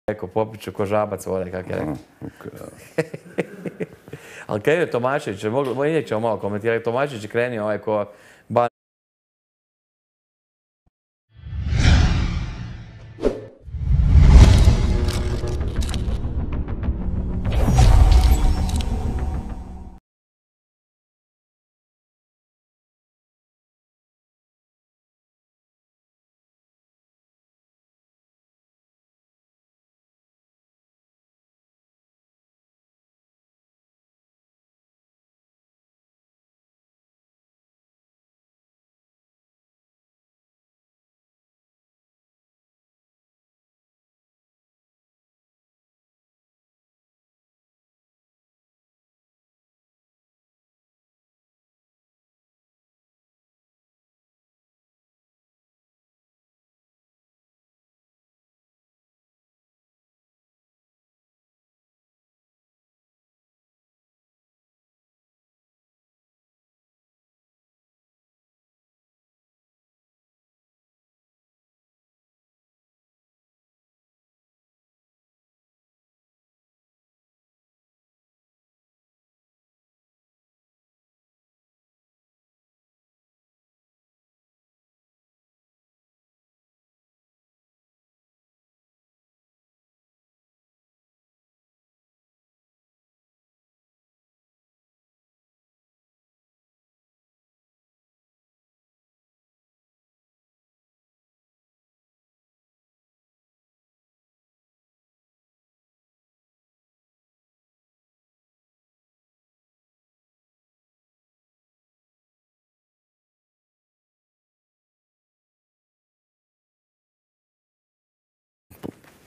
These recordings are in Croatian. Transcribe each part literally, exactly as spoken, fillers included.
rekao, popit ću ko žabac vode, kak je rekao. Ali krenio Tomašević, i ćemo malo komentirati, Tomašević je krenio ovaj ko...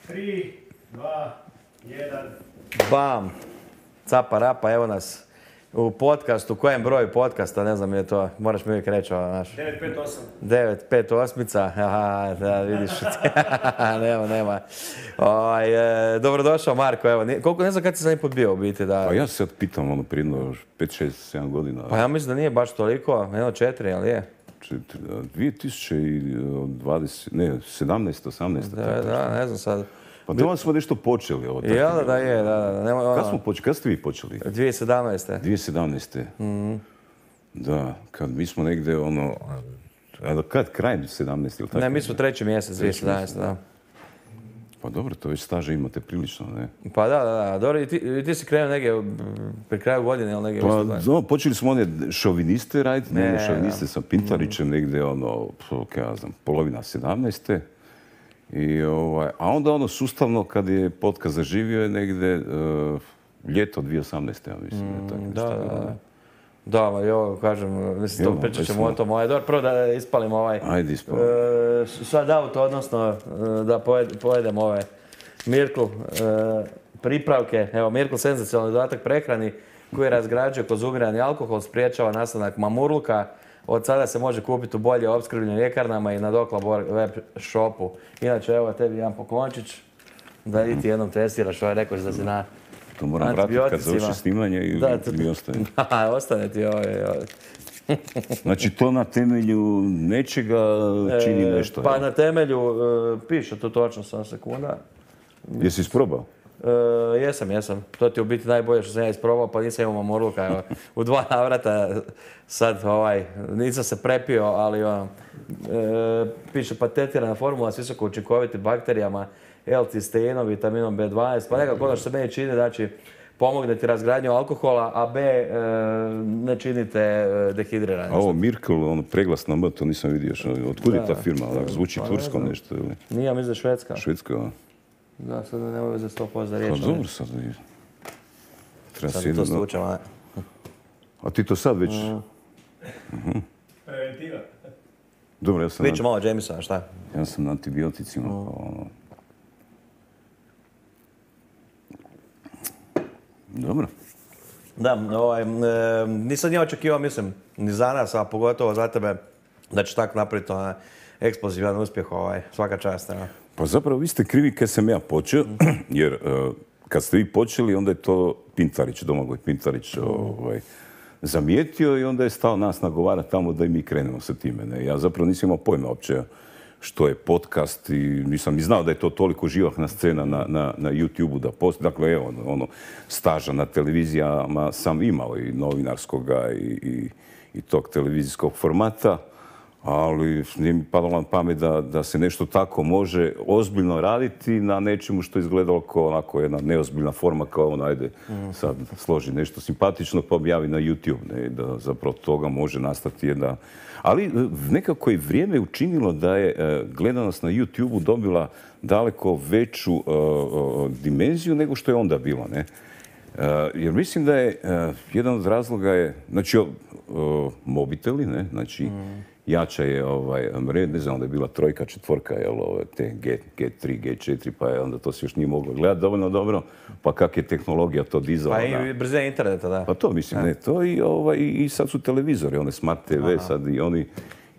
tri, dva, jedan... Bam! Capa rapa, evo nas u podcastu. Kojem broju podcasta, ne znam je to, moraš mi uvijek reći ovo naš. devet pet osam. devet pet osmica, aha, da vidiš. nema, nema. Oj, e, dobrodošao Marko, evo. Koliko, ne znam kad si zadnji put bio u biti, da... Pa ja se sad pitam, ono, prije pet, šest, sedam godina. Pa ja mislim da nije baš toliko, jedno četiri, ali je? dvije tisuće dvadeset, ne, sedamnaest, osamnaest. Da, da, ne znam sad. Pa doma smo nešto počeli. Ovo, ja, da, da, je, da, da. Nema, ono... Kad smo počeli, kad ste vi počeli? dvije tisuće sedamnaeste. dvije tisuće sedamnaeste. Mm-hmm. Da, kad mi smo negdje, ono, a kad, krajem sedamnaeste ili tako? Ne, mi smo treći mjesec dvije tisuće sedamnaeste, da. Pa dobro, to već staže imate prilično, ne? Pa da, da, da. Dobro, i ti, i ti si krenuo negdje pri kraju godine, ili negdje... Pa, no, počeli smo one šoviniste raditi, ne, ne šoviniste sa Pintarićem, mm. negdje, ono, kaj ja znam, polovina sedamnaeste. I, ovaj, a onda ono sustavno, kad je podcast zaživio, je negdje uh, ljeto dvije tisuće osamnaeste, ja mislim. Mm, tako, da, da, da. Da, ma jo, kažem, mislim, to pričat ćemo o tom. Ovaj, dobro, prvo da ispalim ovaj... Ajde, ispalim. Uh, sad auto, odnosno uh, da pojed, pojedem ove Mirkl uh, pripravke. Evo, Mirkl senzacionalni dodatak prehrani koji razgrađuje kroz ugrani alkohol, spriječava nastanak mamurluka. Od sada se može kupiti u bolje opskrbljenim ljekarnama i na Doklabor web shopu. Inače, evo tebi jedan poklončić da i ti jednom testiraš, ovaj rekao da si na to moram vratiti kad završi snimanje i da, mi ostane. Da, ostane ti ovaj. ovaj. Znači to na temelju nečega čini nešto? E, pa na temelju, e, piše tu točno sam sekunda. Jesi isprobao? E, jesam, jesam. To ti je u biti najbolje što sam ja isprobao, pa nisam imao mamurluka. Evo, u dva navrata sad ovaj, nisam se prepio, ali ono, e, piše patentirana formula s visoko učinkovitim bakterijama, L-cisteínom, vitaminom B dvanaest, pa nekako ono što se meni čini, znači pomogne ti razgradnju alkohola, a B e, ne činite dehidriranje. A ovo Mirkl, ono preglas na M, to nisam vidio. Otkud je ta firma? Zvuči pa, tursko ne nešto ili? Nije, ja mislim da je Švedska. Švedska, da. Da, sad ne mogu za sto posto da riječ. Pa dobro sad. Treba sad to slučam, a... A ti to sad već... Mm. Uh-huh. Preventiva. Dobro, ja sam... Viću malo Jamesona, šta? Ja sam na antibioticima, mm. pa ono... Dobro. Da, ovaj, e, nisam nije očekivao, mislim, ni za nas, a pogotovo za tebe, da ćeš tako napraviti onaj eksplozivan uspjeh, ovaj, svaka čast. Ne? Pa zapravo vi ste krivi kad sam ja počeo, jer uh, kad ste vi počeli, onda je to Pintarić, Domagoj Pintarić, ovaj, zamijetio i onda je stao nas nagovara tamo da i mi krenemo sa time. Ne? Ja zapravo nisam imao pojma uopće što je podcast i nisam ni znao da je to toliko živahna scena na, na, na YouTube-u da postoji. Dakle, evo, ono, staža na televizijama sam imao i novinarskoga i, i, i tog televizijskog formata, ali nije mi padalo na pamet da, da se nešto tako može ozbiljno raditi na nečemu što je izgledalo kao onako jedna neozbiljna forma, kao ono, ajde, sad složi nešto simpatično pa objavi na YouTube, ne, da zapravo toga može nastati jedna... Ali nekako je vrijeme učinilo da je gledanost na YouTube-u dobila daleko veću uh, uh, dimenziju nego što je onda bilo, ne? Uh, jer mislim da je uh, jedan od razloga je, znači, uh, mobiteli, ne? Znači, mm. jača je ovaj mreža, ne znam, onda je bila trojka, četvorka, jel, ove, te G, G3, G četiri, pa je onda to se još nije moglo gledati dovoljno dobro, pa kak je tehnologija to dizala. Pa i brzina interneta, da. Pa to mislim, ne, to i, ovaj, i sad su televizori, one Smart T V, aha, sad i oni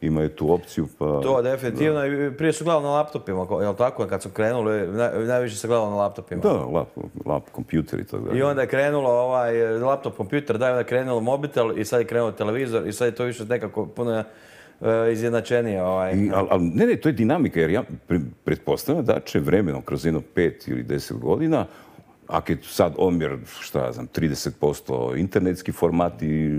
imaju tu opciju, pa... To definitivno, da. I prije su gledali na laptopima, jel tako, kad su krenuli, naj, najviše se gledalo na laptopima. Da, lap, lap kompjuter i tako da. I onda je krenulo ovaj laptop, kompjuter, da, onda je krenulo mobitel i sad je krenulo televizor i sad je to više nekako puno izjednačenije. Ovaj. Ali al, ne, ne, to je dinamika, jer ja pretpostavljam da će vremenom kroz jedno pet ili deset godina, ako je sad omjer, šta ja znam, trideset posto internetski format i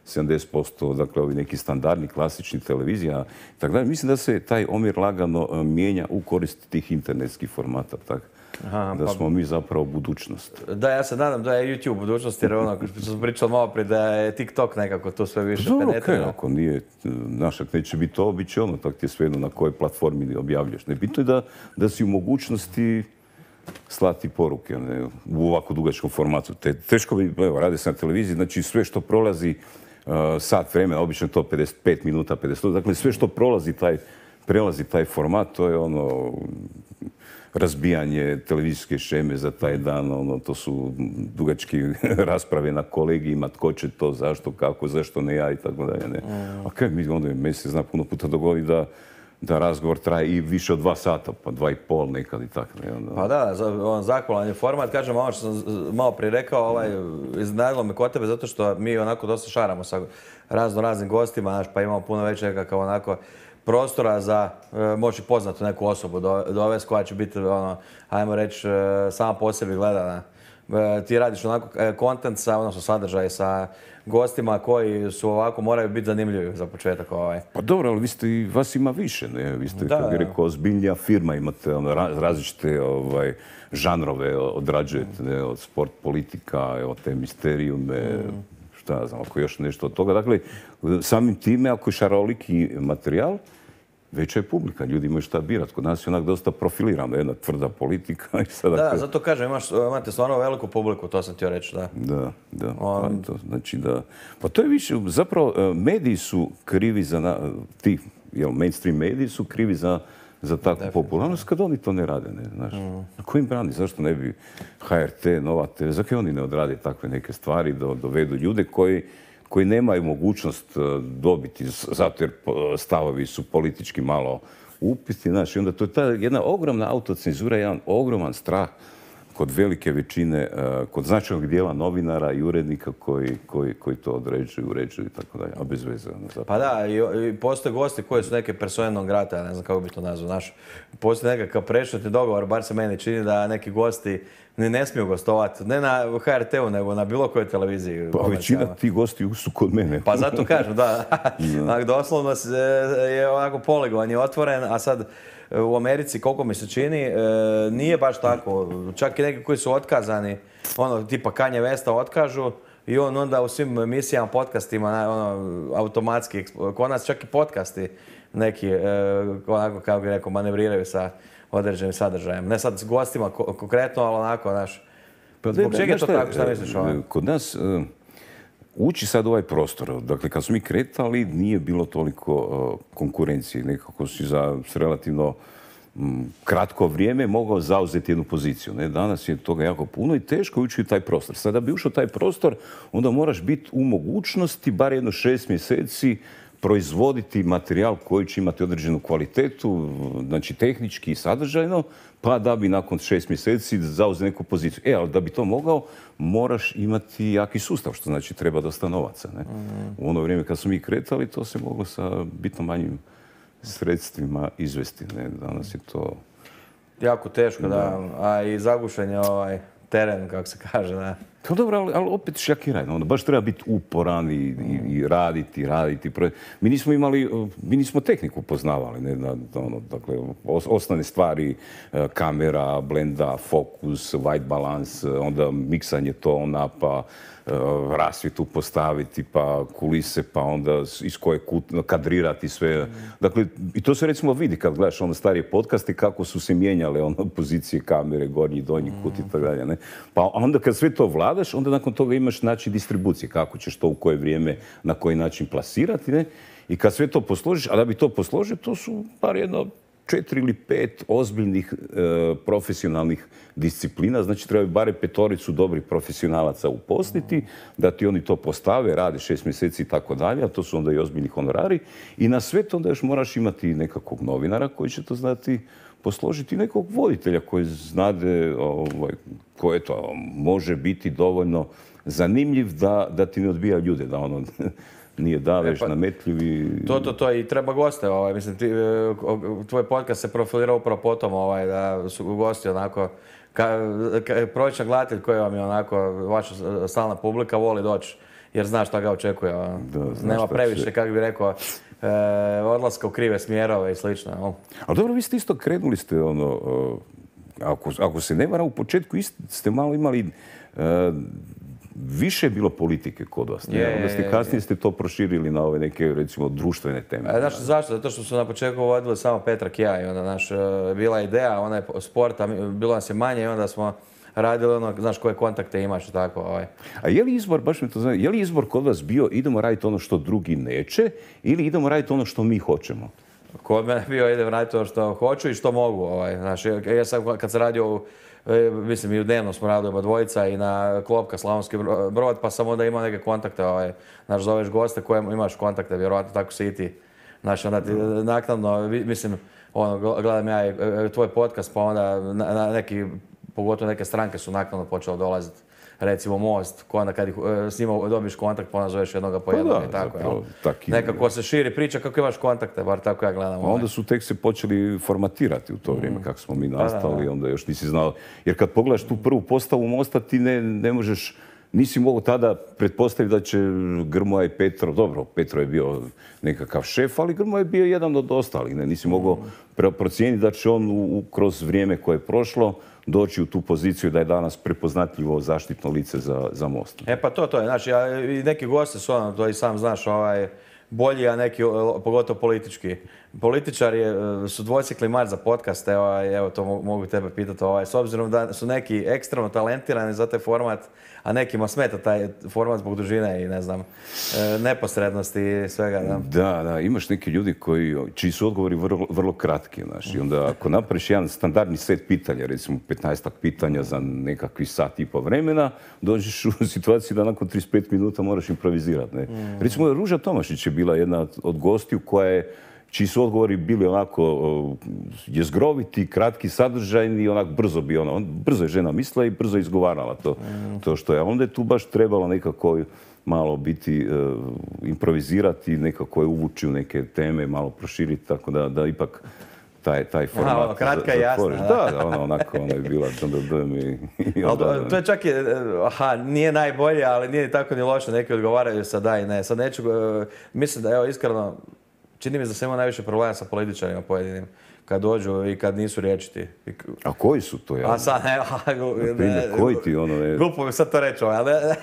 sedamdeset posto, dakle, ovi neki standardni, klasični televizija, tako da, mislim da se taj omjer lagano mijenja u korist tih internetskih formata, tako. Aha, da smo pa, mi zapravo budućnost. Da, ja se nadam da je YouTube budućnost, jer ono, što sam pričao malo prije, da je TikTok nekako to sve više penetrira. Okay, ako nije, našak neće biti to, bit će ono, tako ti je svejedno na kojoj platformi objavljaš. Ne, bitno je da, da si u mogućnosti slati poruke, ne, u ovako dugačkom formatu. Te, teško bi, evo, radi se na televiziji, znači sve što prolazi uh, sat vremena, obično to pedeset pet minuta, pedeset, dakle sve što prolazi taj, prelazi taj format, to je ono... razbijanje televizijske šeme za taj dan, ono, to su dugački rasprave na kolegijima, tko će to, zašto, kako, zašto ne ja i tako dalje. Ne. Mm. A kaj mi onda meni se zna puno puta dogodi da, da razgovor traje i više od dva sata, pa dva i pol nekad i tako. Ne, onda... Pa da, on zahvalan je format, kažem, ono što sam malo prije rekao, ovaj, iznenadilo me kod tebe zato što mi onako dosta šaramo sa razno raznim gostima, znaš, pa imamo puno već nekakav onako prostora za e, moći poznatu neku osobu dovesti koja će biti, ono, ajmo reći, e, sama po sebi gledana. E, ti radiš onako kontent sa, odnosno sadržaj sa gostima koji su ovako, moraju biti zanimljivi za početak. Ovaj. Pa dobro, ali vi ste, vas ima više, ne? Vi ste, kako bih rekao, ozbiljnija firma, imate ono, različite ovaj, žanrove odrađujete, ne? Od sport, politika, evo, te misterijume, mm. šta ja znam, ako još nešto od toga. Dakle, samim time, ako je šaroliki materijal, veća je publika, ljudi imaju šta birati. Kod nas je onak dosta profilirano, jedna tvrda politika. I sada da, zato kažem, imaš, imate stvarno veliku publiku, to sam htio reći, da. Da, da. On... Pa, to, znači da, pa to je više, zapravo, mediji su krivi za, na, ti, jel, mainstream mediji su krivi za, za takvu popularnost, kad oni to ne rade, ne, znaš. Mm. Na kojim brani, zašto ne bi H R T, Nova T V, zašto oni ne odrade takve neke stvari, do, dovedu ljude koji koji nemaju mogućnost dobiti, zato jer stavovi su politički malo upitni. Znači, onda to je ta jedna ogromna autocenzura, jedan ogroman strah kod velike većine, kod značajnog dijela novinara i urednika koji, koji, koji to određuju, uređuju i tako dalje, a bez veze. Pa da, i, i postoje gosti koji su neke persone non grata, ja ne znam kako bi to nazvao, znaš. Postoji nekakav prešutni dogovor, bar se meni čini da neki gosti ne, ne smiju gostovati, ne na H R T-u, nego na bilo kojoj televiziji. Pa većina tih gosti su kod mene. Pa zato kažem, da. da. Doslovno je onako poligon je otvoren, a sad u Americi, koliko mi se čini, nije baš tako. Čak i neki koji su otkazani, ono, tipa Kanye Westa otkažu i on onda u svim emisijama, podcastima, ono, automatski, kod nas čak i podcasti neki, onako, kako bih rekao, manevriraju sa određenim sadržajem. Ne sad s gostima konkretno, ali onako, znaš, pa zbog čega je to tako, šta misliš ovo? Kod nas uh, uči sad ovaj prostor. Dakle, kad smo mi kretali, nije bilo toliko uh, konkurencije. Nekako si za relativno um, kratko vrijeme mogao zauzeti jednu poziciju. Ne? Danas je toga jako puno i teško ući u taj prostor. Sada da bi ušao taj prostor, onda moraš biti u mogućnosti, bar jedno šest mjeseci, proizvoditi materijal koji će imati određenu kvalitetu, znači tehnički i sadržajno, pa da bi nakon šest mjeseci zauzeti neku poziciju. E, ali da bi to mogao, moraš imati jaki sustav, što znači treba dosta novaca. Ne? Mm. U ono vrijeme kad smo mi kretali, to se moglo sa bitno manjim sredstvima izvesti. Ne? Danas je to... Jako teško, da. A i zagušen je ovaj teren, kako se kaže, da. To dobro, ali, ali opet šakiraj. Ono, baš treba biti uporan i, i, i raditi, raditi. Mi nismo imali, mi nismo tehniku poznavali. Ne? Na, ono, dakle, os, osnovne stvari, kamera, blenda, fokus, white balance, onda miksanje tona, pa rasvjetu postaviti, pa kulise, pa onda iz koje kut, kadrirati sve. Dakle, i to se recimo vidi kad gledaš ono starije podcaste kako su se mijenjale ono pozicije kamere, gornji, donji kut i tako dalje. Ne? Pa onda kad sve to vladaš, onda nakon toga imaš način distribucije, kako ćeš to u koje vrijeme, na koji način plasirati. Ne? I kad sve to posložiš, a da bi to posložio, to su par jedno četiri ili pet ozbiljnih e, profesionalnih disciplina, znači trebaju bare petoricu dobrih profesionalaca uposliti, da ti oni to postave, rade šest mjeseci i tako dalje, a to su onda i ozbiljni honorari. I na sve to onda još moraš imati nekakvog novinara koji će to znati posložiti, nekog voditelja koji znade, ovaj, koji to može biti dovoljno zanimljiv da, da ti ne odbija ljude, da ono nije davež, e pa, nametljiv i... To, to, to i treba goste, ovaj, mislim, ti, tvoj podcast se profilira upravo potom, ovaj, da su gosti onako, ka, ka, prosječan gledatelj koji vam je onako, vaša stalna publika voli doći, jer znaš šta ga očekuje. Ono. Da, nema previše, će... kako bi rekao, e, odlaska u krive smjerove i slično. No. Ali dobro, vi ste isto krenuli ste, ono, ako, ako se ne varam, u početku ste malo imali... E, više je bilo politike kod vas. Je, onda ste kasnije ste to proširili na ove neke, recimo, društvene teme. A, znaš, zašto? Zato što su na početku vodili samo Petra Kija i onda, naš, bila ideja, ona je sporta, bilo nas je manje i onda smo radili ono, znaš, koje kontakte imaš i tako. Ovaj. A je li izbor, baš mi to znam, je li izbor kod vas bio idemo raditi ono što drugi neće ili idemo raditi ono što mi hoćemo? Kod mene je bio idem raditi ono što hoću i što mogu. Ovaj. Znaš, ja sam kad sam radio, mislim i u dnevno smo radili oba dvojica i na Klopka Slavonski Brod, pa sam onda imao neke kontakte, ovaj, znaš, zoveš goste koje imaš kontakte, vjerojatno tako si i ti. Znaš, onda ti naknadno, mislim, ono, gledam ja i tvoj podcast, pa onda na, na neki, pogotovo neke stranke su naknadno počele dolaziti. Recimo Most, ko onda kad ih, s njima dobiš kontakt, pa onda zoveš jednoga po jednog i tako. Zapravo, tak nekako se širi priča kako imaš kontakte, bar tako ja gledam. A onda su tek se počeli formatirati u to vrijeme, mm. kako smo mi nastali, pa da, da. Onda još nisi znao. Jer kad pogledaš tu prvu postavu Mosta, ti ne, ne možeš, nisi mogao tada pretpostaviti da će Grmoja i Petro, dobro, Petro je bio nekakav šef, ali Grmoja je bio jedan od ostalih. Ne? Nisi mogao mm. procijeniti da će on u, kroz vrijeme koje je prošlo doći u tu poziciju da je danas prepoznatljivo zaštitno lice za, za Most. E pa to, to je. Znači, ja, i neki gosti su ono, to i sam znaš, ovaj, bolji, a neki, pogotovo politički. Političari su dvocikli mar za podcaste, ovaj, evo to mogu tebe pitati, ovaj, s obzirom da su neki ekstremno talentirani za taj format, a nekima smeta taj format zbog dužine i ne znam, neposrednosti i svega. Da, da, da imaš neki ljudi koji, čiji su odgovori vrlo, vrlo kratki. Znaš, i onda ako napraviš jedan standardni set pitanja, recimo petnaestak pitanja za nekakvi sat i po vremena, dođeš u situaciju da nakon trideset pet minuta moraš improvizirati. Ne? Mm. Recimo, Ruža Tomašić je bila jedna od gostiju koja je čiji su odgovori bili onako uh, jezgroviti, kratki, sadržajni i onak brzo bi ona. On, brzo je žena mislila i brzo je izgovarala to, mm. to što je. Onda je tu baš trebalo nekako malo biti, uh, improvizirati, nekako je uvući u neke teme, malo proširiti, tako da, da ipak taj, taj format... Aha, ono, kratka i jasna. Da, da, ona onako, ona je bila... I onda, ali to je čak i, aha, nije najbolje, ali nije tako ni loše, neki odgovaraju sad da i ne. Sad neću, uh, mislim da, evo, iskreno, čini mi se da se ima najviše problema sa političarima pojedinim, kad dođu i kad nisu riječiti. A koji su to? Ja? A sad, ne, ne, primjer, koji ti ono je... Glupo mi sad to reći, ali ne,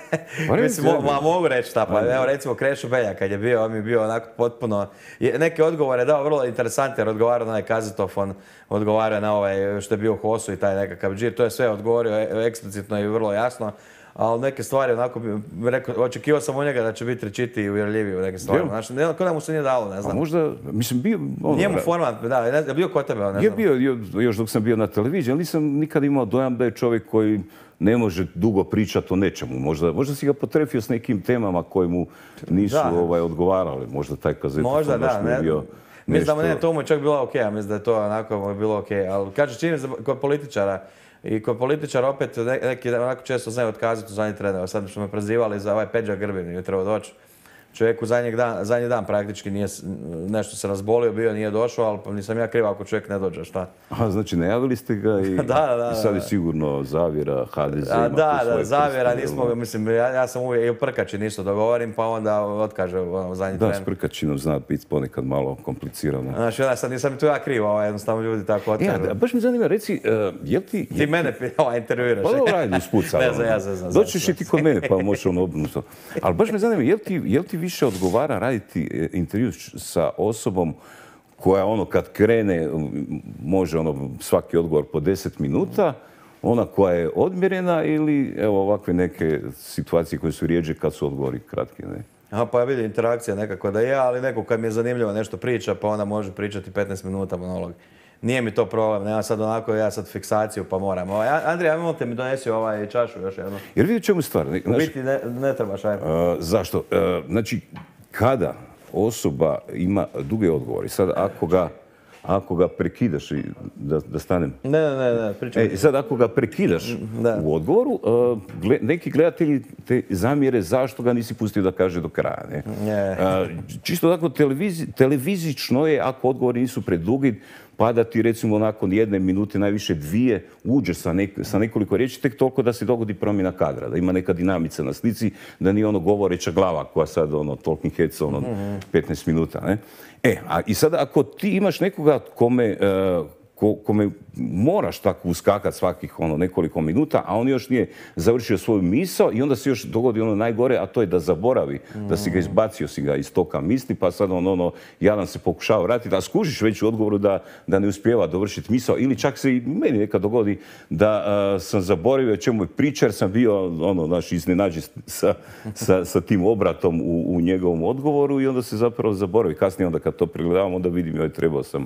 pa mislim, mo, ma, mogu reći šta, pa evo recimo Krešo Beljak kad je bio, on mi je bio onako potpuno, neke odgovore dao vrlo interesantne, jer odgovarao na onaj kazetofon, odgovarao na ovaj što je bio Hosu i taj nekakav džir, to je sve odgovorio eksplicitno i vrlo jasno. Ali neke stvari, onako, rekao, očekivao sam u njega da će biti rečitiji i uvjerljiviji u neke stvari. Znači, ne, kod da mu se nije dalo, ne znam. A možda, mislim, bio... Ono, Njemu format, da, je bio kod tebe, ne znam. Je bio, još dok sam bio na televiziji, ali nisam nikad imao dojam da je čovjek koji ne može dugo pričati o nečemu. Možda, možda si ga potrefio s nekim temama koje mu nisu ovaj, odgovarale. Možda taj kazetofon baš mi je bio... Mislim da mu ne, to mu je čak bilo okej, okay, mislim da je to onako bilo okej. Okay. Ali kaže, čini se kod političara, i kod političara opet neki onako često znaju otkazati u zadnji trener. Sad što me prozivali za ovaj Peđa Grbin i treba doći. čovjeku zadnji dan, zadnji dan praktički nije, nešto se razbolio, bio nije došao, ali pa nisam ja kriv ako čovjek ne dođe, šta? Aha, znači najavili ste ga i, da, da, i sad je sigurno zavjera, ha de ze A, ima da, tu svoje da, zavjera, prste, nismo, mislim, ja, ja sam uvijek i u Prkači ništa dogovorim, pa onda otkaže ono, zadnji Da, tren. s Prkačinom zna biti ponekad malo komplicirano. Znači, ja sad nisam tu ja kriv, ovaj, jednostavno ljudi tako otkažu. Ja, baš mi zanima, reci, uh, jel ti... Ti mene ovaj, intervjuiraš. Pa dobro, ajde, usput sad. Ne znam, ja se znam. Doćeš i ti kod mene, pa možeš ono obrnuto. Ali baš me zanima, jel ti, jel ti više odgovara raditi intervju sa osobom koja ono kad krene može ono svaki odgovor po deset minuta, ona koja je odmjerena ili evo ovakve neke situacije koje su rijeđe kad su odgovori kratki, ne? Aha, pa ja vidim interakcija nekako da je, ali neko kad mi je zanimljivo nešto priča, pa onda može pričati petnaest minuta monolog. Nije mi to problem, nema sad onako, ja sad fiksaciju pa moram. Ovaj, Andrija, ajmo te mi donesi ovaj čašu još jednu. Jer vidi čemu stvar. Ne, U biti ne, ne trebaš, ajmo. Uh, zašto? Uh, znači, kada osoba ima duge odgovore, sad ako ga, ako ga prekidaš, i da, da stanem... Ne, ne, ne, ne pričam. E, sad ako ga prekidaš Da. u odgovoru, uh, gle, neki gledatelji te zamjere zašto ga nisi pustio da kaže do kraja. Ne? Ne. Uh, čisto tako televizi, televizično je ako odgovori nisu predugi, pa da ti recimo nakon jedne minute, najviše dvije, uđeš sa, nek, sa nekoliko riječi, tek toliko da se dogodi promjena kadra, da ima neka dinamica na slici, da nije ono govoreća glava koja sad ono talking heads ono petnaest minuta. Ne? E, a i sada ako ti imaš nekoga kome, uh, ko, kome moraš tako uskakati svakih ono nekoliko minuta, a on još nije završio svoju misao i onda se još dogodi ono najgore, a to je da zaboravi, da si ga izbacio si ga iz toka misli, pa sad on ono, jadan se pokušava vratiti, a skužiš već u odgovoru da, da ne uspijeva dovršiti misao, ili čak se i meni nekad dogodi da uh, sam zaboravio o čemu je priča, jer sam bio ono, znaš, iznenađen sa, sa, sa tim obratom u, u njegovom odgovoru i onda se zapravo zaboravi. Kasnije onda kad to pregledavam, onda vidim, joj, trebao sam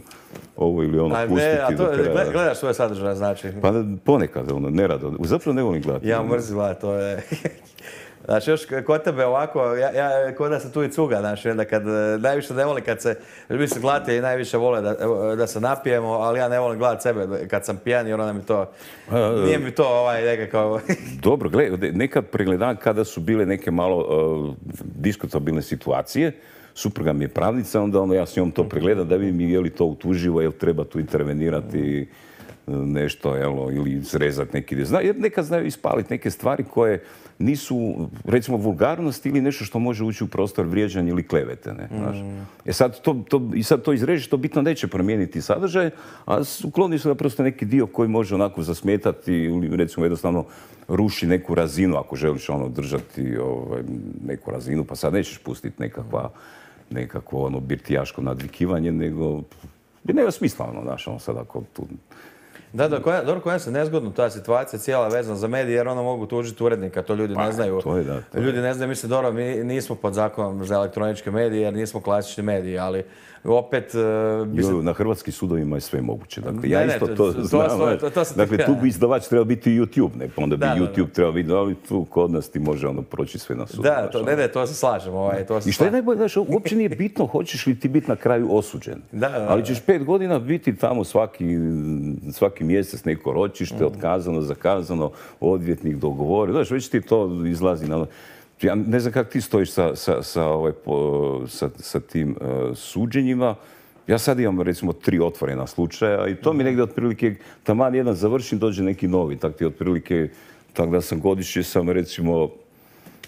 ovo ili ono A pustiti. ne, a to, do kraja. gledaš svoje sadržaje, znači. Pa ponekad, ono, nerado. Zapravo ne volim gledati. Ja mrzim gledati, to je... Znači, još kod tebe ovako, ja, ja kod da se tu i cuga, znači, onda kad, najviše ne volim kad se, mislim, gledatelji najviše vole da, da se napijemo, ali ja ne volim gledati sebe kad sam pijan, jer onda mi to, nije mi to ovaj nekako... Dobro, gledaj, nekad pregledam kada su bile neke malo uh, diskutabilne situacije, supruga mi je pravnica, onda ono, ja s njom to pregledam da vidim je li to utuživo, je li treba tu intervenirati nešto, jelo, ili izrezati neki dio. Zna, jer nekad znaju ispaliti neke stvari koje nisu, recimo, vulgarnost ili nešto što može ući u prostor vrijeđanja ili klevete. Ne, znaš. E sad to, to, i sad to izrežiš, to bitno neće promijeniti sadržaj, a ukloni su da prosto neki dio koji može onako zasmetati ili recimo jednostavno ruši neku razinu, ako želiš ono držati ovaj, neku razinu, pa sad nećeš pustiti nekakva, nekakvo ono birtijaško nadvikivanje, nego bi nema smisla ono, znaš, ono sad ako tu... Da, da, koja, dobro, koja se nezgodno ta situacija cijela vezana za medije, jer ono mogu tužiti urednika, to ljudi Pa, ne znaju. to je da, to je. Ljudi ne znaju, mislim, dobro, mi nismo pod zakonom za elektroničke medije, jer nismo klasični mediji, ali opet... Uh, bi se... Jo, na hrvatskim sudovima je sve moguće. Dakle, ja Ne, ne, isto to- to, to- to- znam. to- to- to sam ti Dakle, tu htio. bi izdavač trebao biti YouTube, ne? Pa onda bi Da, da, da. YouTube trebao biti, ali tu kod nas ti može ono proći sve na sudu. Da, znaš, to, ono. ne, ne, to se slažem. Ovaj, to se I što je slažem. najbolje, znaš, uopće nije bitno hoćeš li ti biti na kraju osuđen. Da, da, da. Ali ćeš pet godina biti tamo svaki, svaki mjesec neko ročište, otkazano, zakazano, odvjetnik dogovori. Znaš, već ti to izlazi na... Ja ne znam kako ti stojiš sa, sa, sa, ovaj, po- sa, sa tim uh, suđenjima. Ja sad imam recimo tri otvorena slučaja i to mi negdje otprilike, taman jedan završim, dođe neki novi. Tak ti otprilike, tak da sam godišnje sam recimo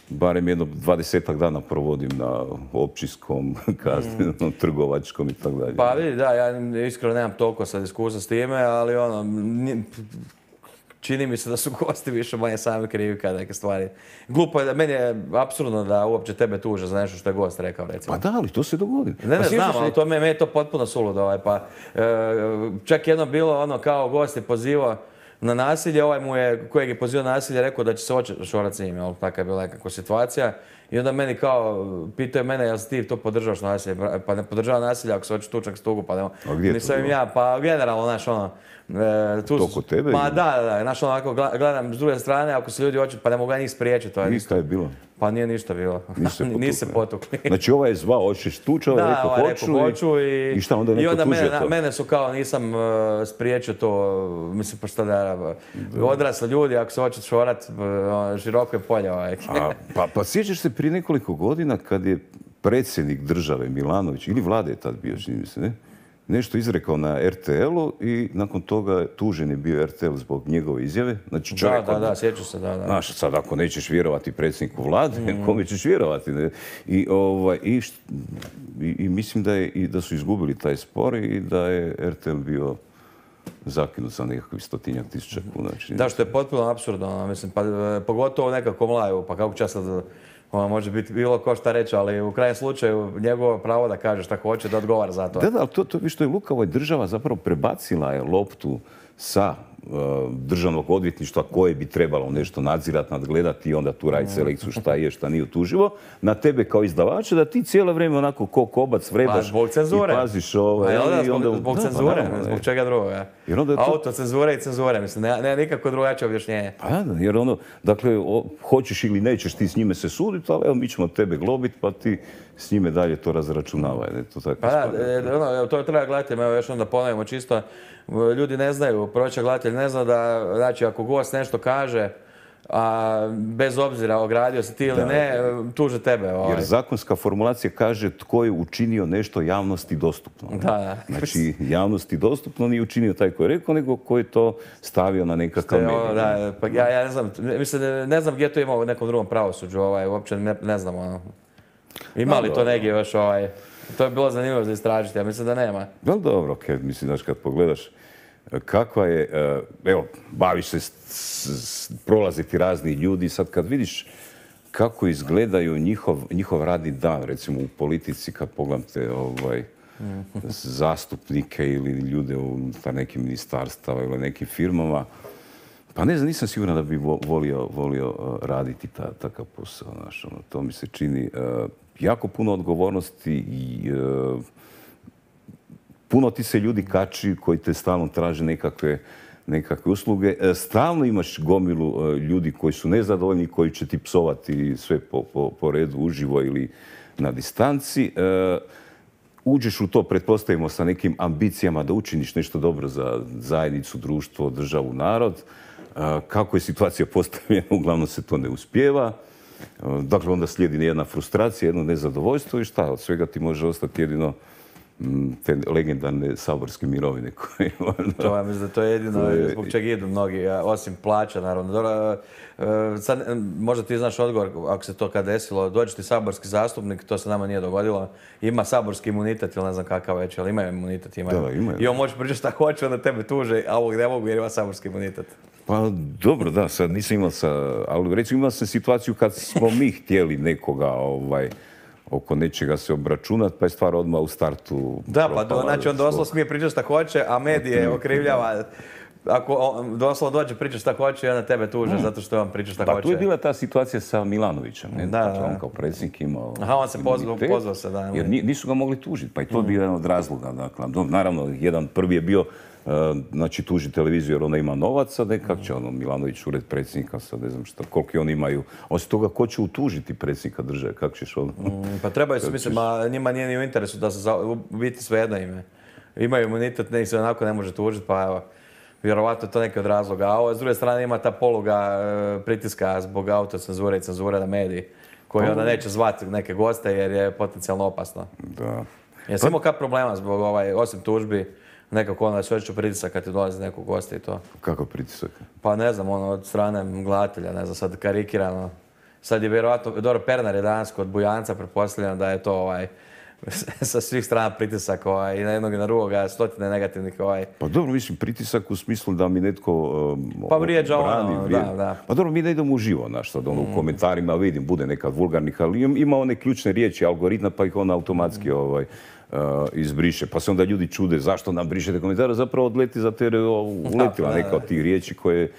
barem jedno dvadesetak dana provodim na općinskom, kaznenom, trgovačkom i tako dalje. Pa vidi, da, ja iskreno nemam toliko sad iskustva s time, ali ono, ni- čini mi se da su gosti više manje sami krivi kada neke stvari. Glupo je da, meni je apsurdno da uopće tebe tuže za nešto što je gost rekao, recimo. Pa da, ali to se dogodi. Ne, ne Pa sjećaš znam, se- ali to me, me je to potpuno suludo. Ovaj, pa, e, čak jedno bilo ono kao gost je pozivao na nasilje, ovaj mu je, kojeg je pozivao na nasilje, rekao da će se očorati s njim, jel? Taka je bila nekakva situacija. I onda meni kao, pitao je mene, jel si ti to podržavaš nasilje? Pa ne podržava nasilje ako se hoće tučak s tugu, pa ne. A gdje je to Nisam im bilo? ja, pa generalno, znaš, ono, e, tu To su- kod tebe Pa ili? da, da, da, znaš, ono, ako gledam s druge strane, ako se ljudi hoće, pa ne mogu ja njih spriječiti, to je I isto. šta je bilo? Pa nije ništa bilo. Nisu se potukli. Nisu se potukli. Znači ovaj je zvao, hoćeš tući, ovaj je Da, rekao ovaj hoću, rekao hoću i... i šta onda je I neko onda tužio mene, to? mene su kao nisam uh, spriječio to, mislim pa šta da, odrasli ljudi, ako se hoće šorat, uh, široko je polje ovaj. A, pa, pa sjećaš se prije nekoliko godina kad je predsjednik države Milanović, ili vlade je tad bio, čini mi se, ne? Nešto izrekao na er te elu i nakon toga tužen je bio er te el zbog njegove izjave. Znači čovjek... Da, da, da, sjeću se, da, da. Znaš, sad ako nećeš vjerovati predsjedniku vlade, mm. kome ćeš vjerovati? Ne? I, ovaj, i, i, i mislim da, je, i da su izgubili taj spor i da je er te el bio zakinut sa nekakvih stotinjak tisuća kuna. Da, što je potpuno apsurdno, mislim, pa, pogotovo nekako mlaju, pa kako će sad, ono, može biti bilo ko šta reći, ali u krajnjem slučaju njegovo pravo da kaže šta hoće, da odgovara za to. Da, da, ali to, to što je Lukavoj država zapravo prebacila je loptu sa uh, državnog odvjetništva koje bi trebalo nešto nadzirati, nadgledati i onda tu raditi selekciju šta je, šta nije utuživo, na tebe kao izdavača da ti cijelo vrijeme onako ko kobac vrebaš pa, i paziš ovaj... Pa, i onda, zbog, zbog da, cenzure, pa, zbog čega drugoga. Jer onda je to... Autocenzure i cenzure, mislim, ne, ne nikako drugačije objašnjenje. Pa da, jer ono, dakle, o, hoćeš ili nećeš ti s njime se suditi, ali evo mi ćemo tebe globiti pa ti s njime dalje to razračunavaj. Ne, to tako pa da, ono, to treba gledati, evo još onda ponovimo čisto, ljudi ne znaju, prosječan gledatelj ne zna da, znači, ako gost nešto kaže, a bez obzira ogradio se ti ili da, ne, tuže tebe. Ovaj. Jer zakonska formulacija kaže tko je učinio nešto javnosti dostupno. Da, da. Znači, javnosti dostupno nije učinio taj koji je rekao, nego koji je to stavio na nekakav medij. Da, pa ja, ja ne znam, mislim, ne znam gdje to ima u nekom drugom pravosuđu, ovaj, uopće ne, ne znam, ono. Ima li to negdje još, ovaj, to je bilo zanimljivo za istražiti, ja mislim da nema. Vel dobro, okay. Mislim, znaš, kad pogledaš kakva je, evo, baviš se, s, s, prolaziti razni ljudi, sad kad vidiš kako izgledaju njihov, njihov radni dan, recimo u politici, kad pogledate ovaj, zastupnike ili ljude unutar nekim ministarstava ili nekim firmama, pa ne znam, nisam siguran da bi volio, volio raditi ta, takav posao. Znaš, ono, to mi se čini uh, jako puno odgovornosti i uh, puno ti se ljudi kači koji te stalno traže nekakve, nekakve usluge. Stalno imaš gomilu ljudi koji su nezadovoljni, koji će ti psovati sve po, po, po redu, uživo ili na distanci. Uđeš u to, pretpostavimo, sa nekim ambicijama da učiniš nešto dobro za zajednicu, društvo, državu, narod. Kako je situacija postavljena, uglavnom se to ne uspijeva. Dakle, onda slijedi jedna frustracija, jedno nezadovoljstvo i šta? Od svega ti može ostati jedino te legendarne saborske mirovine koje... To, ja mislim da to je jedino to je... zbog čega idu mnogi, osim plaća, naravno. Dobro, sad, možda ti znaš odgovor, ako se to kad desilo, dođe ti saborski zastupnik, to se nama nije dogodilo, ima saborski imunitet ili ne znam kakav već, ali imaju imunitet, imaju. Da, imaju. I on može pričati šta hoće, onda tebe tuže, a ovog ne mogu jer ima saborski imunitet. Pa dobro, da, sad nisam imao sa... Ali recimo imao sam situaciju kad smo mi htjeli nekoga, ovaj, oko nečega se obračunati, pa je stvar odmah u startu... Da, pa do, znači on doslovno smije pričati šta hoće, a medije okrivljava. Ako doslovno dođe pričati šta hoće, onda tebe tuže mm. zato što on priča šta pa, hoće. Pa tu je bila ta situacija sa Milanovićem, ne? Da, dakle, da. on kao predsjednik imao... Aha, on se pozvao, pozvao se, da. Jer nisu ga mogli tužiti, pa i to je mm. bio jedan od razloga. Dakle, naravno, jedan prvi je bio Uh, znači tuži televiziju jer ona ima novaca, da kako će ono Milanović ured predsjednika, sad ne znam šta, koliko oni imaju. Osim toga, ko će utužiti predsjednika države, kako ćeš ono? Mm, pa trebaju se, mislim, a njima nije ni u interesu da se za, u biti svejedno ime. Imaju imunitet, ne se onako ne može tužiti, pa evo, vjerovatno je to neki od razloga. A ovo, s druge strane, ima ta poluga e, pritiska zbog autocenzure i cenzure na mediji, koji onda neće zvati neke goste jer je potencijalno opasno. Da. Jesi imao kak problema zbog, ovaj, osim tužbi, nekako onda sve ću pritisak kad ti dolazi nekog gosta i to. Kako pritisak? Pa ne znam, ono, od strane gledatelja, ne znam, sad karikirano. Sad je vjerovatno, dobro, Pernar je danas kod Bujanca, pretpostavljam da je to ovaj, sa svih strana pritisak ovaj, i na jednog i na drugoga, stotine negativnih ovaj. Pa dobro, mislim, pritisak u smislu da mi netko um, pa vrijeđa brani, ono, vrijeđa. da, da. Pa dobro, mi ne idemo uživo, znaš, sad ono, mm. u komentarima vidim, bude nekad vulgarnih, ali ima one ključne riječi, algoritma, pa ih on automatski mm. ovaj, Uh, izbriše. Pa se onda ljudi čude zašto nam brišete komentare, zapravo odleti za te uletila neka od tih riječi koje,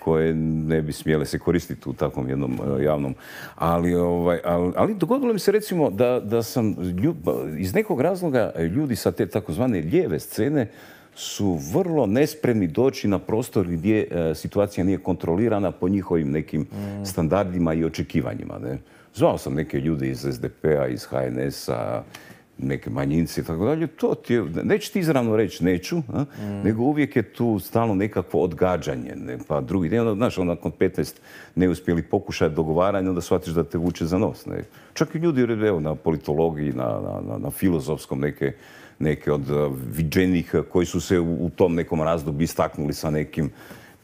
koje ne bi smjele se koristiti u takvom jednom uh, javnom. Ali, ovaj, ali, ali dogodilo mi se recimo da, da sam ljub, iz nekog razloga ljudi sa te takozvane lijeve scene su vrlo nespremni doći na prostor gdje uh, situacija nije kontrolirana po njihovim nekim mm. standardima i očekivanjima. Ne? Zvao sam neke ljude iz es de pe a, iz ha en es a, neke manjinci i tako dalje, to ti je, neću ti izravno reći neću, a, Mm. nego uvijek je tu stalno nekakvo odgađanje, ne, pa drugi dan, onda, znaš, onda nakon petnaest neuspjeli pokušaj dogovaranja, onda shvatiš da te vuče za nos. Ne. Čak i ljudi, evo, na politologiji, na, na, na, na filozofskom, neke, neke od uh, viđenih koji su se u, u tom nekom razdoblju istaknuli sa nekim.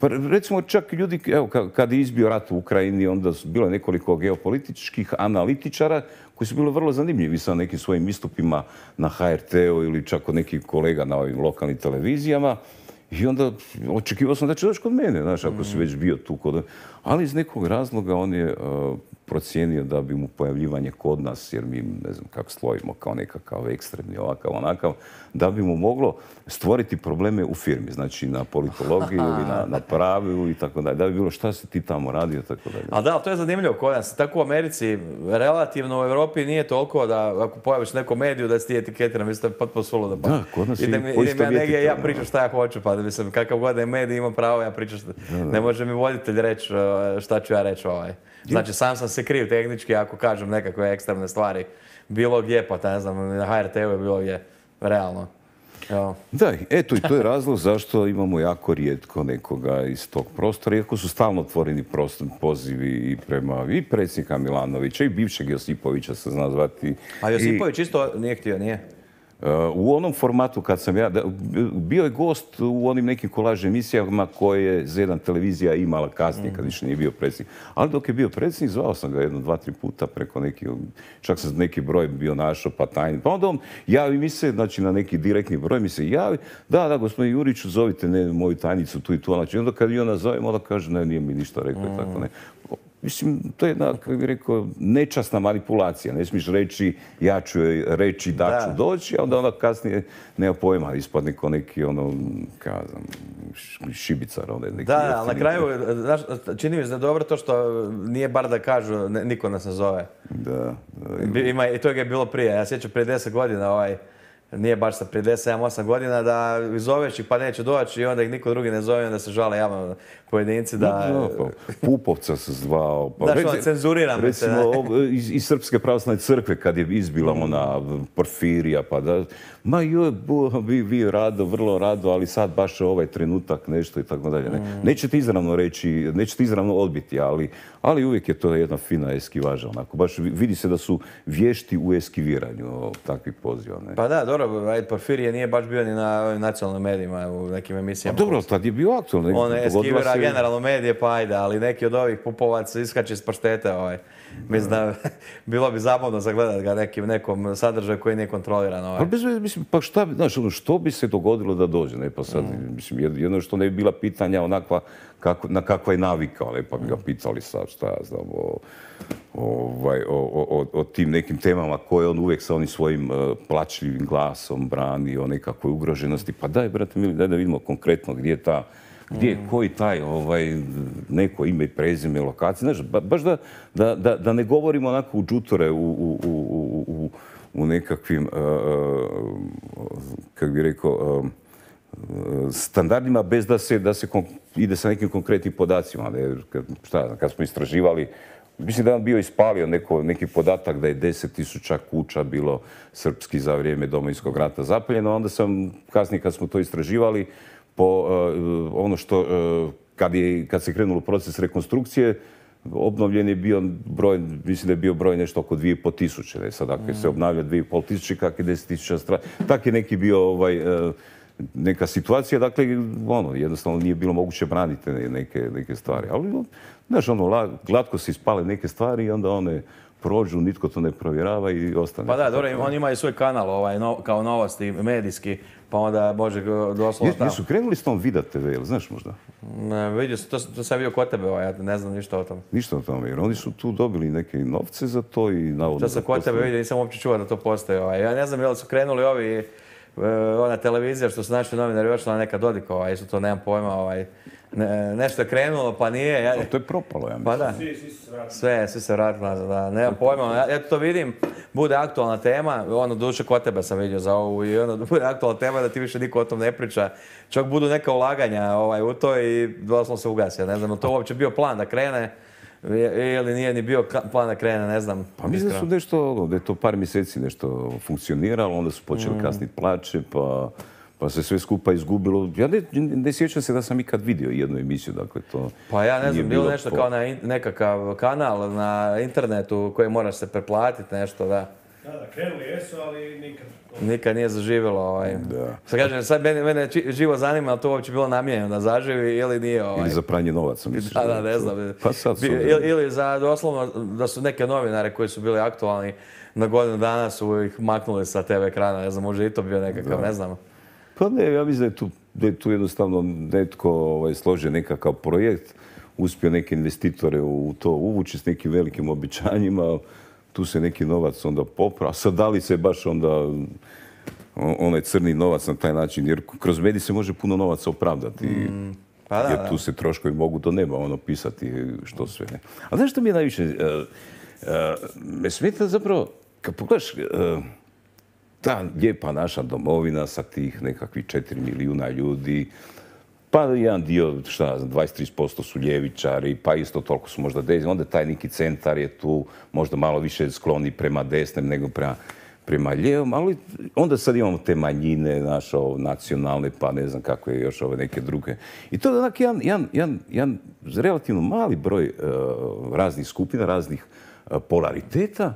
Pa recimo čak ljudi, evo, ka- kad je izbio rat u Ukrajini, onda su bilo je nekoliko geopolitičkih analitičara koji su bili vrlo zanimljivi sa nekim svojim istupima na ha er te-u ili čak od nekih kolega na ovim lokalnim televizijama. I onda očekivao sam da će doći kod mene, znaš, ako si već bio tu kod... Ali iz nekog razloga on je uh, procijenio da bi mu pojavljivanje kod nas, jer mi, ne znam kako slovimo, kao nekakav ekstremni, ovakav, onakav, da bi mu moglo stvoriti probleme u firmi, znači na politologiji ili na, na pravu i tako dalje. Da bi bilo šta si ti tamo radio, tako dalje. Ali da, ali to je zanimljivo kod nas. Tako u Americi, relativno u Europi nije toliko da ako pojaviš neku mediju da si ti etiketiran, mislim da je potpuno suludo. Pa. Da, kod nas je idem, idem ja poistovjetiti negdje, ja to, pričam šta ja hoću, pa mislim, kakav god je medij ima pravo, ja pričam šta... Ne može mi voditelj reći uh, šta ću ja reći ovaj. Znači, sam sam se kriv tehnički ako kažem nekakve ekstremne stvari. Bilo gdje, pa ne znam, na ha er te-u je bilo gdje, realno. Evo. Da, eto i to je razlog zašto imamo jako rijetko nekoga iz tog prostora, iako su stalno otvoreni prostor, pozivi i prema i predsjednika Milanovića i bivšeg Josipovića se zna zvati. A Josipović isto nije htio, nije? Uh, u onom formatu kad sam ja, da, bio je gost u onim nekim kolaž emisijama koje je Z jedan televizija imala kasnije kad više nije bio predsjednik. Ali dok je bio predsjednik, zvao sam ga jedno, dva, tri puta preko neki, čak sam neki broj bio našao pa tajni. Pa onda on javi mi se, znači na neki direktni broj mi se javi, da, da, gospodin Juriću, zovite ne, moju tajnicu tu i tu. Znači onda kad ju ona zovem, onda kaže, ne, nije mi ništa rekao i tako ne. Mislim, to je jedna, kako bih rekao, nečasna manipulacija. Ne smiješ reći, ja ću joj reći da ću doći, a onda ona kasnije nema pojma, ispadne ko neki, ono, kazam, šibicar. Onda neki da, ali na kraju, znaš, čini mi se da je dobro to što nije bar da kažu, ne, niko nas ne zove. Da. da ima, I to je bilo prije. Ja sjećam prije deset godina, ovaj, nije baš sa prije deset, sedam, osam godina, da zoveš ih pa neće doći i onda ih niko drugi ne zove, onda se žale javno pojedinci da... Da, pa, Pupovca se zvao. Pa, da, što cenzuriram. Recimo, se, iz, iz Srpske pravoslavne crkve kad je izbila mm. ona Porfirija, pa da... Ma joj, vi, vi rado, vrlo rado, ali sad baš ovaj trenutak nešto i tako dalje. Ne. Mm. Nećete izravno reći, nećete izravno odbiti, ali, ali uvijek je to jedna fina eskivaža. Onako. Baš vidi se da su vješti u eskiviranju takvih poziva. Ne. Pa da, dobro, ajde, Porfirije nije baš bio ni na nacionalnim medijima, u nekim emisijama. A dobro, tad je bio aktualno. On je eskivira se... generalno medije, pa ajde, ali neki od ovih Pupovaca iskače iz paštete. Ovaj. Mislim da bilo bi zabavno zagledati ga nekim, nekom sadržaju koji nije kontroliran. Ovaj. Ali bez veze, mislim, pa šta, znaš, ono, što bi se dogodilo da dođe, ne, pa sad, mm. mislim, jedno što ne bi bila pitanja onakva, kako, na kakva je navikao, ne, pa bi ga pitali sad, šta ja znam, o, ovaj, o, o, o tim nekim temama koje on uvijek sa onim svojim uh, plačljivim glasom brani, o nekakvoj ugroženosti, pa daj, brate mili, daj da vidimo konkretno gdje je ta, gdje je koji taj ovaj, neko ime i prezime, lokacije, znaš, ba, baš da, da, da, da ne govorimo onako u džutore, u, u, u, u, u nekakvim, uh, kako bih rekao, uh, standardima bez da se, da se kon, ide sa nekim konkretnim podacima. Ne, kad, šta, kad smo istraživali, mislim da je on bio ispalio neko, neki podatak da je deset tisuća kuća bilo srpski za vrijeme Domovinskog rata zapaljeno. Onda sam, kasnije kad smo to istraživali, po uh, ono što, uh, kad, je, kad se krenulo proces rekonstrukcije, obnovljen je bio broj, mislim da je bio broj nešto oko dvije i pol tisuće. Ne? Sad, ako se obnavlja dvije i pol tisuće, kak je deset tisuća strana. Tak je neki bio ovaj, uh, neka situacija, dakle, ono, jednostavno nije bilo moguće braniti neke, neke stvari. Ali, znaš, ono, glatko se ispale neke stvari i onda one prođu, nitko to ne provjerava i ostane. Pa da, dobro, on ima i svoj kanal ovaj, no, kao novosti, medijski, pa onda može doslovno tamo. Jesu krenuli s tom Vida te ve, jel znaš možda? Ne, vidio sam, to, to sam vidio kod tebe, ovaj, ja ne znam ništa o tom. Ništa o tome, jer oni su tu dobili neke novce za to i navodno... To sam kod tebe vidio, nisam uopće čuo da to postoji. Ovaj. Ja ne znam, jel su krenuli ovi, ona televizija što su naši novinari ošla na neka Dodikova, ovaj, su to, nemam pojma, ovaj. Ne, nešto je krenulo, pa nije. Ja... To je propalo, ja mislim. Pa da. Svi, svi se vratili. Sve, svi se vratili, da, nemam pojma. Ja, ja to vidim, bude aktualna tema, ono, duše kod tebe sam vidio za ovu i ono, bude aktualna tema da ti više niko o tom ne priča. Čak budu neka ulaganja ovaj, u to i doslovno se ugasi. Ne znam, to uopće bio plan da krene. ili nije ni bio plan da krene, ne znam. Pa mislim da su nešto, da je to par mjeseci nešto funkcioniralo, onda su počeli mm. kasniti plaće, pa, pa se sve skupa izgubilo. Ja ne, ne sjećam se da sam ikad vidio jednu emisiju, dakle to Pa ja ne znam, bilo, bilo nešto po... kao na in, nekakav kanal na internetu koji moraš se preplatiti, nešto, da. Da, da, krenuli jesu, ali nikad. Nikad nije zaživjelo. Ovaj. Da. Sad kažem, sad mene, mene živo zanima, ali to uopće bilo namijenjeno da zaživi ili nije. Ovaj. Ili za pranje novaca, misliš? Da, da, ne znam. Pa sad su... ili, ili za doslovno da su neke novinare koji su bili aktualni na godinu dana su ih maknuli sa te ve ekrana, ne znam, može i to bio nekakav, da. Ne znam. Pa ne, ja mislim da je tu, da je tu jednostavno netko ovaj, složio nekakav projekt, uspio neke investitore u to uvući s nekim velikim obećanjima, tu se neki novac onda popra, a sad da li se baš onda onaj crni novac na taj način, jer kroz medij se može puno novaca opravdati. Mm, pa da, jer tu se troškovi mogu do neba ono pisati što sve ne. A znaš što mi je najviše? Uh, uh, me smeta zapravo, kad pogledaš, uh, ta lijepa naša domovina sa tih nekakvih četiri milijuna ljudi, pa jedan dio, šta znam, dvadeset do trideset posto su ljevičari, pa isto toliko su možda desni. Onda taj neki centar je tu možda malo više skloni prema desnem nego prema, prema lijevom, ali onda sad imamo te manjine naše nacionalne, pa ne znam kako je još ove neke druge. I to je onak jedan, jedan, jedan, jedan relativno mali broj uh, raznih skupina, raznih uh, polariteta.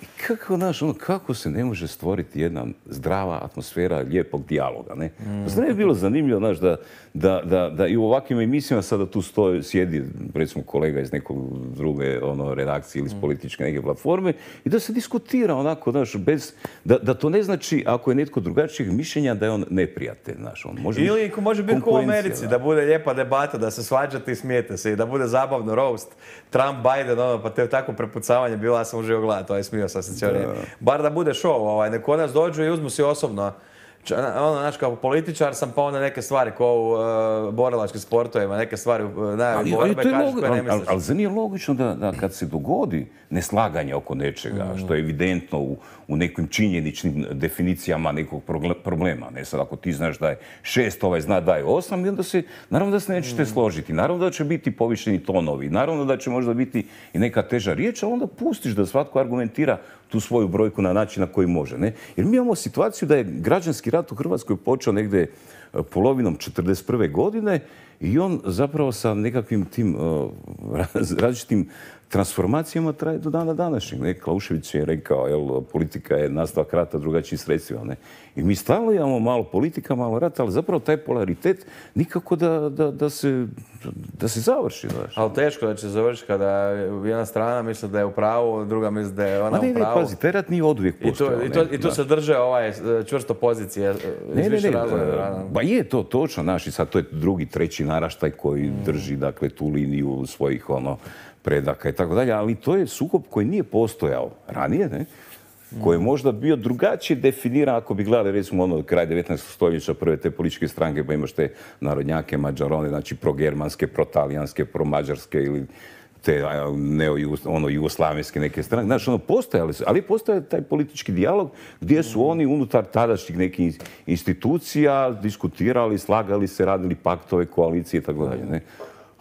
I kako, znaš, ono, kako se ne može stvoriti jedna zdrava atmosfera lijepog dijaloga, ne? Mm. Zar ne bi bilo zanimljivo, znaš, da, da, da, da i u ovakvim emisijama sada tu stoji, sjedi, recimo, kolega iz nekog druge ono, redakcije ili iz političke neke platforme i da se diskutira onako, znaš, bez, da, da to ne znači, ako je netko drugačijeg mišljenja, da je on neprijatelj, znaš, on može ili biti može biti kao u Americi, da bude lijepa debata, da se svađate i smijete se i da bude zabavno roast, Trump, Biden, ono, pa te tako prepucavanje bilo, ja sam užio gledati, ovaj smio sam se cijelo vrijeme. Bar da bude show, ovaj, neko nas dođu i uzmu si osobno. Ono, znaš, kao političar sam, pa onda neke stvari, kao u uh, borilačkim sportovima, neke stvari u najavi borbe, kažeš koje ne misliš. Ali, ali zar nije logično da, da kad se dogodi neslaganje oko nečega, mm. što je evidentno u, u nekim činjeničnim definicijama nekog problema, ne sad ako ti znaš da je šest, ovaj zna da je osam, i onda se, naravno da se nećete mm. složiti, naravno da će biti povišeni tonovi, naravno da će možda biti i neka teža riječ, ali onda pustiš da svatko argumentira tu svoju brojku na način na koji može. Ne? Jer mi imamo situaciju da je građanski rat u Hrvatskoj počeo negdje polovinom četrdeset prve godine i on zapravo sa nekakvim tim uh, različitim transformacijama traje do dana današnjeg. Ne? Klaušević je rekao, jel, politika je nastavak rata drugačijim sredstvima. Ne? I mi stalno imamo malo politika, malo rata, ali zapravo taj polaritet nikako da, da, da, se, da se završi. Znaš. Ali teško da će završiti kada jedna strana misli da je u pravu, druga misli da je ona ne, u pravu. Ne, pazi, taj rat nije oduvijek postojao. I tu, i tu, i tu se drže ovaj čvrsto pozicije iz ne, više ne, ne, razloga. Ba je to točno, naš, i sad to je drugi, treći naraštaj koji mm. drži, dakle, tu liniju svojih, ono, predaka i tako dalje, ali to je sukob koji nije postojao ranije, ne? Koji je možda bio drugačije definiran ako bi gledali, recimo, ono, kraj devetnaestog stoljeća, prve te političke stranke, pa imaš te narodnjake, mađarone, znači progermanske, protalijanske, promađarske ili te neo, ono, jugoslavenske neke stranke. Znači, ono, postojali su, ali postoje taj politički dijalog gdje su oni unutar tadašnjih nekih institucija diskutirali, slagali se, radili paktove, koalicije i tako dalje, ne?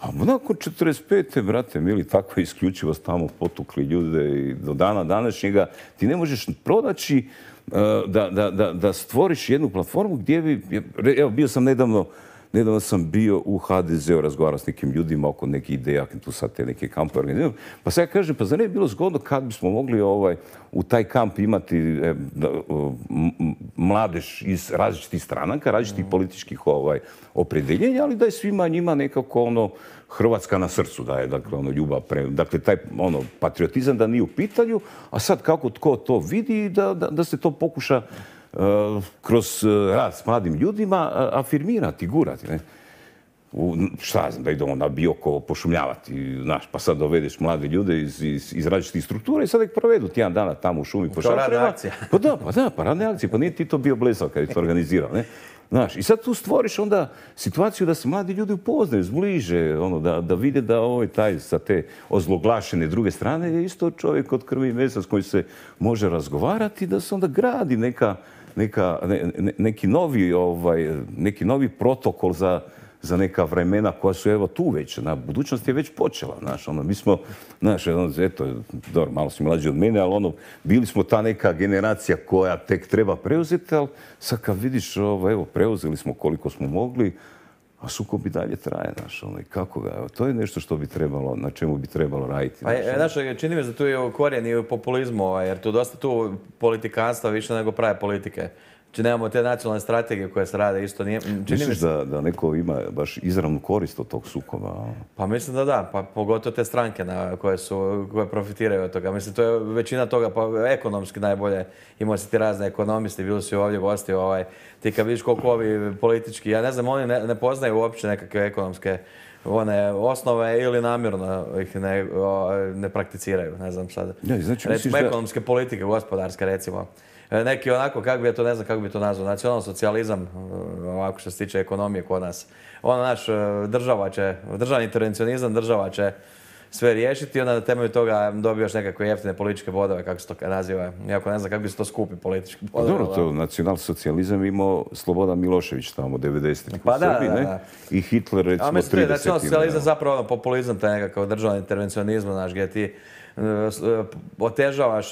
A nakon četrdeset pete brate mili, takva isključivost tamo potukli ljude i do dana današnjega ti ne možeš pronaći uh, da, da, da, da stvoriš jednu platformu gdje bi, evo, bio sam nedavno, nedavno sam bio u ha de zeu, razgovarao s nekim ljudima oko nekih ideja, tu sad te neke kampe organiziramo. Pa sad ja kažem, pa zar ne bi bilo zgodno kad bismo mogli ovaj, u taj kamp imati eh, mladež iz različitih stranaka, različitih mm. političkih ovaj, opredjeljenja, ali da je svima njima nekako ono Hrvatska na srcu, da je dakle, ono, ljubav, pre, dakle taj ono, patriotizam da nije u pitanju, a sad kako tko to vidi, da, da, da se to pokuša uh, kroz uh, rad s mladim ljudima uh, afirmirati, gurati. Ne? U, šta znam, da idemo na Bioko pošumljavati, znaš, pa sad dovedeš mlade ljude iz, iz, iz različitih struktura i sad ih provedu tjedan dana tamo u šumi po šatrema. Radna akcija. Pa da, pa da, pa radne akcije, pa nije ti to bio blesav kad je to organizirao, ne? Znaš, i sad tu stvoriš onda situaciju da se mladi ljudi upoznaju, zbliže, ono, da, da vide da ovaj taj sa te ozloglašene druge strane je isto čovjek od krvi i mesa s kojim se može razgovarati, da se onda gradi neka, neka, ne, ne, neki, novi, ovaj, neki novi protokol za, za neka vremena koja su evo tu već, na budućnost je već počela, znaš, ono, mi smo, znaš, ono, eto, dobro, malo si mlađi od mene, ali ono, bili smo ta neka generacija koja tek treba preuzeti, ali sad kad vidiš, ovo, evo, preuzeli smo koliko smo mogli, a sukob i dalje traje, znaš, ono, i kako ga, evo, to je nešto što bi trebalo, na čemu bi trebalo raditi. Pa, znaš, čini mi se da tu je korijen i u populizmu, ovaj, jer tu dosta tu politikanstva više nego prave politike. Znači nemamo te nacionalne strategije koje se rade isto. Nije, čini Misliš mi se... da, da neko ima baš izravnu korist od tog sukoba? Pa mislim da da, pa pogotovo te stranke na, koje, su, koje profitiraju od toga. Mislim, to je većina toga, pa ekonomski najbolje. Imao si ti razne ekonomisti, bili su ovdje gosti, ovaj, ti kad vidiš koliko ovi politički, ja ne znam, oni ne, ne poznaju uopće nekakve ekonomske one osnove ili namjerno ih ne, o, ne prakticiraju, ne znam sad. Ja, znači, recimo da... ekonomske politike, gospodarske recimo. Neki onako, kako bi to, ne znam kako bi to nazvao, nacionalno socijalizam, ovako što se tiče ekonomije kod nas. Ono naš, država će, državni intervencionizam, država će sve riješiti i onda na temelju toga dobijaš nekakve jeftine političke bodove, kako se to naziva. Iako ne znam kako bi se to skupi politički bodovi. Dobro, to nacionalsocijalizam imao Slobodan Milošević tamo devedesetih pa u Srbiji, da, da, ne? da. I Hitler recimo tridesetih. A mislim, to je nacionalsocijalizam ne? zapravo ono, populizam, taj nekakav državni intervencionizam, znaš, gdje ti otežavaš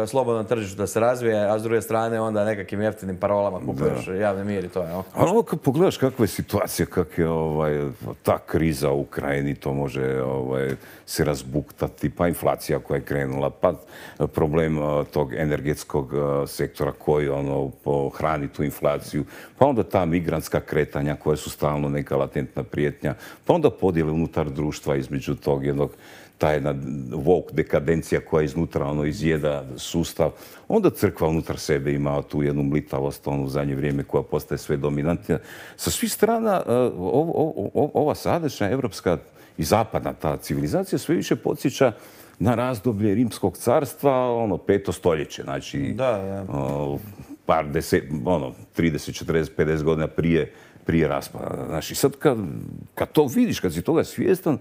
slobodno tržište da se razvije, a s druge strane onda nekakvim jeftinim parolama kupuješ javni mir i to je. No? Ali ovo kad pogledaš kakva je situacija, kak je ovaj, ta kriza u Ukrajini, to može ovaj, se razbuktati, pa inflacija koja je krenula, pa problem uh, tog energetskog uh, sektora koji ono, hrani tu inflaciju, pa onda ta migrantska kretanja koja su stalno neka latentna prijetnja, pa onda podjele unutar društva između tog jednog ta jedna woke dekadencija koja iznutra ono, izjeda sustav. Onda crkva unutar sebe ima tu jednu mlitavost ono, u zadnje vrijeme koja postaje sve dominantnija. Sa svih strana ov, ov, ov, ova sadašnja evropska i zapadna ta civilizacija sve više podsjeća na razdoblje Rimskog carstva, ono, peto stoljeće. Znači, da, da. O, par deset, ono, trideset, četrdeset, pedeset godina prije prije raspada. Znači, sad kad, kad to vidiš, kad si toga svjestan,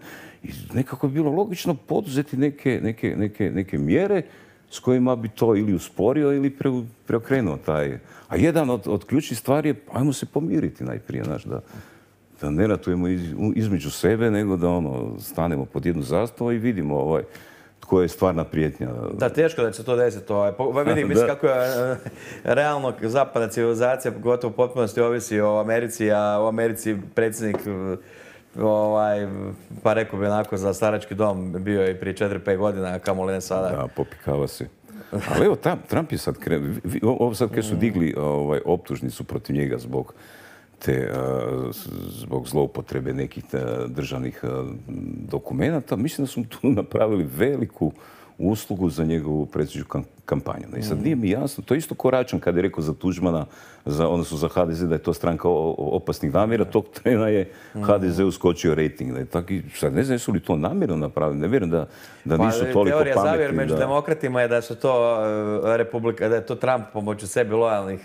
nekako bi bilo logično poduzeti neke, neke, neke, neke mjere s kojima bi to ili usporio ili pre, preokrenuo taj. A jedan od, od ključnih stvari je, ajmo se pomiriti najprije, znaš, da, da ne ratujemo iz, između sebe, nego da ono, stanemo pod jednu zastavu i vidimo ovaj, tko je stvarna prijetnja. Da, teško da će se to desiti. Ovaj. Vidim, mislim kako je realno zapadna civilizacija, gotovo u potpunosti ovisi o Americi, a u Americi predsjednik, ovaj, pa rekao bi onako za starački dom, bio i prije četiri pet godina, a kamoli ne sada. Da, popikava se. Ali evo, Trump je sad krenuo, ovo sad kad su digli ovaj, optužnicu protiv njega zbog te, zbog zloupotrebe nekih državnih dokumenata, mislim da su tu napravili veliku uslugu za njegovu predsjedničku kampanju. I sad nije mi jasno, to je isto ko Račan kad je rekao za Tuđmana, za, odnosno za ha de ze da je to stranka opasnih namjera, tog trena je ha de ze uskočio rejting. Taki, sad ne znam jesu li to namjerno napravili, ne vjerujem da, da nisu pa, toliko pametni. Teorija zavjer među da... demokratima je da su to republika, da je to Trump pomoću sebi lojalnih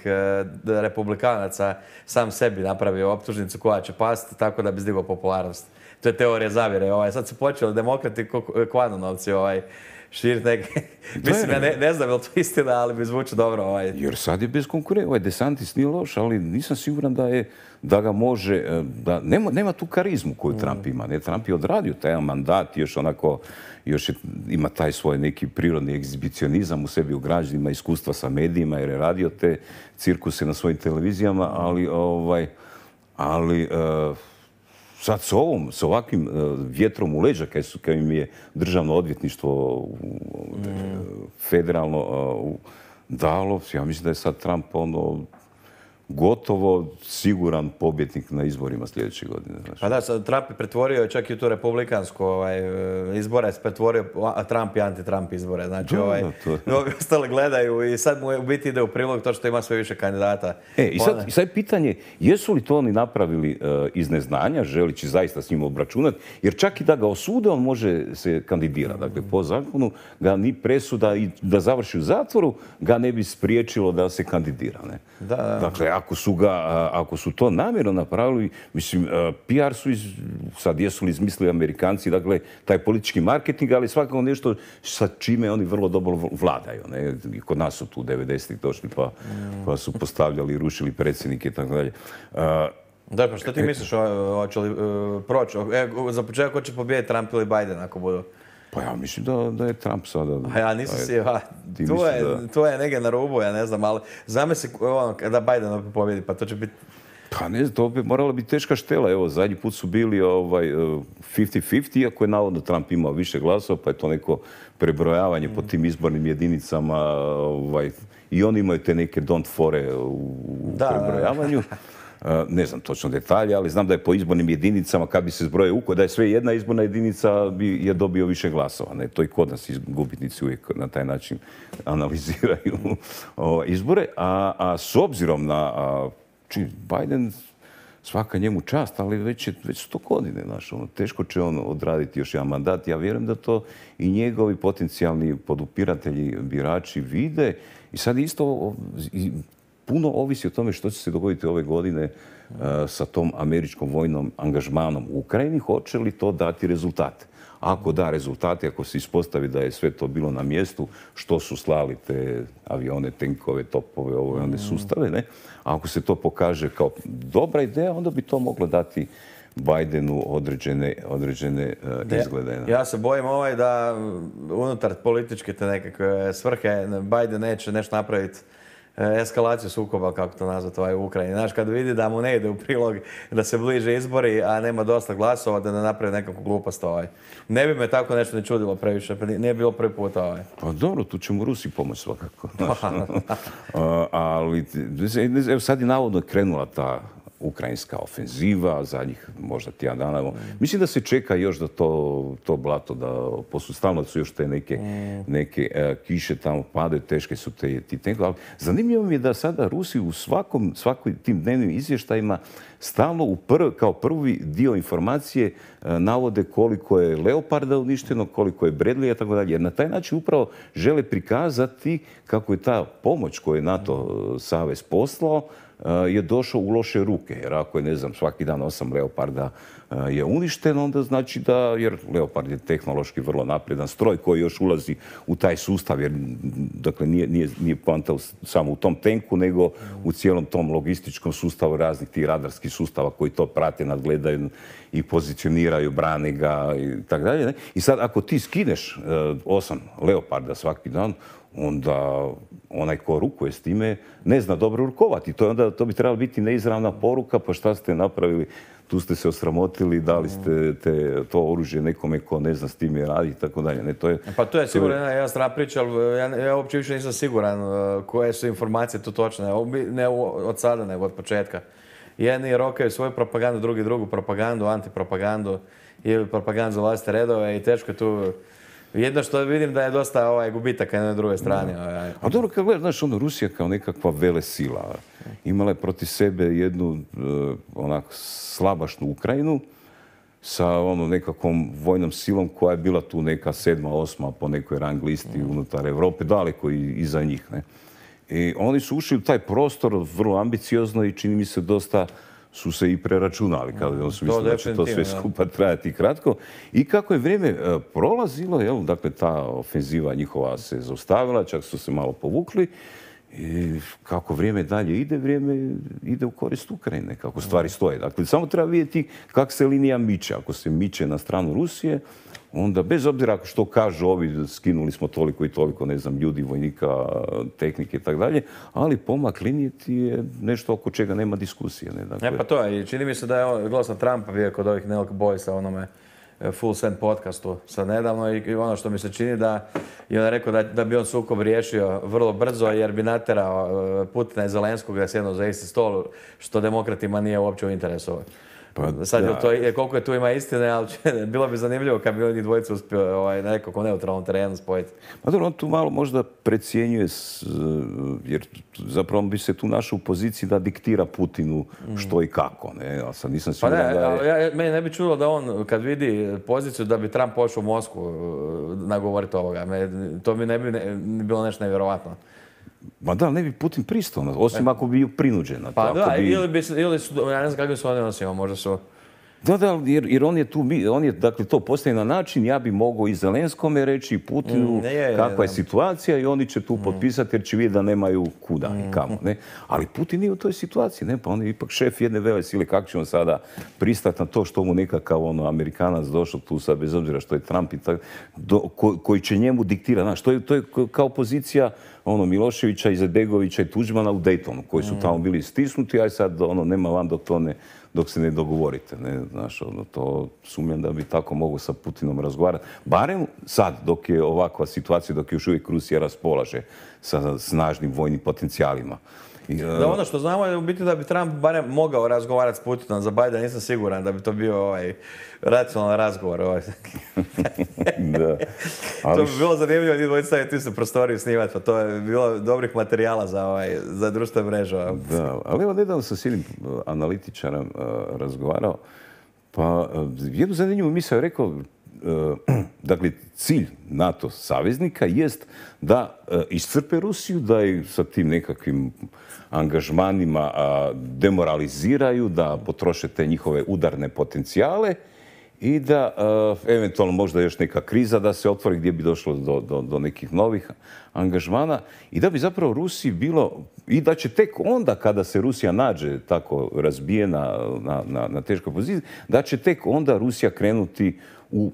republikanaca sam sebi napravio optužnicu koja će pasti tako da bi zdigao popularnost. To je teorija zavjere. Ovaj. Sad su počeli demokrati kvanunovci ovaj, širiti neke... Mislim, ja ne, ne znam je li to istina, ali mi zvuči dobro. Ovaj. Jer sad je bez konkurencije. Ovaj DeSantis nije loš, ali nisam siguran da, je, da ga može... Da, nema, nema tu karizmu koju mm. Trump ima. Ne, Trump je odradio taj mandat, još onako... Još je, ima taj svoj neki prirodni egzibicionizam u sebi ugrađen, ima iskustva sa medijima jer je radio te cirkuse na svojim televizijama, ali... Ovaj, ali uh, sad s ovom, s ovakvim uh, vjetrom u leđa, kad, su, kad im je državno odvjetništvo uh, mm. federalno uh, dalo, ja mislim da je sad Trump ono, gotovo siguran pobjednik na izborima sljedeće godine. Znači. Pa da, sad Trump je pretvorio čak i u tu republikansku ovaj, izbore, pretvorio Trump i anti-Trump izbore. Znači, da, ovaj, mnogi ostali gledaju i sad mu u biti ide u prilog to što ima sve više kandidata. E, i sad, i sad pitanje, jesu li to oni napravili uh, iz neznanja, želići zaista s njim obračunati, jer čak i da ga osude, on može se kandidirati. Dakle, po zakonu ga ni presuda i da završi u zatvoru, ga ne bi spriječilo da se kandidira. Ne? Da, da. Dakle, ako su, ga, ako su to namjerno napravili, mislim, P R su iz, sad jesu li izmislili Amerikanci, dakle, taj politički marketing, ali svakako nešto sa čime oni vrlo dobro vladaju. Ne? I kod nas su tu devedesetih došli pa, pa su postavljali i rušili predsjednike i tako dalje. Da, pa što ti misliš, hoće li uh, proći? E, za početak hoće pobijediti Trump ili Biden ako budu? Pa ja mislim da, da je Trump sada... A ja nisam si, a, Ti to, misliš je, da- to je negdje na rubu, ja ne znam, ali zamisli ono, da Biden opet pobjedi, pa to će biti... Pa ne znam, to bi morala biti teška štela. Evo, zadnji put su bili ovaj, fifty fifty, iako je navodno Trump imao više glasova, pa je to neko prebrojavanje po tim izbornim jedinicama. Ovaj, I oni imaju te neke don't fore u Da, prebrojavanju. E, Ne znam točno detalje, ali znam da je po izbornim jedinicama, kad bi se zbroje uko, da je sve jedna izborna jedinica bi je dobio više glasova. Ne? To i kod nas iz- gubitnici uvijek na taj način analiziraju o, izbore. A, a s obzirom na a, či, Biden, svaka njemu čast, ali već, je, već sto godine, znaš, ono, teško će on odraditi još jedan mandat. Ja vjerujem da to i njegovi potencijalni podupiratelji, birači vide. I sad isto o, i, puno ovisi o tome što će se dogoditi ove godine e, sa tom američkom vojnom angažmanom u Ukrajini. Hoće li to dati rezultate? Ako da rezultate, ako se ispostavi da je sve to bilo na mjestu, što su slali te avione, tenkove, topove, ove one sustave, ne? A ako se to pokaže kao dobra ideja, onda bi to moglo dati Bidenu određene, određene e, izglede. ne? Ja se bojim ovaj da unutar političke te nekakve svrhe Biden neće nešto napraviti e, eskalaciju sukoba, kako to nazvati, ovaj, u Ukrajini. Znaš, kad vidi da mu ne ide u prilog da se bliže izbori, a nema dosta glasova, da ne napravi nekakvu glupost. Ovaj. Ne bi me tako nešto ne čudilo previše, pa nije bilo prvi put. Ovaj. Pa dobro, tu će mu Rusi pomoći svakako. znaš, ono. A, ali, evo sad je navodno krenula ta ukrajinska ofenziva, zadnjih možda tjedan dana. Evo. Mislim da se čeka još da to, to blato, da poslije stalno su još te neke, neke e, kiše tamo padaju, teške su te, ti tenkovi. Ali zanimljivo mi je da sada Rusi u svakom, svakom tim dnevnim izvještajima stalno u prv, kao prvi dio informacije e, navode koliko je Leoparda uništeno, koliko je Bradleya, tako dalje. Jer na taj način upravo žele prikazati kako je ta pomoć koju je NATO savez poslao je došao u loše ruke. Jer ako je, ne znam, svaki dan osam Leoparda je uništeno, onda znači da, jer Leopard je tehnološki vrlo napredan stroj koji još ulazi u taj sustav, jer dakle nije, nije, nije poanta samo u tom tenku, nego u cijelom tom logističkom sustavu raznih tih radarskih sustava koji to prate, nadgledaju i pozicioniraju, brane ga i tako dalje. ne? I sad ako ti skineš osam Leoparda svaki dan, onda onaj ko rukuje s time ne zna dobro rukovati. To, je onda, to bi trebala biti neizravna poruka, pa šta ste napravili, tu ste se osramotili, dali ste te, to oružje nekome ko ne zna s time raditi i tako dalje. Ne, to je, Pa to je sigurno jedna, jedna strana priča, ali ja, ja uopće više nisam siguran uh, koje su informacije tu točne. Obi- Ne u- od sada, nego od početka. Jedni rokaju svoju propagandu, drugi drugu propagandu, antipropagandu ili propagandu za vlastite redove i teško je tu. Jedno što vidim da je dosta ovaj, gubitaka na drugoj strani. Ovaj. A dobro, kad gledaš, znaš, ono, Rusija kao nekakva velesila imala je protiv sebe jednu uh, onako slabašnu Ukrajinu sa ono nekakvom vojnom silom koja je bila tu neka sedma, osma po nekoj rang listi unutar Europe, daleko i iza njih. Ne? I oni su ušli u taj prostor vrlo ambiciozno i čini mi se dosta su se i preračunali, kada su mislili da će to sve definitivno, skupa trajati kratko. I kako je vrijeme e, prolazilo, jel, dakle ta ofenziva njihova se zaustavila, čak su se malo povukli. I kako vrijeme dalje ide, vrijeme ide u korist Ukrajine, kako stvari stoje. Dakle, samo treba vidjeti kako se linija miče. Ako se miče na stranu Rusije, onda bez obzira što kažu ovi, skinuli smo toliko i toliko, ne znam, ljudi, vojnika, tehnike i tako dalje, ali pomak linije ti je nešto oko čega nema diskusije. Ne? Dakle, E pa to je, i čini mi se da je on, gledao sam Trumpa bio kod ovih Nelk Boysa, onome e, Full Send podcastu sad nedavno i, i ono što mi se čini da je on rekao da, da bi on sukob riješio vrlo brzo jer bi naterao e, Putina i Zelenskog da sjednu za isti stol, što demokratima nije uopće u interesu. Pa, Sad je da. to, je, koliko je tu ima istine, ali će, bilo bi zanimljivo kad bi oni dvojicu uspio ovaj, na nekakvom neutralnom terenu spojiti. Pa dobro, on tu malo možda precjenjuje, s, jer zapravo bi se tu našao u poziciji da diktira Putinu što i kako. Ne? Ja sad nisam Pa siguran ne, da je... ja, ja, meni ne bi čulo da on kad vidi poziciju da bi Trump pošao u Moskvu nagovoriti ovoga. Me, to mi ne bi ne, bilo nešto nevjerovatno. Ma da, ne bi Putin pristao, osim ako bi ju prinuđen na to. Pa ako da, bi... ili, bi, ili su, ja ne znam kakvi su oni odnosima, možda su Da, da, jer, jer on je tu, on je, dakle, to postaje na način, ja bi mogao i Zelenskome reći, i Putinu, Mm, je, je, kakva je da. situacija i oni će tu potpisati jer će vidjeti da nemaju kuda i kamo, ne. Ali Putin nije u toj situaciji, ne, pa on je ipak šef jedne vele sile, kako će on sada pristati na to što mu nekakav ono, Amerikanac došao tu sad, bez obzira što je Trump i tak, do, ko, koji će njemu diktira, znaš, to je, to je kao pozicija ono, Miloševića, Izetbegovića i Tuđmana u Daytonu, koji su tamo bili stisnuti, aj sad ono, nema van dok to ne, dok se ne dogovorite, ne, znaš, ono, to sumnjam da bi tako mogu sa Putinom razgovarati. Barem sad, dok je ovakva situacija, dok je još uvijek Rusija raspolaže sa snažnim vojnim potencijalima. I, Da, ono što znamo je u biti da bi Trump barem mogao razgovarati s Putinom. Za Bidena nisam siguran da bi to bio ovaj racionalan razgovor. Ovaj. da. To Ali bi bilo zanimljivo da dvojica staviti u prostoriju snimati, pa to je bilo dobrih materijala za, ovaj, za društvene mreže. Da, ali evo nedavno sam s jednim uh, analitičarom uh, razgovarao, pa uh, jednu zanimljivu misao je rekao, uh, dakle, cilj NATO saveznika jest da uh, iscrpe Rusiju, da ih sa tim nekakvim angažmanima uh, demoraliziraju, da potroše te njihove udarne potencijale i da uh, eventualno možda još neka kriza da se otvori gdje bi došlo do, do, do nekih novih angažmana i da bi zapravo Rusiji bilo i da će tek onda kada se Rusija nađe tako razbijena na, na, na teškoj poziciji, da će tek onda Rusija krenuti u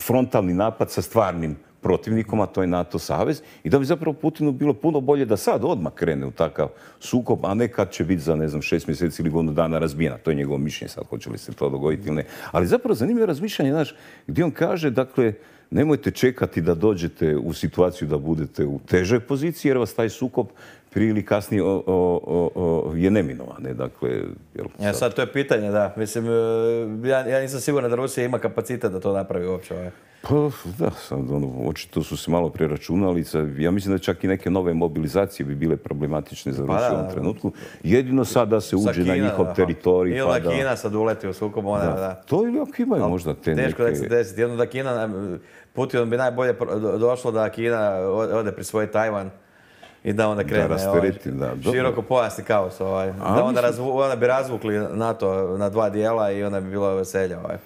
frontalni napad sa stvarnim protivnikom, a to je NATO savez, i da bi zapravo Putinu bilo puno bolje da sad odmah krene u takav sukob, a ne kad će biti za, ne znam, šest mjeseci ili godinu dana razbijena. To je njegovo mišljenje sad, hoće li se to dogoditi ili ne. Ali zapravo zanimljivo razmišljanje, znaš, gdje on kaže, dakle, nemojte čekati da dođete u situaciju da budete u težoj poziciji, jer vas taj sukob prije ili kasnije o, o, o, je neminovan. Ne? Dakle, jel, sad... Ja, sad to je pitanje, da. Mislim, ja, ja nisam siguran da Rusija ima kapacitet da to napravi uopće. Ovaj. Pa da, sad, ono, očito su se malo preračunali. Ja mislim da čak i neke nove mobilizacije bi bile problematične za Rusiju u ovom trenutku. Jedino sad da se uđe Kina, na njihov da, teritorij. Ili pa da Kina sad uleti u sukob. Ona, da. Da. To ili ako imaju ali možda te teško neke... da se desiti. Jedno da Kina, Putin bi najbolje došlo da Kina ode pri svoj Tajvan i da onda krene da ovaj, da, široko pojasni kaos. Ovaj. Da onda, razvu, onda bi razvukli NATO na dva dijela i onda bi bilo veselje. Ovaj.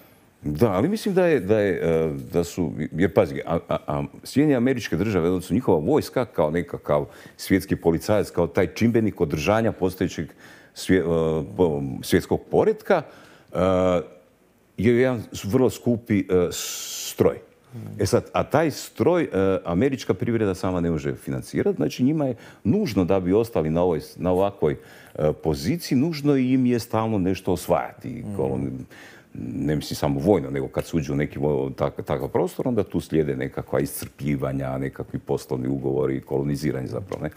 Da, ali mislim da je, da je, da su, jer pazi, a, a, a Sjedinjene Američke Države, odnosno njihova vojska kao nekakav svjetski policajac, kao taj čimbenik održanja postojećeg svje, svjetskog poretka, je jedan vrlo skupi stroj. E sad, a taj stroj američka privreda sama ne može financirati, znači njima je nužno da bi ostali na, ovoj, na ovakvoj poziciji, nužno im je stalno nešto osvajati. Mm. Ne mislim samo vojno, nego kad se uđe u neki tak, takav prostor, onda tu slijede nekakva iscrpljivanja, nekakvi poslovni ugovori, koloniziranje zapravo. Ne?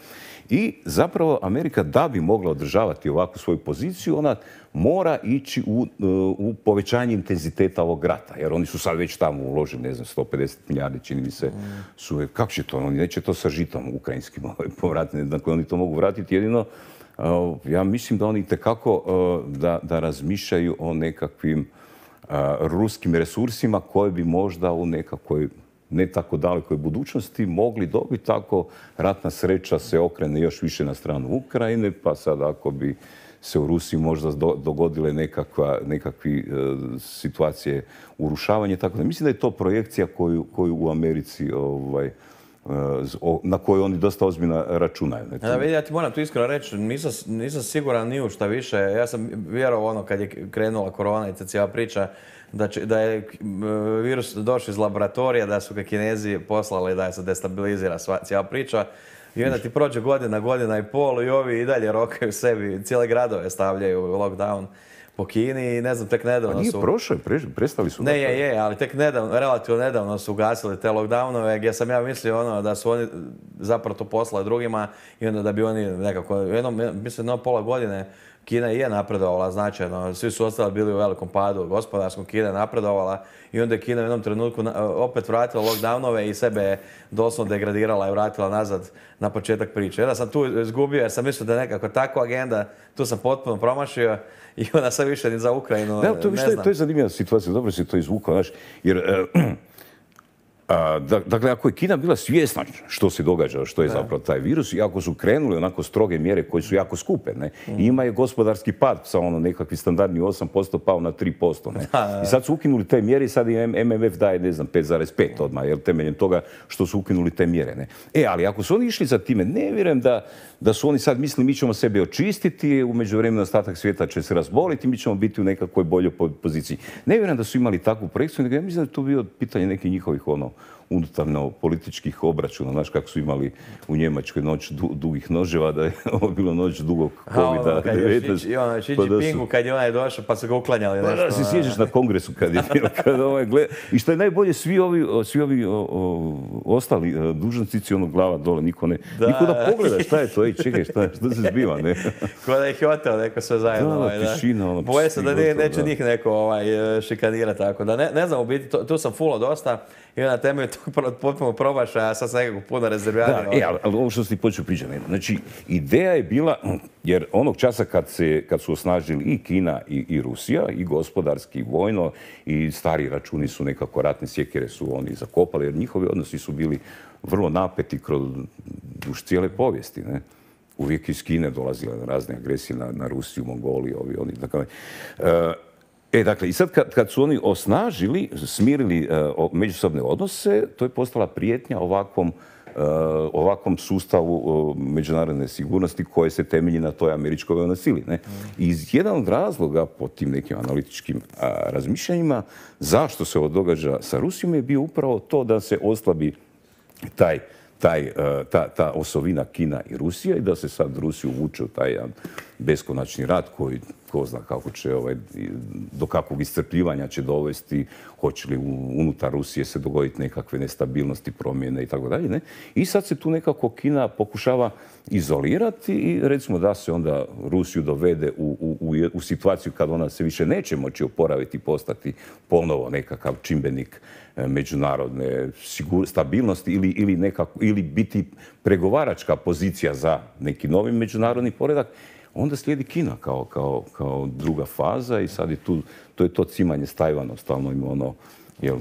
I zapravo Amerika, da bi mogla održavati ovakvu svoju poziciju, ona mora ići u, u povećanje intenziteta ovog rata. Jer oni su sad već tamo uložili, ne znam, sto pedeset milijardi, čini mi se, su, kako će to? Oni neće to sa žitom ukrajinskim povratiti, dakle oni to mogu vratiti jedino. Ja mislim da oni itekako da, da razmišljaju o nekakvim ruskim resursima koje bi možda u nekakvoj ne tako dalekoj budućnosti mogli dobiti tako ratna sreća se okrene još više na stranu Ukrajine, pa sad ako bi se u Rusiji možda dogodile nekakva, nekakve situacije urušavanja, tako da mislim da je to projekcija koju, koju u Americi ovaj, na koju oni dosta ozbiljno računaju. Da, vidi, ja ti moram tu iskreno reći, nisam, nisam siguran ni u šta više. Ja sam vjerovao ono kad je krenula korona i cijela priča da, će, da je virus došao iz laboratorija, da su ga Kinezi poslali da se destabilizira sva, cijela priča. I onda ti prođe godina, godina i pol i ovi i dalje rokaju sebi, cijele gradove stavljaju u lockdown po Kini i ne znam, tek nedavno su... A nije prošlo, prestali su... Ne, je, je, ali tek nedavno, relativno nedavno su ugasili te lockdownove gdje sam ja mislio ono da su oni zapravo to poslali drugima i onda da bi oni nekako, jednom, mislim, jedno pola godine Kina je napredovala značajno, svi su ostali bili u velikom padu gospodarskom, Kina je napredovala i onda je Kina u jednom trenutku opet vratila lockdownove i sebe je doslovno degradirala i vratila nazad na početak priče. Onda sam tu izgubio jer sam mislio da je nekako takva agenda, tu sam potpuno promašio i onda sam više ni za Ukrajinu, da, to, ne što, znam. To je zanimljiva situacija, dobro si to izvukao, znaš, jer uh, A, dakle, ako je Kina bila svjesna što se događa, što je zapravo taj virus, i ako su krenuli onako stroge mjere koje su jako skupe, ne, mm. ima je gospodarski pad sa ono nekakvi standardni osam posto pao na tri posto. Ne. I sad su ukinuli te mjere i sad i M M F daje, ne znam, pet zarez pet odmah, jer temeljem toga što su ukinuli te mjere. Ne. E, ali ako su oni išli za time, ne vjerujem da, da su oni sad mislili mi ćemo sebe očistiti, u međuvremenu ostatak svijeta će se razboliti, mi ćemo biti u nekakvoj boljoj poziciji. Ne vjerujem da su imali takvu projekciju, nego ja mislim da je to bilo pitanje nekih njihovih ono, unutarno političkih obračuna, znaš kako su imali u Njemačkoj noć du, dugih noževa, da je ovo bilo noć dugog kovida devetnaest. I ono, Xi Jinpingu kad je onaj došao pa su ga uklanjali. Pa da, se sjećaš na kongresu kad je bilo, kad ovaj gleda. I što je najbolje, svi ovi, svi ovi o, o, ostali dužnosnici, ono glava dole, niko ne, da, niko da pogleda šta je to, ej, čekaj, šta, šta se zbiva, ne? Ko da ih je oteo neko sve zajedno. Da, ovaj, da. Tišina, ono, boje se da ne, neće njih neko ovaj, šikanirati, tako da ne, ne znam, u biti, to, tu sam fulo dosta. I na temelju tog potpuno promašaja, sad sam nekako puno rezerviranja. Da, e, ali, ali ovo što si počeo pričati, znači, ideja je bila, jer onog časa kad, se, kad su osnažili i Kina i, i Rusija, i gospodarski, i vojno, i stari računi su nekako, ratne sjekire su oni zakopali, jer njihovi odnosi su bili vrlo napeti kroz duž cijele povijesti, ne? Uvijek iz Kine dolazile razne agresije na, na Rusiju, Mongoliju, ovi, oni, tako e, E, dakle, i sad kad, kad su oni osnažili, smirili uh, međusobne odnose, to je postala prijetnja ovakvom, uh, ovakvom sustavu uh, međunarodne sigurnosti koje se temelji na toj američkoj vojnoj sili. Ne? I iz jedan od razloga, po tim nekim analitičkim uh, razmišljanjima, zašto se ovo događa sa Rusijom je bio upravo to da se oslabi taj Taj, ta, ta osovina Kina i Rusija i da se sad Rusiju vuče u taj jedan beskonačni rat koji ko zna kako će, ovaj, do kakvog iscrpljivanja će dovesti, hoće li unutar Rusije se dogoditi nekakve nestabilnosti, promjene i tako dalje. I sad se tu nekako Kina pokušava izolirati i recimo da se onda Rusiju dovede u, u, u, u situaciju kad ona se više neće moći oporaviti, postati ponovo nekakav čimbenik međunarodne sigur, stabilnosti ili, ili, nekako, ili biti pregovaračka pozicija za neki novi međunarodni poredak, onda slijedi Kina kao, kao, kao druga faza i sad je tu, to je to cimanje s Tajvanom, stalno ima ono, jel,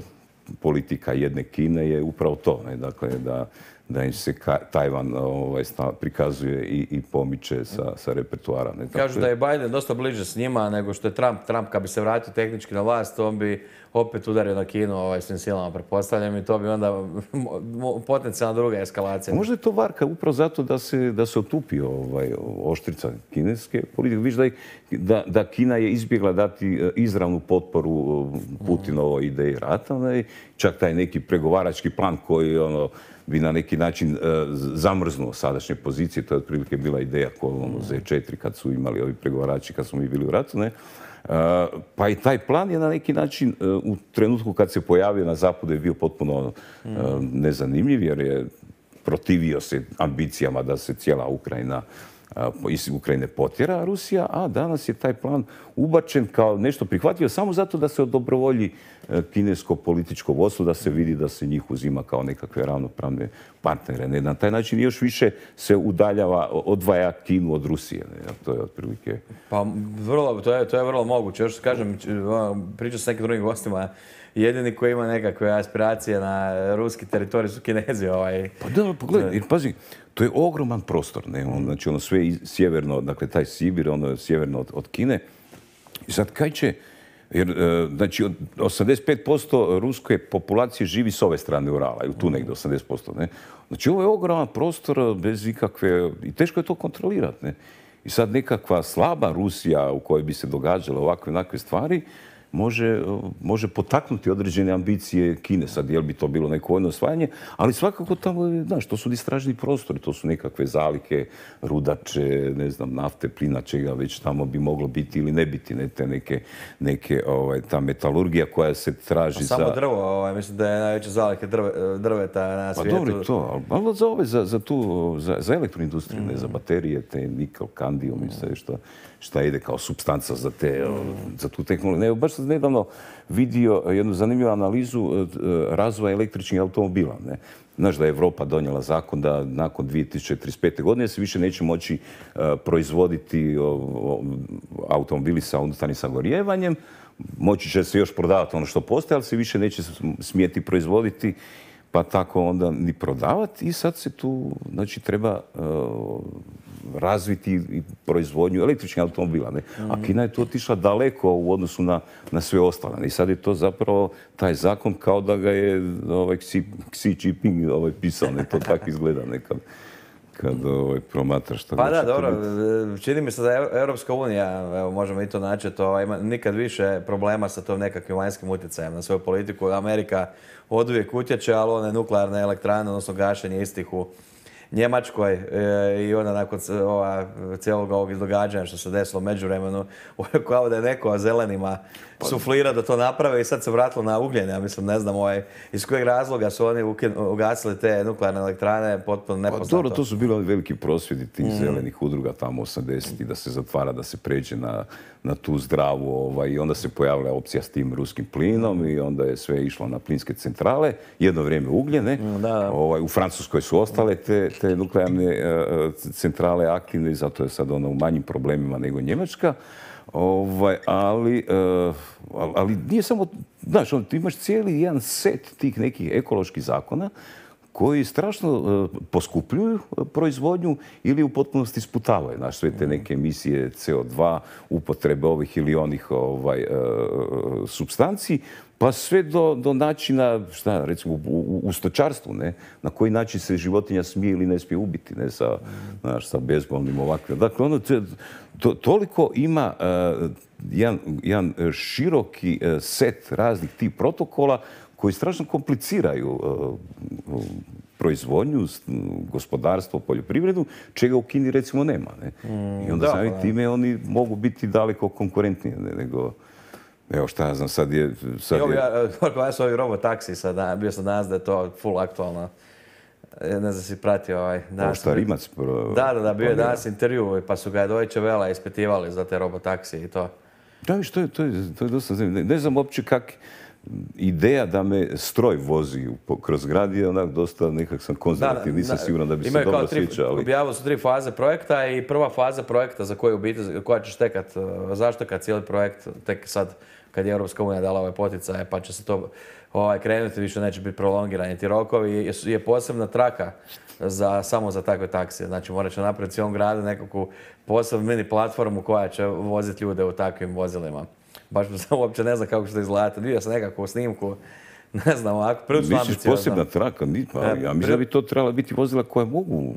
politika jedne Kine je upravo to, ne? Dakle, da, da im se ka, Tajvan ovaj, prikazuje i, i pomiče sa, sa repertoara. Ne? Kažu da je Biden dosta bliže s njima nego što je Trump. Trump kad bi se vratio tehnički na vlast, on bi opet udario na Kinu ovaj, svim silama, pretpostavljam, i to bi onda potencijalna druga eskalacija. Možda je to varka upravo zato da se, da se otupi ovaj, oštrica kineske politike. Viš da, je, da, da Kina je izbjegla dati izravnu potporu Putinovoj ideji rata, ne? Čak taj neki pregovarački plan koji ono, bi na neki način uh, zamrznuo sadašnje pozicije. To je otprilike bila ideja kod ono, Z četiri kad su imali ovi pregovarači, kad smo mi bili u ratu. Ne? Uh, pa i taj plan je na neki način uh, u trenutku kad se pojavio na zapadu je bio potpuno uh, nezanimljiv jer je protivio se ambicijama da se cijela Ukrajina iz Ukrajine potjera Rusija, a danas je taj plan ubačen kao nešto prihvatljivo samo zato da se odobrovolji kinesko političko vodstvo, da se vidi da se njih uzima kao nekakve ravnopravne partnere. Ne? Na taj način još više se udaljava, odvaja Kinu od Rusije. Ne? To je otprilike... Pa vrlo, to je, to je vrlo moguće. Još kažem, pričao s nekim drugim gostima, jedini koji ima nekakve aspiracije na ruski teritorij su Kinezi. Ovaj. Pa da, pogledaj, jer pazi, to je ogroman prostor, ne? On, znači ono sve sjeverno, dakle taj Sibir, ono sjeverno od, od Kine. I sad kaj će, jer znači osamdeset pet posto ruske populacije živi s ove strane Urala, i tu negdje osamdeset posto, ne? Znači ovo je ogroman prostor bez ikakve, i teško je to kontrolirati, ne? I sad nekakva slaba Rusija u kojoj bi se događale ovakve onakve stvari, Može, može potaknuti određene ambicije Kine. Sad, jel bi to bilo neko vojno osvajanje, ali svakako tamo, znaš, to su istražni prostori, to su nekakve zalike, rudače, ne znam, nafte, plina, čega već tamo bi moglo biti ili ne biti, ne, te neke, neke ovaj, ta metalurgija koja se traži za... Samo drvo, ovaj, mislim da je najveća zalike drve, drveta na svijetu. Pa dobro to, ali za ove, za, za tu, za, za elektroindustriju, mm. ne, za baterije, te nikel, kandijum i sve što... šta ide kao supstanca za, te, za tu tehnologiju. Ne, baš sam nedavno vidio jednu zanimljivu analizu razvoja električnih automobila. Ne? Znaš da je Evropa donijela zakon da nakon dvije tisuće trideset pete. godine se više neće moći uh, proizvoditi uh, automobili sa unutarnjim sagorijevanjem. Moći će se još prodavati ono što postoje, ali se više neće smijeti proizvoditi pa tako onda ni prodavati i sad se tu, znači, treba uh, razviti i proizvodnju električnih automobila. Ne? A Kina je tu otišla daleko u odnosu na, na sve ostale. Ne? I sad je to zapravo taj zakon kao da ga je ovaj, Xi, Xi Jinping ovaj, pisao. Ne? To tako izgleda nekad. Kad ovaj, promatraš što pa da, dobro, biti. Čini mi se da je Europska unija, evo, možemo i to naći, to ima nikad više problema sa tom nekakvim vanjskim utjecajem na svoju politiku. Amerika oduvijek utječe, ali one nuklearne elektrane, odnosno gašenje istih u Njemačkoj e, i onda nakon ova, cijelog ovog događanja što se desilo u međuvremenu, kao da je neko zelenima suflira da to naprave i sad se vratilo na ugljen. Ja mislim, ne znam ovaj, iz kojeg razloga su oni ugasili te nuklearne elektrane, potpuno nepoznato. Pa dobro, to su bili oni veliki prosvjedi tih mm. zelenih udruga tamo osamdesetih da se zatvara, da se pređe na, na tu zdravu ovaj, i onda se pojavila opcija s tim ruskim plinom i onda je sve išlo na plinske centrale, jedno vrijeme ugljene. Mm, da, da. Ovaj, u Francuskoj su ostale te, te nuklearne uh, centrale aktivne i zato je sad ona u manjim problemima nego Njemačka. Ovaj, ali, uh, ali nije samo, znaš, on, ti imaš cijeli jedan set tih nekih ekoloških zakona koji strašno uh, poskupljuju proizvodnju ili u potpunosti sputavaju, znaš, sve te neke emisije C O dva, upotrebe ovih ili onih ovaj, uh, supstanci, pa sve do, do načina, šta, recimo, u, u, u stočarstvu, ne, na koji način se životinja smije ili ne smije ubiti, ne, sa, znaš, sa bezbolnim ovakvim. Dakle, ono, to, toliko ima uh, jedan, jedan široki uh, set raznih tih protokola koji strašno kompliciraju uh, proizvodnju, gospodarstvo, poljoprivredu, čega u Kini recimo nema. Ne? Mm, I onda sami time oni mogu biti daleko konkurentniji ne, nego... Evo šta ja znam, sad je... Sad Evo, je... ja, ja su ovi robotaksi, sad, bio sam danas da je to full aktualno. Ne znam si pratio ovaj... Ovo šta Rimac... Pro... Da, da, da, bio je danas intervju, pa su ga Deutsche Welle ispitivali za te robotaksi i to. Da, viš, to je, to je, to je dosta zanimljivo. Ne, ne znam uopće kak... Ideja da me stroj vozi kroz grad je onak dosta, nekak sam konzervativ, nisam siguran da bi se dobro sviđao. Ali... Objavili su tri faze projekta i prva faza projekta za koju biti, koja ćeš tekat, zaštekat cijeli projekt, tek sad kad je Europska unija dala ove poticaje, pa će se to ovaj, krenuti, više neće biti prolongirani ti rokovi, je posebna traka za, samo za takve taksije. Znači morat će napraviti cijelom gradu nekakvu posebnu mini platformu koja će voziti ljude u takvim vozilima. Baš sam uopće ne znam kako će to izgledati. Vidio sam nekakvu snimku, ne znam, ovako, prilično ambiciozno. Misliš posebna traka? Ja mislim da bi to trebala biti vozila koje mogu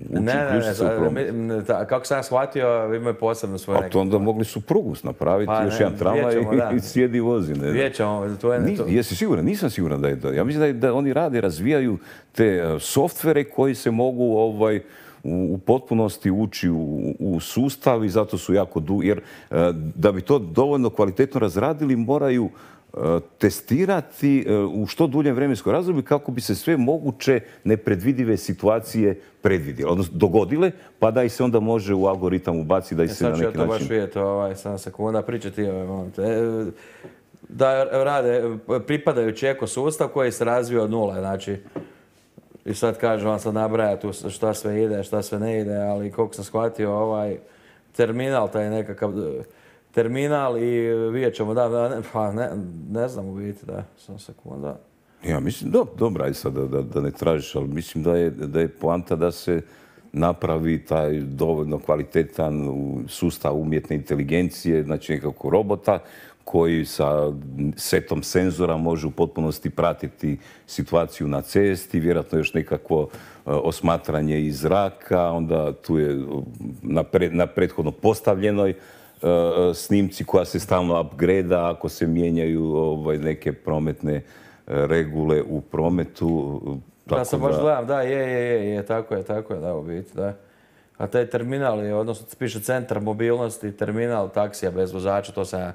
ući se u promet. Ne, ne, kako sam ja shvatio, imaju posebno svoje neke... A to onda mogli su prugu napraviti, pa, još ne, jedan tramvaj i, i sjedi i vozi. Ne, vidjet ćemo. To je, to... Jesi siguran? Nisam siguran da je to. Ja mislim da, je, da oni rade, razvijaju te uh, softvere koji se mogu ovaj, u, u potpunosti ući u, u sustav i zato su jako dugi. Jer uh, da bi to dovoljno kvalitetno razradili, moraju testirati u što duljem vremenskom razdoblju kako bi se sve moguće nepredvidive situacije predvidjele, odnosno dogodile, pa da ih se onda može u algoritam ubaciti da ih se na neki način... Sad ću ja to baš vidjeti, ovaj, sam sekunda, pričati ovaj moment. Da rade pripadajući ekosustav koji se razvio od nule, znači... I sad kaže, on sad nabraja tu šta sve ide, šta sve ne ide, ali koliko sam shvatio, ovaj terminal, taj nekakav... terminal i vidjet ćemo, da, ne, pa ne, ne znam u biti, da, sam sekunda. Ja mislim, do, dobro, aj sad da, da, da ne tražiš, ali mislim da je, da je poanta da se napravi taj dovoljno kvalitetan sustav umjetne inteligencije, znači nekako robota koji sa setom senzora može u potpunosti pratiti situaciju na cesti, vjerojatno još nekakvo uh, osmatranje iz zraka, onda tu je na, pre, na prethodno postavljenoj snimci koja se stalno upgrade-a ako se mijenjaju ovaj, neke prometne regule u prometu. Da, sam baš gledam, da, je, je, je, je, tako je, tako je, da, u biti, da. A taj terminal je, odnosno piše centar mobilnosti, terminal taksija bez vozača, to sam,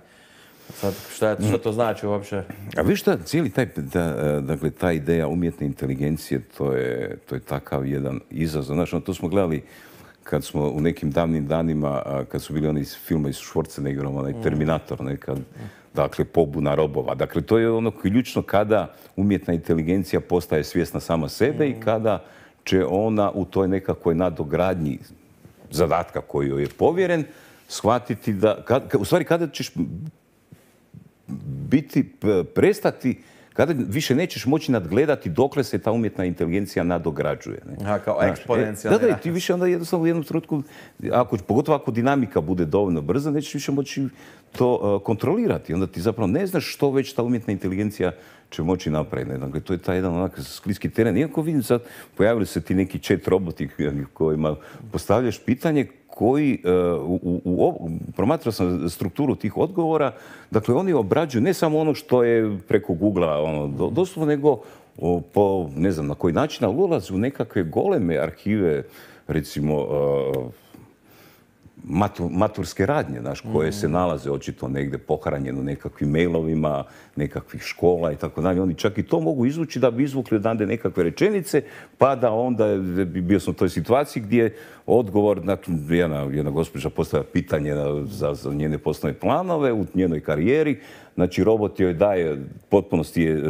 sad, šta, je, šta to znači uopće? A viš šta, cijeli taj, da, dakle, ta ideja umjetne inteligencije, to je, to je takav jedan izazov. Znači, to smo gledali kad smo u nekim davnim danima, kad su bili oni filmovi s Schwarzeneggerom, onaj Terminator, nekad, dakle, pobuna robova. Dakle, to je ono ključno kada umjetna inteligencija postaje svjesna sama sebe i kada će ona u toj nekakvoj nadogradnji zadatka koji joj je povjeren shvatiti da, kad, u stvari kada ćeš biti, prestati kada više nećeš moći nadgledati dokle se ta umjetna inteligencija nadograđuje. Ne? Aha, kao Znaš, eksponencijalni e, Da, da, rast. i ti više onda jednostavno u jednom trenutku, ako, pogotovo ako dinamika bude dovoljno brza, nećeš više moći to uh, kontrolirati. Onda ti zapravo ne znaš što već ta umjetna inteligencija će moći napraviti. Ne? Dakle, to je taj jedan onak skliski teren. Iako vidim sad, pojavili se ti neki chat roboti kojima postavljaš pitanje koji, uh, u, u, u, promatrao sam strukturu tih odgovora, dakle, oni obrađuju ne samo ono što je preko Googlea, ono, do, doslovno, nego o, po, ne znam na koji način, ali ulaze u nekakve goleme arhive, recimo, uh, Matur, maturske radnje, znaš, koje se nalaze očito negdje pohranjeno nekakvim mailovima, nekakvih škola i tako dalje. Oni čak i to mogu izvući da bi izvukli odande nekakve rečenice, pa da onda, bio sam u toj situaciji gdje odgovor, dakle, jedna, jedna gospođa postavlja pitanje za, za njene poslovne planove u njenoj karijeri. Znači, robot joj daje, potpunosti je,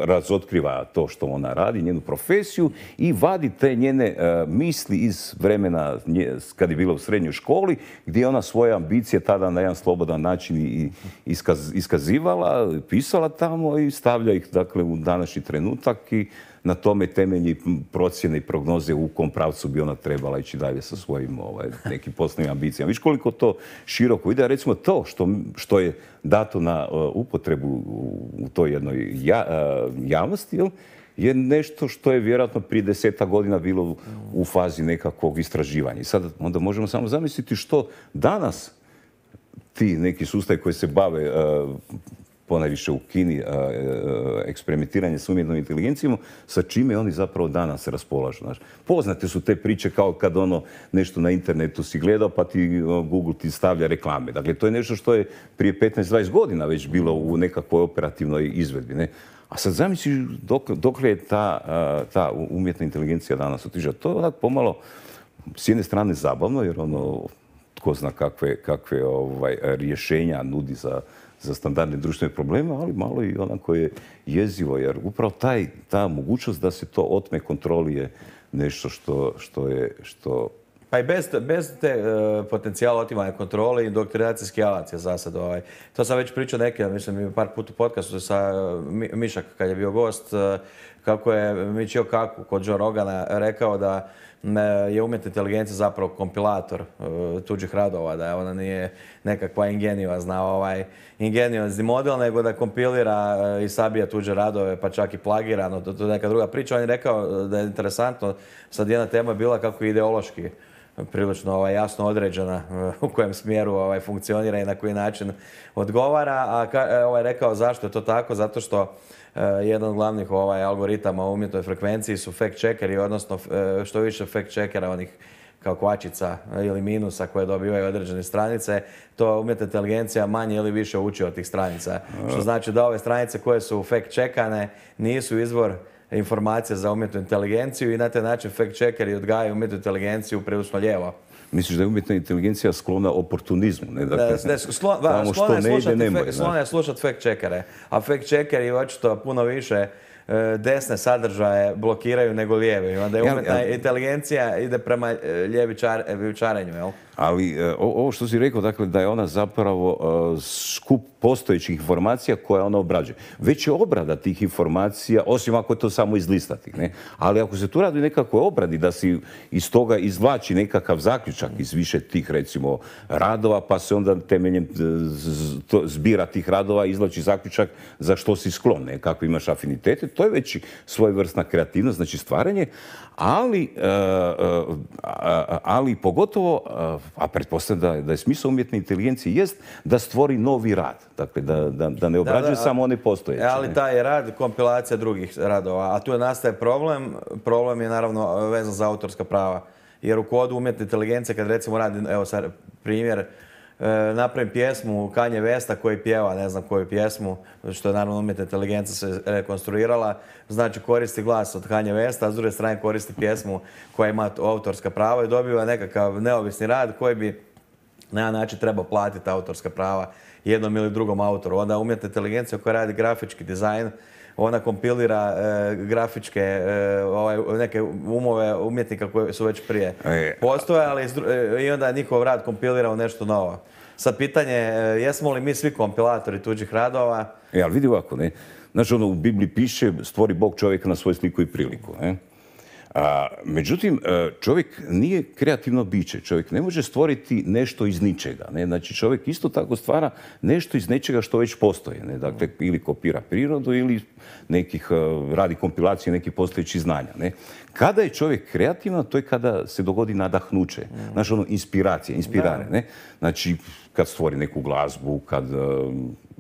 razotkriva to što ona radi, njenu profesiju i vadi te njene uh, misli iz vremena nje, kad je bila u srednjoj školi, gdje je ona svoje ambicije tada na jedan slobodan način i iskaz, iskazivala, pisala tamo i stavlja ih, dakle, u današnji trenutak i na tome temelji procjene i prognoze u kom pravcu bi ona trebala ići dalje sa svojim ovaj, nekim poslovnim ambicijama. Viš koliko to široko ide, recimo to što, što je dato na uh, upotrebu u toj jednoj ja, uh, javnosti, jel, je nešto što je vjerojatno prije deseta godina bilo u, u fazi nekakvog istraživanja. I sad onda možemo samo zamisliti što danas ti neki sustavi koji se bave uh, ponajviše u Kini, eksperimentiranje s umjetnom inteligencijom, sa čime oni zapravo danas raspolažu. Znaš. Poznate su te priče kao kad ono nešto na internetu si gledao pa ti Google ti stavlja reklame. Dakle, to je nešto što je prije petnaest dvadeset godina već bilo u nekakvoj operativnoj izvedbi. Ne? A sad zamisli dok, dokle je ta, ta umjetna inteligencija danas otišla. To je onak pomalo s jedne strane zabavno, jer ono, tko zna kakve, kakve ovaj, rješenja nudi za za standardne društvene probleme, ali malo i onako je jezivo, jer upravo taj, ta mogućnost da se to otme kontroli je nešto što, što je... Što... Pa i bez, bez te uh, potencijala otimanja kontrole i doktrinacijski alat je za sad. Ovaj. To sam već pričao neke, mislim, par puta u podcastu sa uh, Mišak kad je bio gost, uh, kako je Michio Kaku kod Joe Rogana rekao da je umjetna inteligencija zapravo kompilator uh, tuđih radova, da ona nije nekakva ingeniozna, ovaj, ingenijozni model, nego da kompilira uh, i sabija tuđe radove, pa čak i plagirano, to, to je neka druga priča. On je rekao da je interesantno, sad jedna tema je bila kako je ideološki prilično ovaj, jasno određena uh, u kojem smjeru ovaj, funkcionira i na koji način odgovara, a ka, ovaj, rekao zašto je to tako, zato što Uh, jedan od glavnih ovaj, algoritama u umjetnoj frekvenciji su fact-checkeri, odnosno uh, što više fact-checkera, onih kao kvačica ili minusa koje dobivaju određene stranice, to umjetna inteligencija manje ili više uči od tih stranica. Što znači da ove stranice koje su fact-checkane nisu izvor informacija za umjetnu inteligenciju i na taj način fact-checkeri odgajaju umjetnu inteligenciju prilično lijevo. Misliš da je umjetna inteligencija sklona oportunizmu? Ne, dakle, ne, sklon, va, sklona je slušati, sklona je slušati fact-checkere, a fact-checkeri očito puno više desne sadržaje blokiraju nego lijeve. I onda je umjetna inteligencija ide prema ljevičarenju, jel? Ali ovo što si rekao, dakle, da je ona zapravo skup postojećih informacija koje ona obrađuje. Već je obrada tih informacija, osim ako je to samo izlistati, ne? Ali ako se tu radi o nekakvoj obradi, da si iz toga izvlači nekakav zaključak iz više tih, recimo, radova, pa se onda temeljem zbira tih radova izvlači zaključak za što si sklon, ne? Kako imaš afinitete, to je već svojevrsna kreativnost, znači stvaranje, ali, ali pogotovo, a pretpostavljam da, da je smisao umjetne inteligencije jest da stvori novi rad. Dakle, da, da, da ne obrađuje da, da, samo one postojeće. Ali taj je rad kompilacija drugih radova. A tu nastaje problem. Problem je naravno vezan za autorska prava. Jer u kodu umjetne inteligencije, kad recimo radi, evo sad primjer, napravim pjesmu Kanje Westa koji pjeva, ne znam koju pjesmu, što je naravno umjetna inteligencija se rekonstruirala, znači koristi glas od Kanje Westa, a s druge strane koristi pjesmu koja ima autorska prava i dobiva nekakav neovisni rad koji bi na jedan način trebao platiti autorska prava jednom ili drugom autoru. Onda umjetna inteligencija koja radi grafički dizajn, ona kompilira e, grafičke, e, ovaj, neke umove umjetnika koji su već prije postojali e, i onda njihov rad kompilira u nešto novo. Sad pitanje je, jesmo li mi svi kompilatori tuđih radova? E, ali vidi ovako, ne? Znači, ono, u Bibliji piše, stvori Bog čovjeka na svoju sliku i priliku. Ne? A, međutim, čovjek nije kreativno biće. Čovjek ne može stvoriti nešto iz ničega. Ne? Znači, čovjek isto tako stvara nešto iz nečega što već postoji. Ne? Dakle, ili kopira prirodu ili nekih, radi kompilacije nekih postojećih znanja. Ne? Kada je čovjek kreativan, to je kada se dogodi nadahnuće. Znači, ono, inspiracija, inspirare. Ne? Znači, kad stvori neku glazbu, kad...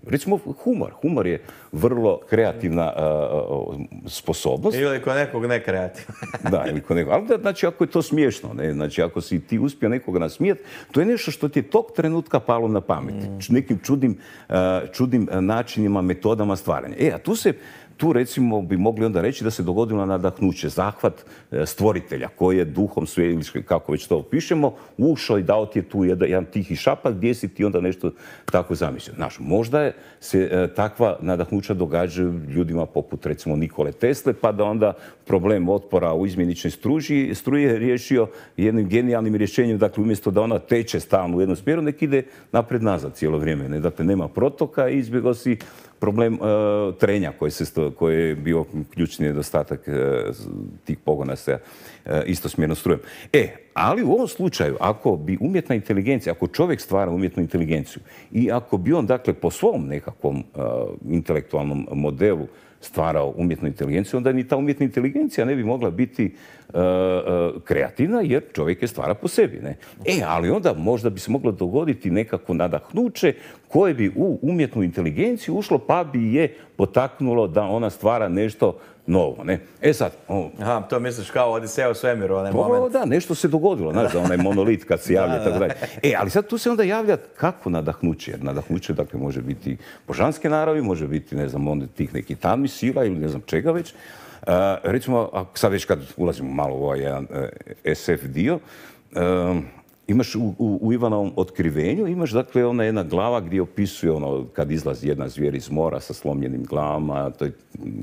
Recimo, humor. Humor je vrlo kreativna uh, sposobnost. Ili kod nekog nekreativna. Da, ili kod nekog. Ali da, znači, ako je to smiješno, ne? Znači, ako si ti uspio nekoga nasmijeti, to je nešto što ti je tog trenutka palo na pamet. Mm. Nekim čudnim, uh, čudnim načinima, metodama stvaranja. E, a tu se... Tu, recimo, bi mogli onda reći da se dogodilo nadahnuće, zahvat stvoritelja koji je duhom sve, kako već to pišemo, ušao i dao ti je tu jedan, jedan tihi šapak gdje si ti onda nešto tako zamislio. Znaš, možda je se e, takva nadahnuća događaju ljudima poput, recimo, Nikole Tesle, pa da onda problem otpora u izmjeničnoj struji, struje riješio jednim genijalnim rješenjem, dakle, umjesto da ona teče stalno u jednom smjeru, nek ide napred-nazad cijelo vrijeme. Ne? Dakle, nema protoka i izbjegao si problem uh, trenja koji, se sto, koji je bio ključni nedostatak uh, tih pogona sa uh, istosmjernom strujem. E, ali u ovom slučaju, ako bi umjetna inteligencija, ako čovjek stvara umjetnu inteligenciju i ako bi on, dakle, po svom nekakvom uh, intelektualnom modelu stvarao umjetnu inteligenciju, onda ni ta umjetna inteligencija ne bi mogla biti uh, uh, kreativna, jer čovjek je stvara po sebi. Ne? E, ali onda možda bi se moglo dogoditi nekako nadahnuće koje bi u umjetnu inteligenciju ušlo, pa bi je potaknulo da ona stvara nešto novo. Ne? E sad... O, Aha, to misliš kao Odiseja u svemiru, onaj o, moment. Da, nešto se dogodilo, znaš, da onaj monolit kad se javlja, tako dalje. E, ali sad tu se onda javlja kako nadahnuće, jer nadahnuće, dakle, može biti božanske naravi, može biti, ne znam, onda tih nekih tamnih sila ili ne znam čega već. Uh, recimo, a sad već kad ulazimo malo u ovaj jedan uh, es ef dio, uh, imaš u, u, u Ivanovom otkrivenju, imaš, dakle, ona jedna glava gdje opisuje ono kad izlazi jedna zvijer iz mora sa slomljenim glavama, to je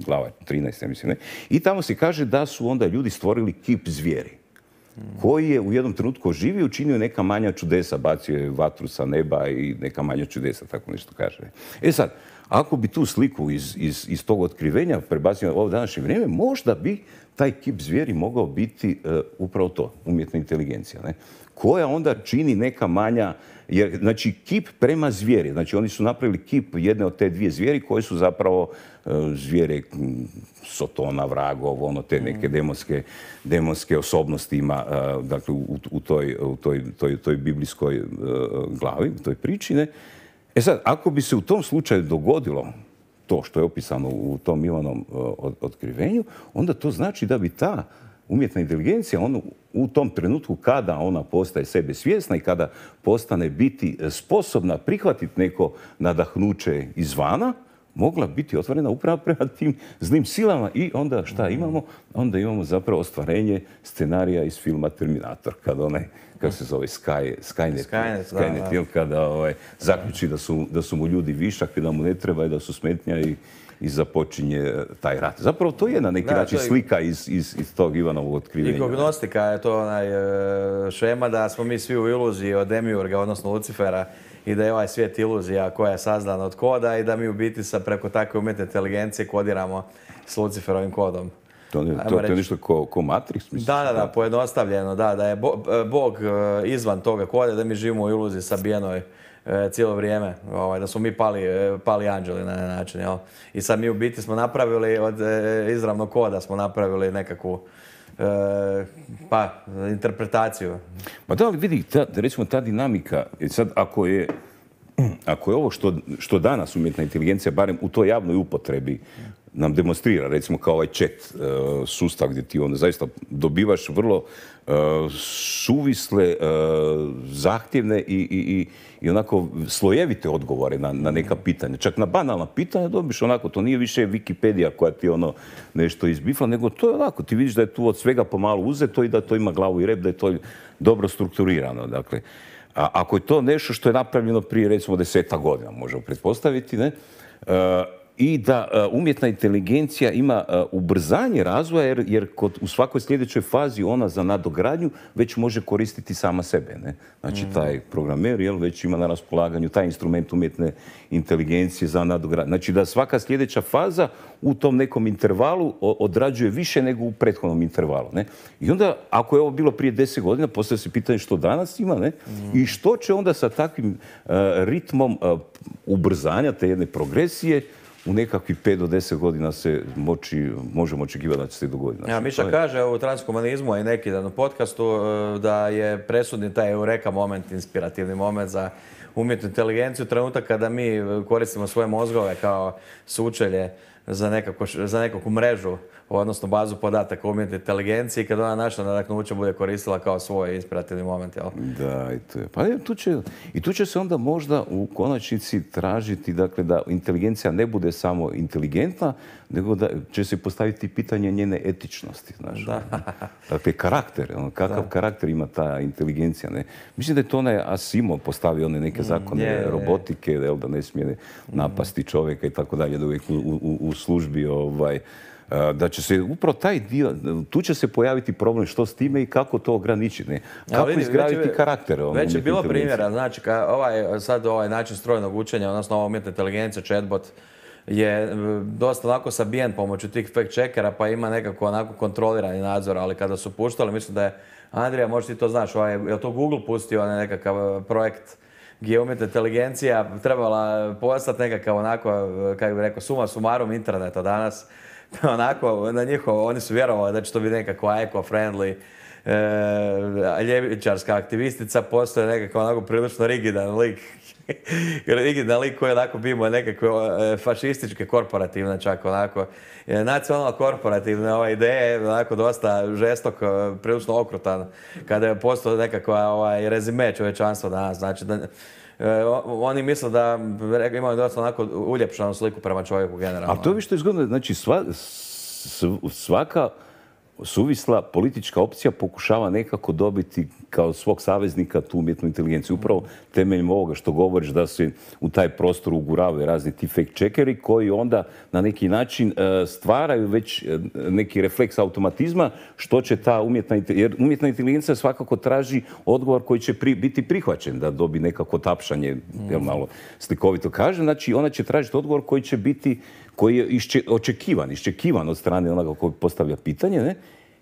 glava trinaest, ja mislim, ne? I tamo se kaže da su onda ljudi stvorili kip zvijeri, koji je u jednom trenutku oživio i učinio neka manja čudesa, bacio je vatru sa neba i neka manja čudesa, tako nešto kaže. E sad, ako bi tu sliku iz, iz, iz tog otkrivenja prebacio ovo današnje vrijeme, možda bi taj kip zvijeri mogao biti uh, upravo to, umjetna inteligencija, ne? Koja onda čini neka manja, jer, znači, kip prema zvijeri. Znači, oni su napravili kip jedne od te dvije zvijeri koje su zapravo uh, zvijere Sotona, vragov, ono, te neke demonske, demonske osobnosti ima, uh, dakle, u, u, toj, u toj, toj, toj biblijskoj uh, glavi, u toj priči, ne? E sad, ako bi se u tom slučaju dogodilo to što je opisano u tom Ivanovom uh, otkrivenju, onda to znači da bi ta umjetna inteligencija, ono, u tom trenutku kada ona postaje sebe svjesna i kada postane biti sposobna prihvatiti neko nadahnuće izvana, mogla biti otvorena upravo prema tim zlim silama i onda šta imamo? Onda imamo zapravo ostvarenje scenarija iz filma Terminator, kada onaj, kako se zove, Sky, Skynet, Skynet, Skynet da, da. kada ovaj, zaključi da su, da su mu ljudi višak i da mu ne treba i da su smetnja i i započinje taj rat. Zapravo to je na neki da, način je... slika iz, iz, iz tog Ivanovog otkrivenja. I kognostika je to onaj šema da smo mi svi u iluziji od Demiurga, odnosno Lucifera, i da je ovaj svijet iluzija koja je sazdana od koda i da mi u biti sa preko takve umjetne inteligencije kodiramo s Luciferovim kodom. To, ne, to, to je nešto ko, ko Matrix, misliš? Da, da, da, pojednostavljeno, da, da je Bo, Bog izvan toga koda, da mi živimo u iluziji sabijenoj cijelo vrijeme, ovaj, da smo mi pali, pali anđeli na način. Jel? I sad mi u biti smo napravili od izravnog koda smo napravili nekakvu e, pa, interpretaciju. Pa da, ali vidi, ta, recimo ta dinamika, sad ako je, ako je ovo što, što danas umjetna inteligencija, barem u toj javnoj upotrebi, nam demonstrira, recimo kao ovaj chat uh, sustav gdje ti onda zaista dobivaš vrlo uh, suvisle, uh, zahtjevne i, i, i, i onako slojevite odgovore na, na neka pitanja. Čak na banalna pitanja dobiš onako, to nije više Wikipedija koja ti ono nešto izbifla, nego to je onako, ti vidiš da je tu od svega pomalo uzeto i da to ima glavu i rep, da je to dobro strukturirano. Dakle, a ako je to nešto što je napravljeno prije recimo deseta godina, možemo pretpostaviti, ne? Uh, i da uh, umjetna inteligencija ima uh, ubrzanje razvoja jer, jer kod, u svakoj sljedećoj fazi ona za nadogradnju već može koristiti sama sebe. Ne? Znači mm. taj programer jel, već ima na raspolaganju taj instrument umjetne inteligencije za nadogradnju. Znači da svaka sljedeća faza u tom nekom intervalu odrađuje više nego u prethodnom intervalu. Ne? I onda, ako je ovo bilo prije deset godina, postavlja se pitanje što danas ima, ne? Mm. I što će onda sa takvim uh, ritmom uh, ubrzanja te jedne progresije u nekakvih pet do deset godina se moći, možemo očekivati da će se dogoditi. Znači, ja, Miša je... kaže u transhumanizmu, a i neki dan u podcastu, da je presudni taj eureka moment, inspirativni moment za umjetnu inteligenciju, trenutak kada mi koristimo svoje mozgove kao sučelje za, nekako, za nekakvu mrežu, odnosno bazu podataka umjetne inteligencije i kada ona naša nadahnuće bude koristila kao svoj inspirativni moment. Jel? Da, i to je. Pa je, tu će, i tu će se onda možda u konačnici tražiti dakle, da inteligencija ne bude samo inteligentna, nego da će se postaviti pitanje njene etičnosti. Znaš, da. Dakle, karakter. On, kakav da. karakter ima ta inteligencija. Ne? Mislim da je to onaj Asimov postavio one neke zakone mm, je, robotike, je. Da ne smije napasti čovjeka i tako dalje, da uvijek u, u, u službi ovaj, da će se upravo taj dio, tu će se pojaviti problem što s time i kako to ograničiti. Ne? Kako ja, izgraditi karakter. Već je bilo primjera, znači ka, ovaj, sad ovaj način strojnog učenja, odnosno ova umjetna inteligencija, chatbot, je dosta onako sabijen pomoću tih fact checkera, pa ima nekako onako kontrolirani nadzor, ali kada su puštali, mislim da je, Andrija, možda ti to znaš, ovaj, je to Google pustio nekakav projekt gdje je umjetna inteligencija trebala postati nekakav onako, kako bih rekao, suma sumarum interneta danas. Onako, na njihovo, oni su vjerovali da će to biti nekakva eco-friendly e, ljevičarska aktivistica, postoje nekakav onako prilično rigidan lik. rigidan lik koji onako bimo nekakve e, fašističke, korporativne čak onako. E, nacionalno korporativne ove ideje, onako dosta žestok, prilično okrutan, kada je postao nekakva ovaj, rezime čovječanstva danas. Znači da, E, oni misle da imaju dosta onako uljepšanu sliku prema čovjeku generalno. Ali to je vi što je zgodno, znači sva, svaka suvisla politička opcija pokušava nekako dobiti kao svog saveznika tu umjetnu inteligenciju. Upravo temeljem ovoga što govoriš da se u taj prostor uguravaju razni ti fake checkeri koji onda na neki način stvaraju već neki refleks automatizma što će ta umjetna inteligencija, jer umjetna inteligencija svakako traži odgovor koji će pri, biti prihvaćen da dobi nekako tapšanje, mm. jel malo slikovito kaže, znači ona će tražiti odgovor koji će biti koji je išče, očekivan, iščekivan od strane onoga koji postavlja pitanje, ne?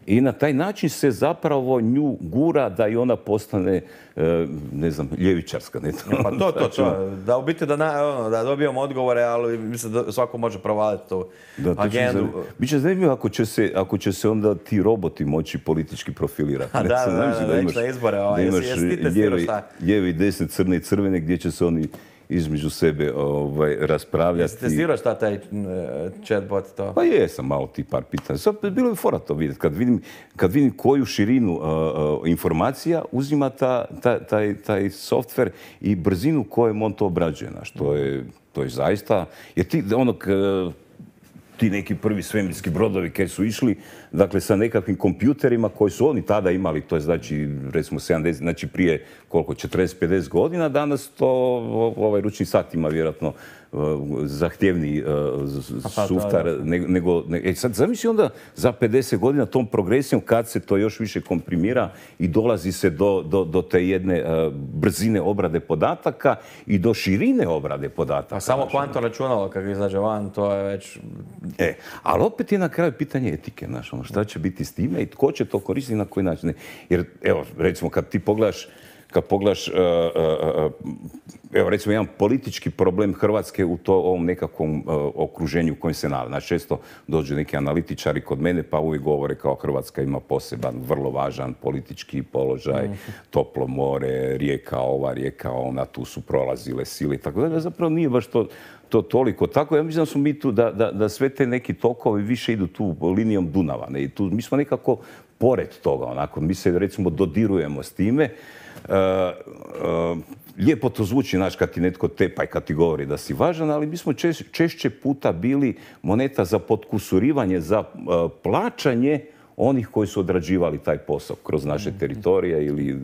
I na taj način se zapravo nju gura da i ona postane, ne znam, ljevičarska. Ne? Ja, pa to, to, to. Da u biti da, na, ono, da dobijemo odgovore, ali mislim da svako može provaliti tu da, agendu. Biće zanimljivo ako će se, ako će se onda ti roboti moći politički profilirati. Da, da, da, da, imaš, na izbore. Ovaj, da imaš lijevi i desne, crne i crvene, gdje će se oni između sebe ovaj, raspravljati. Jesi testirao šta taj chatbot to? Pa jesam malo ti par pitanja. Sad bilo je fora to vidjeti. Kad vidim, kad vidim koju širinu uh, uh, informacija uzima ta, ta, taj, taj software i brzinu kojom on to obrađuje. Znaš, to je, to je zaista... Jer ti, onog, uh, ti neki prvi svemirski brodovi koji su išli, dakle, sa nekakvim kompjuterima koji su oni tada imali, to je znači, recimo, sedamdeset, znači prije koliko, četrdeset pedeset godina, danas to ovaj ručni sat ima vjerojatno zahtjevniji uh, suftar nego... Ne, e sad zamisli onda za pedeset godina tom progresijom kad se to još više komprimira i dolazi se do, do, do te jedne uh, brzine obrade podataka i do širine obrade podataka. A samo kvantno računalo kad izađe van, to je već... E, ali opet je na kraju pitanje etike, znaš, ono, šta će biti s time i tko će to koristiti na koji način. Jer, evo, recimo, kad ti pogledaš Kad pogledaš, uh, uh, evo recimo jedan politički problem Hrvatske u to, ovom nekakvom uh, okruženju u kojem se nalazi. Znači često dođu neki analitičari kod mene pa uvijek govore kao Hrvatska ima poseban, vrlo važan politički položaj, mm. toplo more, rijeka ova, rijeka ona, tu su prolazile sile i tako dalje. Zapravo nije baš to, to toliko tako. Ja mislim da smo mi tu, da, da, da sve te neki tokovi više idu tu linijom Dunava. Ne? I tu, mi smo nekako pored toga, onako, mi se recimo dodirujemo s time. Uh, uh, lijepo to zvuči, znaš, kad ti netko tepa i kad ti govori da si važan, ali mi smo češ, češće puta bili moneta za potkusurivanje, za uh, plaćanje onih koji su odrađivali taj posao kroz naše teritorije ili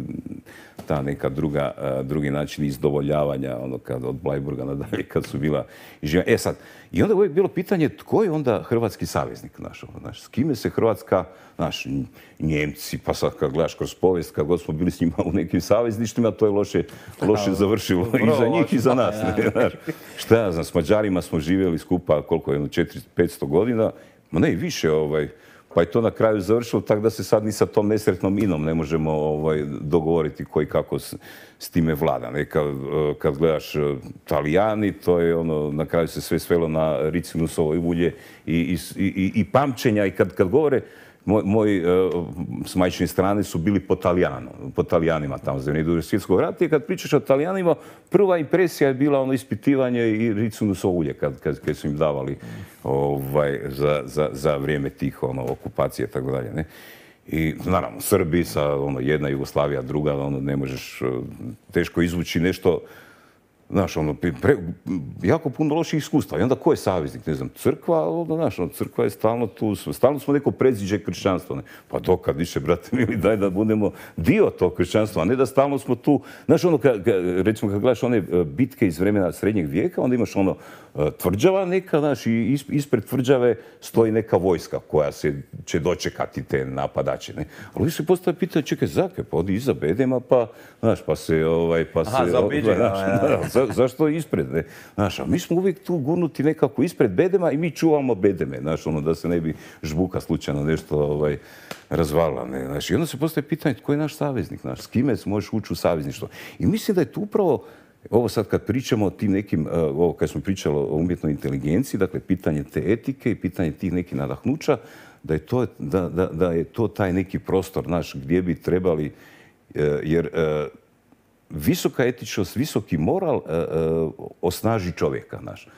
ta neka druga, drugi način izdovoljavanja, ono kad od Bleiburga nadalje, kad su bila izživljena. E sad, i onda je uvijek bilo pitanje tko je onda hrvatski saveznik naš, znaš, s kime se Hrvatska, znaš, Njemci, pa sad kad gledaš kroz povijest, kad god smo bili s njima u nekim savezništima, to je loše, loše završilo i za njih i za nas. Ne, znaš. Šta ja znam, s Mađarima smo živjeli skupa, koliko je, jedno četiristo petsto godina, ma ne i više, ovaj, pa je to na kraju završilo tako da se sad ni sa tom nesretnom inom ne možemo ovaj, dogovoriti koji kako s, s time vlada. Ne, kad, kad gledaš Talijani, to je ono, na kraju se sve svelo na ricinusovo ulje i, i, i, i pamćenja. I kad, kad govore, moj, moj s majčine strane su bili po Talijanu, po Talijanima tamo za vrijeme Drugog svjetskog rata i kad pričaš o Talijanima, prva impresija je bila ono ispitivanje i ricinusovo ulje kad, kad, kad su im davali ovaj, za, za, za vrijeme tih ono, okupacije i tako dalje. Ne? I naravno, Srbi sa ono, jedna Jugoslavija, druga, ono, ne možeš teško izvući nešto. Znaš, ono, pre, jako puno loših iskustva. I onda ko je saveznik? Ne znam, crkva, ono, znaš, ono, crkva je stalno tu, stalno smo neko predziđe kršćanstva. Ne? Pa dokad više, brate mili, daj da budemo dio tog kršćanstva, a ne da stalno smo tu. Znaš, ono, ka, ka, recimo, kad gledaš one bitke iz vremena srednjeg vijeka, onda imaš ono tvrđava neka, znaš, i ispred tvrđave stoji neka vojska koja se će dočekati te napadače. Ne? Ali vi se postavlja pitanje, čekaj, zakaj, pa odi iza bedema, pa, znaš, pa se, ovaj, pa Aha, se... zaobiđe, znaš, ja. za, zašto ispred, ne? Znaš, a mi smo uvijek tu gurnuti nekako ispred bedema i mi čuvamo bedeme, znaš, ono, da se ne bi žbuka slučajno nešto, ovaj, razvalila, ne? Znaš, i onda se postavlja pitanje, tko je naš saveznik, znaš, s kime možeš ući u savezništvo? I mislim da je tu upravo ovo sad kad pričamo o tim nekim, ovo kad smo pričali o umjetnoj inteligenciji, dakle pitanje te etike i pitanje tih nekih nadahnuća, da je to, da, da, da je to taj neki prostor naš gdje bi trebali, jer visoka etičnost, visoki moral osnaži čovjeka naš.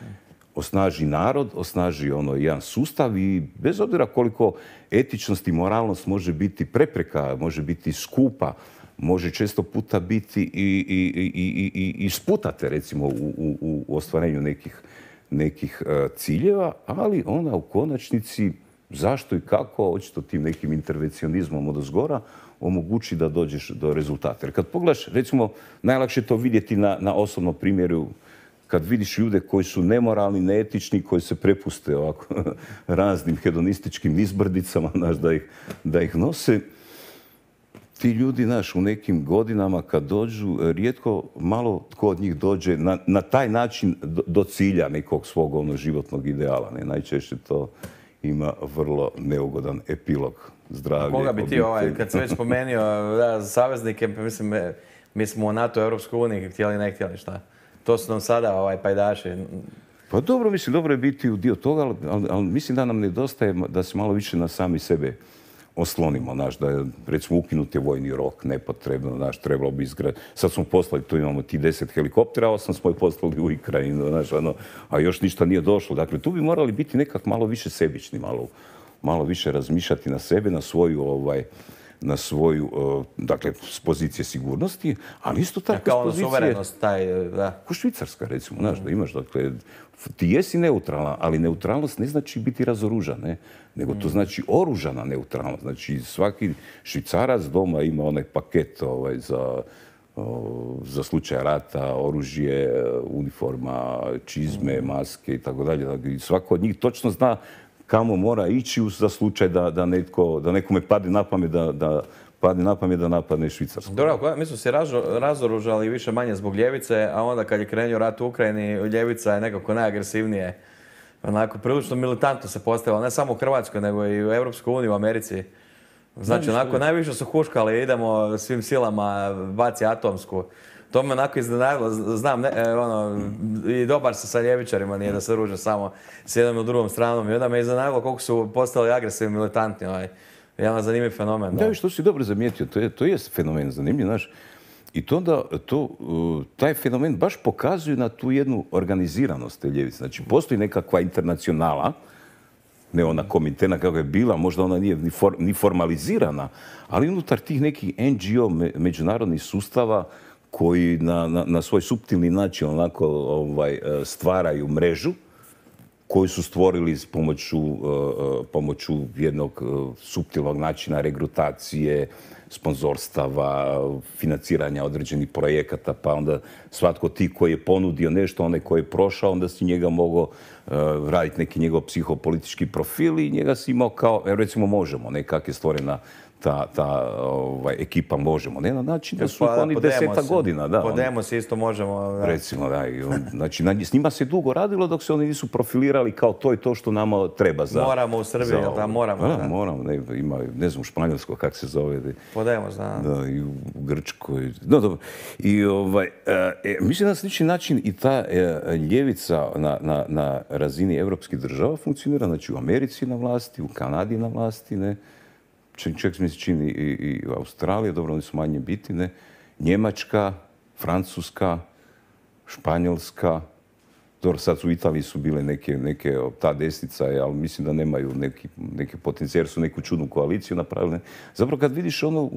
Osnaži narod, osnaži ono jedan sustav i bez obzira koliko etičnost i moralnost može biti prepreka, može biti skupa, može često puta biti i, i, i, i, i sputate recimo u, u, u ostvarenju nekih, nekih uh, ciljeva, ali ona u konačnici zašto i kako, očito tim nekim intervencionizmom odozgora, omogući da dođeš do rezultata. Jer kad pogledaš, recimo, najlakše je to vidjeti na, na osobnom primjeru, kad vidiš ljude koji su nemoralni, neetični, koji se prepuste ovako raznim hedonističkim izbrdicama, znaš, da ih, da ih nose, ti ljudi, znaš, u nekim godinama kad dođu, rijetko malo tko od njih dođe na, na taj način do, do cilja nekog svog ono, životnog ideala. Ne? Najčešće to ima vrlo neugodan epilog. Zdravlje, koga bi ti, ovaj, kad sam već spomenuo da, saveznike, mislim, mi smo u NATO, Europskoj uniji, htjeli ne htjeli, šta? To su nam sada ovaj, pajdaši. Pa dobro, mislim, dobro je biti u dio toga, ali, ali, ali mislim da nam nedostaje da se malo više na sami sebe oslonimo, znaš, da je, recimo, ukinut je vojni rok, nepotrebno, znaš, trebalo bi izgraditi. Sad smo poslali, tu imamo ti deset helikoptera, osam smo i poslali u Ukrajinu, znaš, ono, a još ništa nije došlo. Dakle, tu bi morali biti nekak malo više sebični, malo, malo više razmišljati na sebe, na svoju, ovaj, na svoju, dakle, s pozicije sigurnosti, ali isto tako s kao pozicije... Kao suverenost, taj, da. Ko Švicarska, recimo, znaš, da imaš, dakle, ti jesi neutralna, ali neutralnost ne znači biti razoružan, ne? Nego to znači oružana neutralnost. Znači, svaki Švicarac doma ima onaj paket ovaj, za, za slučaj rata, oružje, uniforma, čizme, maske i tako dalje. Svako od njih točno zna kamo mora ići za slučaj da, da, netko, da nekome padne na pamet da, da padne na pamet da napadne Švicarsku. Dobro, mi smo se razoružali više manje zbog ljevice, a onda kad je krenuo rat u Ukrajini, ljevica je nekako najagresivnije. Onako, prilično militantno se postavila, ne samo u Hrvatskoj, nego i u Europskoj uniji, u Americi. Znači, onako, najviše su huškali, idemo svim silama, baci atomsku. To me onako iznenadilo, znam, ne, ono, i dobar se sa ljevičarima, nije da se ruže samo s jednom ili drugom stranom. I onda me iznenadilo koliko su postali agresivni, militantni. Ovaj. Jedan zanimljiv fenomen. Da, što si dobro zamijetio, to je, to je fenomen zanimljiv, znaš. I to onda, to, taj fenomen baš pokazuje na tu jednu organiziranost te ljevice. Znači, postoji nekakva internacionala, ne ona komitena kako je bila, možda ona nije ni, for, ni formalizirana, ali unutar tih nekih en ge o međunarodnih sustava koji na, na, na svoj suptilni način onako ovaj, stvaraju mrežu koju su stvorili s pomoću, pomoću jednog suptilnog načina regrutacije, sponzorstava, financiranja određenih projekata, pa onda svatko ti koji je ponudio nešto, onaj koji je prošao, onda si njega mogao uh, raditi neki njegov psihopolitički profil i njega si imao kao, recimo Možemo, ne, kak je stvorena ta, ta ovaj, ekipa Možemo, ne, na način da su pa, oni deseta godina. Da, po Demos isto možemo. Da. Recimo, da. I on, znači, na, s njima se dugo radilo dok se oni nisu profilirali kao to i to što nama treba za... Moramo u Srbiji, jel da? Moramo. Da, da. moramo. Ne, ima, ne znam, u Španjolsko, kak se zove. Po Demos, da. Da, i u Grčkoj. No, dobro. I ovaj, e, mislim na slični način i ta e, ljevica na, na, na razini evropskih država funkcionira. Znači, u Americi na vlasti, u Kanadi na vlasti, ne. Čak mi se čini i, i u Australiji, dobro, oni su manje biti, ne. Njemačka, Francuska, Španjolska, dobro, sad u Italiji su bile neke, neke ta desnica, ali mislim da nemaju neki, neke potencijal, jer su neku čudnu koaliciju napravili. Zapravo kad vidiš ono,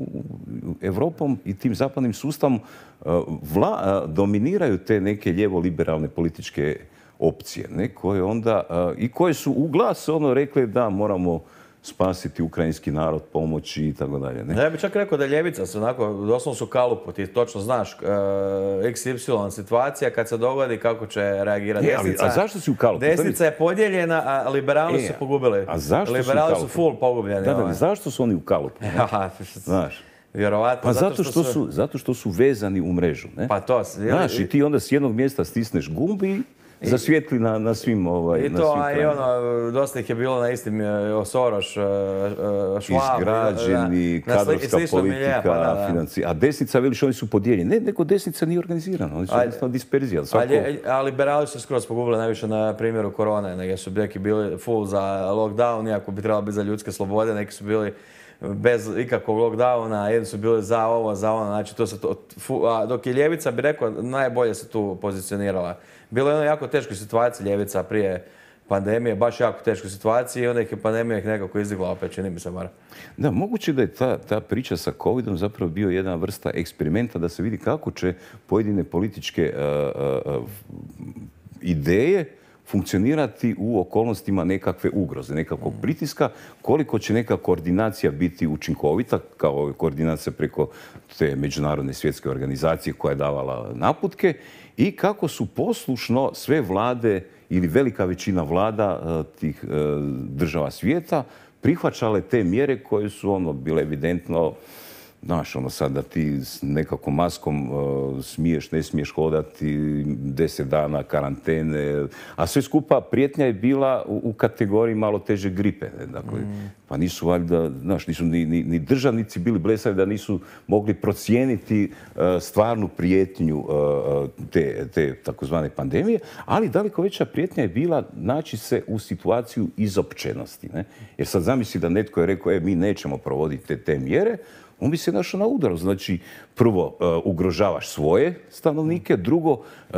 Evropom i tim zapadnim sustavom vla, dominiraju te neke lijevo-liberalne političke opcije, ne, koje onda, i koje su u glas ono rekli da moramo spasiti ukrajinski narod, pomoći i tako dalje. Ne? Ja bih čak rekao da je ljevica se onako, doslovno su kalupu, ti točno znaš uh, iks ipsilon situacija kad se dogodi kako će reagirati e, ali, desnica. A zašto si u kalupu? Desnica je podijeljena, a liberali e, su pogubili. A zašto liberali su, su full pogubljeni. Da, da, zašto su oni u kalupu? Znaš. Vjerovatno. Pa zato što, što su, zato što su vezani u mrežu. Ne? Pa to. Znaš, i ti onda s jednog mjesta stisneš gumb i zasvijetli na, na svim ovaj, I to, a i ono, dosta ih je bilo na istim Soros, Švab. Izgrađeni, na, kadrovska na politika, milija, pa, da, da. financija. A desnica, veliš, oni su podijeljeni. Ne, neko desnica nije organizirana, oni su jednostavno disperzija. Svako... A, a liberali su skroz pogubili najviše na primjeru korone, neki su neki bili full za lockdown, iako bi trebalo biti za ljudske slobode, neki su bili bez ikakvog lockdowna, jedni su bili za ovo, za ono, znači to se to, a dok je ljevica, bi rekao, najbolje se tu pozicionirala. Bilo je ono jako teškoj situaciji ljevica prije pandemije, baš jako teškoj situaciji i onda ih je pandemija ih nekako izdigla opet, čini mi se bar. Da, moguće da je ta, ta priča sa covidom zapravo bio jedna vrsta eksperimenta da se vidi kako će pojedine političke uh, uh, ideje funkcionirati u okolnostima nekakve ugroze, nekakvog pritiska, koliko će neka koordinacija biti učinkovita, kao koordinacija preko te međunarodne svjetske organizacije koja je davala naputke i kako su poslušno sve vlade ili velika većina vlada tih država svijeta prihvaćale te mjere koje su ono bile evidentno. Znaš, ono sad da ti s nekakvom maskom uh, smiješ, ne smiješ hodati, deset dana karantene, a sve skupa prijetnja je bila u, u kategoriji malo teže gripe. Ne? Dakle, mm. pa nisu valjda, znaš, nisu ni, ni, ni državnici bili blesavi da nisu mogli procijeniti uh, stvarnu prijetnju uh, te, te takozvane pandemije, ali daleko veća prijetnja je bila naći se u situaciju izopćenosti. Ne? Jer sad zamisli da netko je rekao, e, mi nećemo provoditi te, te mjere, on bi se našao na udaru. Znači, prvo, uh, ugrožavaš svoje stanovnike, drugo, uh,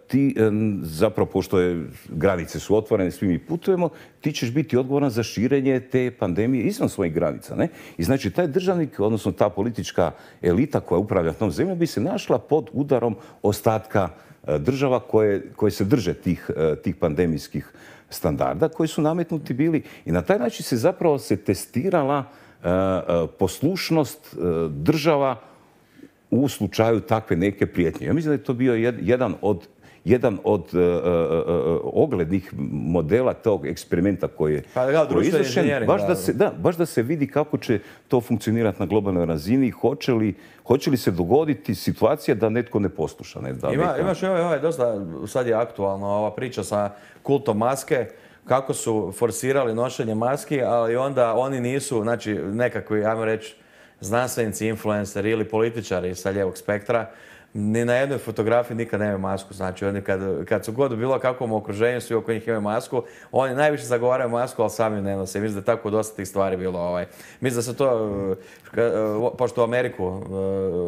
ti um, zapravo, pošto je, granice su otvorene, svi mi putujemo, ti ćeš biti odgovoran za širenje te pandemije izvan svojih granica. Ne? I znači, taj državnik, odnosno ta politička elita koja upravlja tom zemljom, bi se našla pod udarom ostatka uh, država koje, koje se drže tih, uh, tih pandemijskih standarda koji su nametnuti bili. I na taj način se zapravo se testirala poslušnost država u slučaju takve neke prijetnje. Ja mislim da je to bio jedan od, jedan od uh, uh, oglednih modela tog eksperimenta koji je pa, izvršen, baš da, se, da, baš da se vidi kako će to funkcionirati na globalnoj razini, hoće li, hoće li se dogoditi situacija da netko ne posluša. Ne, da Ima, neka... Imaš ovaj, ovaj, dosta, sad je aktualno ova priča sa kultom maske, kako su forsirali nošenje maski, ali onda oni nisu, znači nekakvi, ajmo reći, znanstvenici, influenceri ili političari sa lijevog spektra, ni na jednoj fotografiji nikad nemaju masku. Znači, oni kad, kad su god u bilo kakvom okruženju, svi oko njih imaju masku, oni najviše zagovaraju masku, ali sami ne nose. Mislim da je tako dosta tih stvari bilo. Ovaj. Mislim da se to, pošto u Ameriku,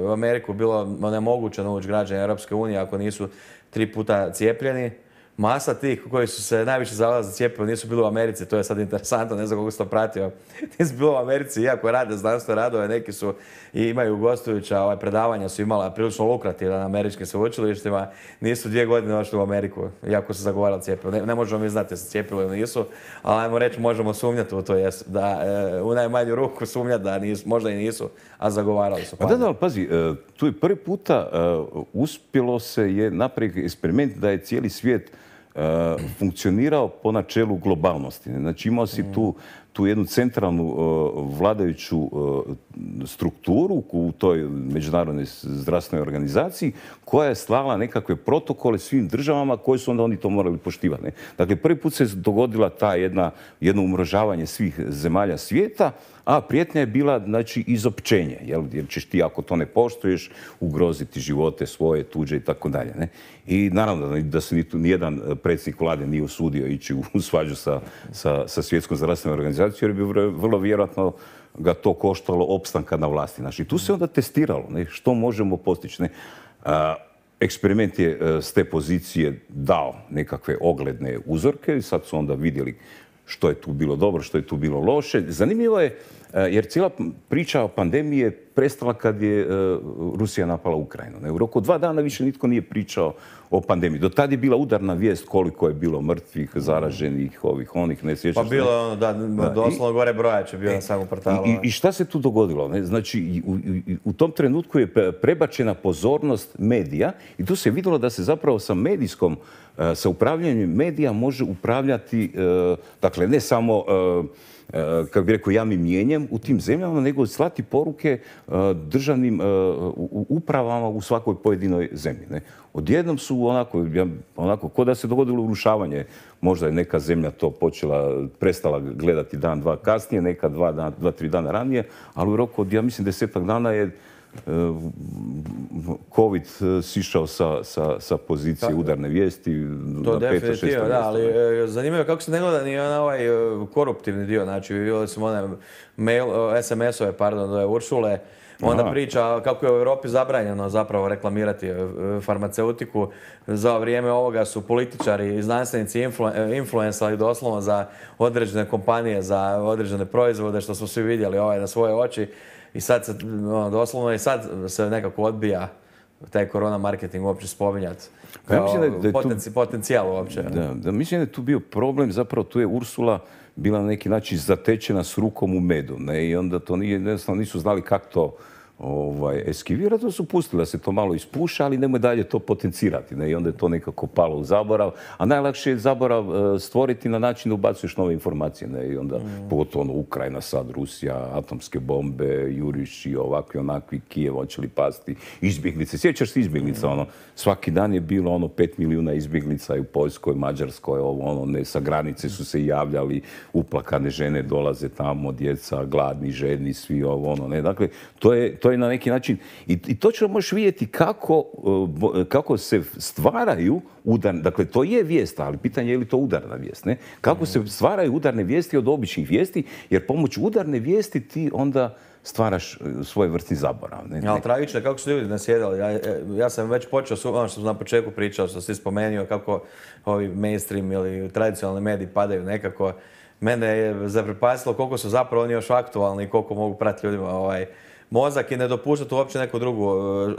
u Ameriku bilo nemoguće nauči građani Europske unije ako nisu tri puta cijepljeni, masa tih koji su se najviše zalagali za cjepivo nisu bili u Americi, to je sad interesantno, ne znam kako si to pratio. Nisu bili u Americi, iako rade znanstvene radove, neki su i imaju gostujuća ovaj, predavanja su imala prilično lukrativna na američkim sveučilištima, nisu dvije godine došli u Ameriku, iako su zagovarali cjepivo. Ne, ne možemo mi znati da se cijepilo ili nisu, ali ajmo reći možemo sumnjati u to, jesu, da e, u najmanju ruku sumnjati da nisu, možda i nisu, a zagovarali su. Pa da, da, ali pazi, tu je prvi puta uh, uspjelo se je napraviti eksperiment da je cijeli svijet uh, funkcionirao po načelu globalnosti. Znači imao si tu, tu jednu centralnu uh, vladajuću uh, strukturu u toj međunarodnoj zdravstvenoj organizaciji koja je slala nekakve protokole svim državama koje su onda oni to morali poštivati. Ne? Dakle, prvi put se dogodila ta jedna, jedno umrožavanje svih zemalja svijeta, a prijetnja je bila, znači, izopćenje, jel? Jer ćeš ti, ako to ne poštuješ, ugroziti živote svoje, tuđe i tako dalje. Ne? I naravno da se nijedan predsjednik vlade nije usudio ići u svađu sa, sa, sa svjetskom zdravstvenom organizacijom, jer bi vrlo vjerojatno ga to koštalo opstanka na vlasti. Znači, tu se onda testiralo, ne? Što možemo postići. Ne? A, eksperiment je s te pozicije dao nekakve ogledne uzorke i sad su onda vidjeli što je tu bilo dobro, što je tu bilo loše. Zanimljivo je, jer cijela priča o pandemiji je prestala kad je Rusija napala Ukrajinu. U roku dva dana više nitko nije pričao o pandemiji. Do tad je bila udarna vijest koliko je bilo mrtvih, zaraženih, ovih, onih, ne sjećaš. Pa bilo je ono, da, doslovno gore brojač je bio na samom portalu. I, I šta se tu dogodilo? Ne? Znači, u, u tom trenutku je prebačena pozornost medija i tu se vidjelo da se zapravo sa medijskom, sa upravljanjem medija može upravljati, dakle, ne samo kako bi rekao, javnim mijenjem u tim zemljama, nego slati poruke državnim upravama u svakoj pojedinoj zemlji. Ne? Odjednom su onako, onako, ko da se dogodilo urušavanje. Možda je neka zemlja to počela, prestala gledati dan, dva kasnije, neka dva, dan, dva tri dana ranije, ali u roku od, ja mislim, desetak dana je COVID sišao sa, sa, sa pozicije udarne vijesti. To definitivno, da, ali zanimljivo kako se ne gleda ni na ovaj koruptivni dio. Znači, vidjeli smo one mail, es em es-ove, pardon, do Uršule, onda Aha. priča kako je u Europi zabranjeno zapravo reklamirati farmaceutiku. Za vrijeme ovoga su političari i znanstvenici influ, influencali doslovno za određene kompanije, za određene proizvode, što smo svi vidjeli ovaj, na svoje oči. I sad se, ono, doslovno i sad se nekako odbija taj korona marketing uopće spominjati. Pa ja mislim da je potenci, tu, potencijal uopće. Da, da, mislim da je tu bio problem, zapravo tu je Ursula bila na neki način zatečena s rukom u medu. Ne? I onda to nije, jednostavno nisu znali kako to ovaj, eskivirati, to su pustili da se to malo ispuša, ali nemoj dalje to potencirati. Ne? I onda je to nekako palo u zaborav. A najlakše je zaborav uh, stvoriti na način da ubacuješ nove informacije. Ne? I onda, mm. pogotovo ono, Ukrajina, sad Rusija, atomske bombe, juriši, ovakvi, onakvi, Kijev, hoće li pasti, izbjeglice. Sjećaš se izbjeglica, mm. ono, svaki dan je bilo ono pet milijuna izbjeglica i u Poljskoj, Mađarskoj, ovo, ono, ne, sa granice su se javljali, uplakane žene dolaze tamo, djeca, gladni, žedni, svi ovo, ono, ne. Dakle, to je, to je na neki način, i, i točno možeš vidjeti kako, kako se stvaraju udarne, dakle to je vijest, ali pitanje je li to udarna vijest, ne? Kako se stvaraju udarne vijesti od običnih vijesti, jer pomoću udarne vijesti ti onda stvaraš svoj vrstni zaborav. Ne? Ja, ali tragično je kako su ljudi nasjedali. Ja, ja sam već počeo, ono što sam na početku pričao, što si spomenuo, kako ovi mainstream ili tradicionalni mediji padaju nekako. Mene je zaprepastilo koliko su zapravo oni još aktualni i koliko mogu pratiti ljudima ovaj, mozak i ne dopuštati uopće neku drugu.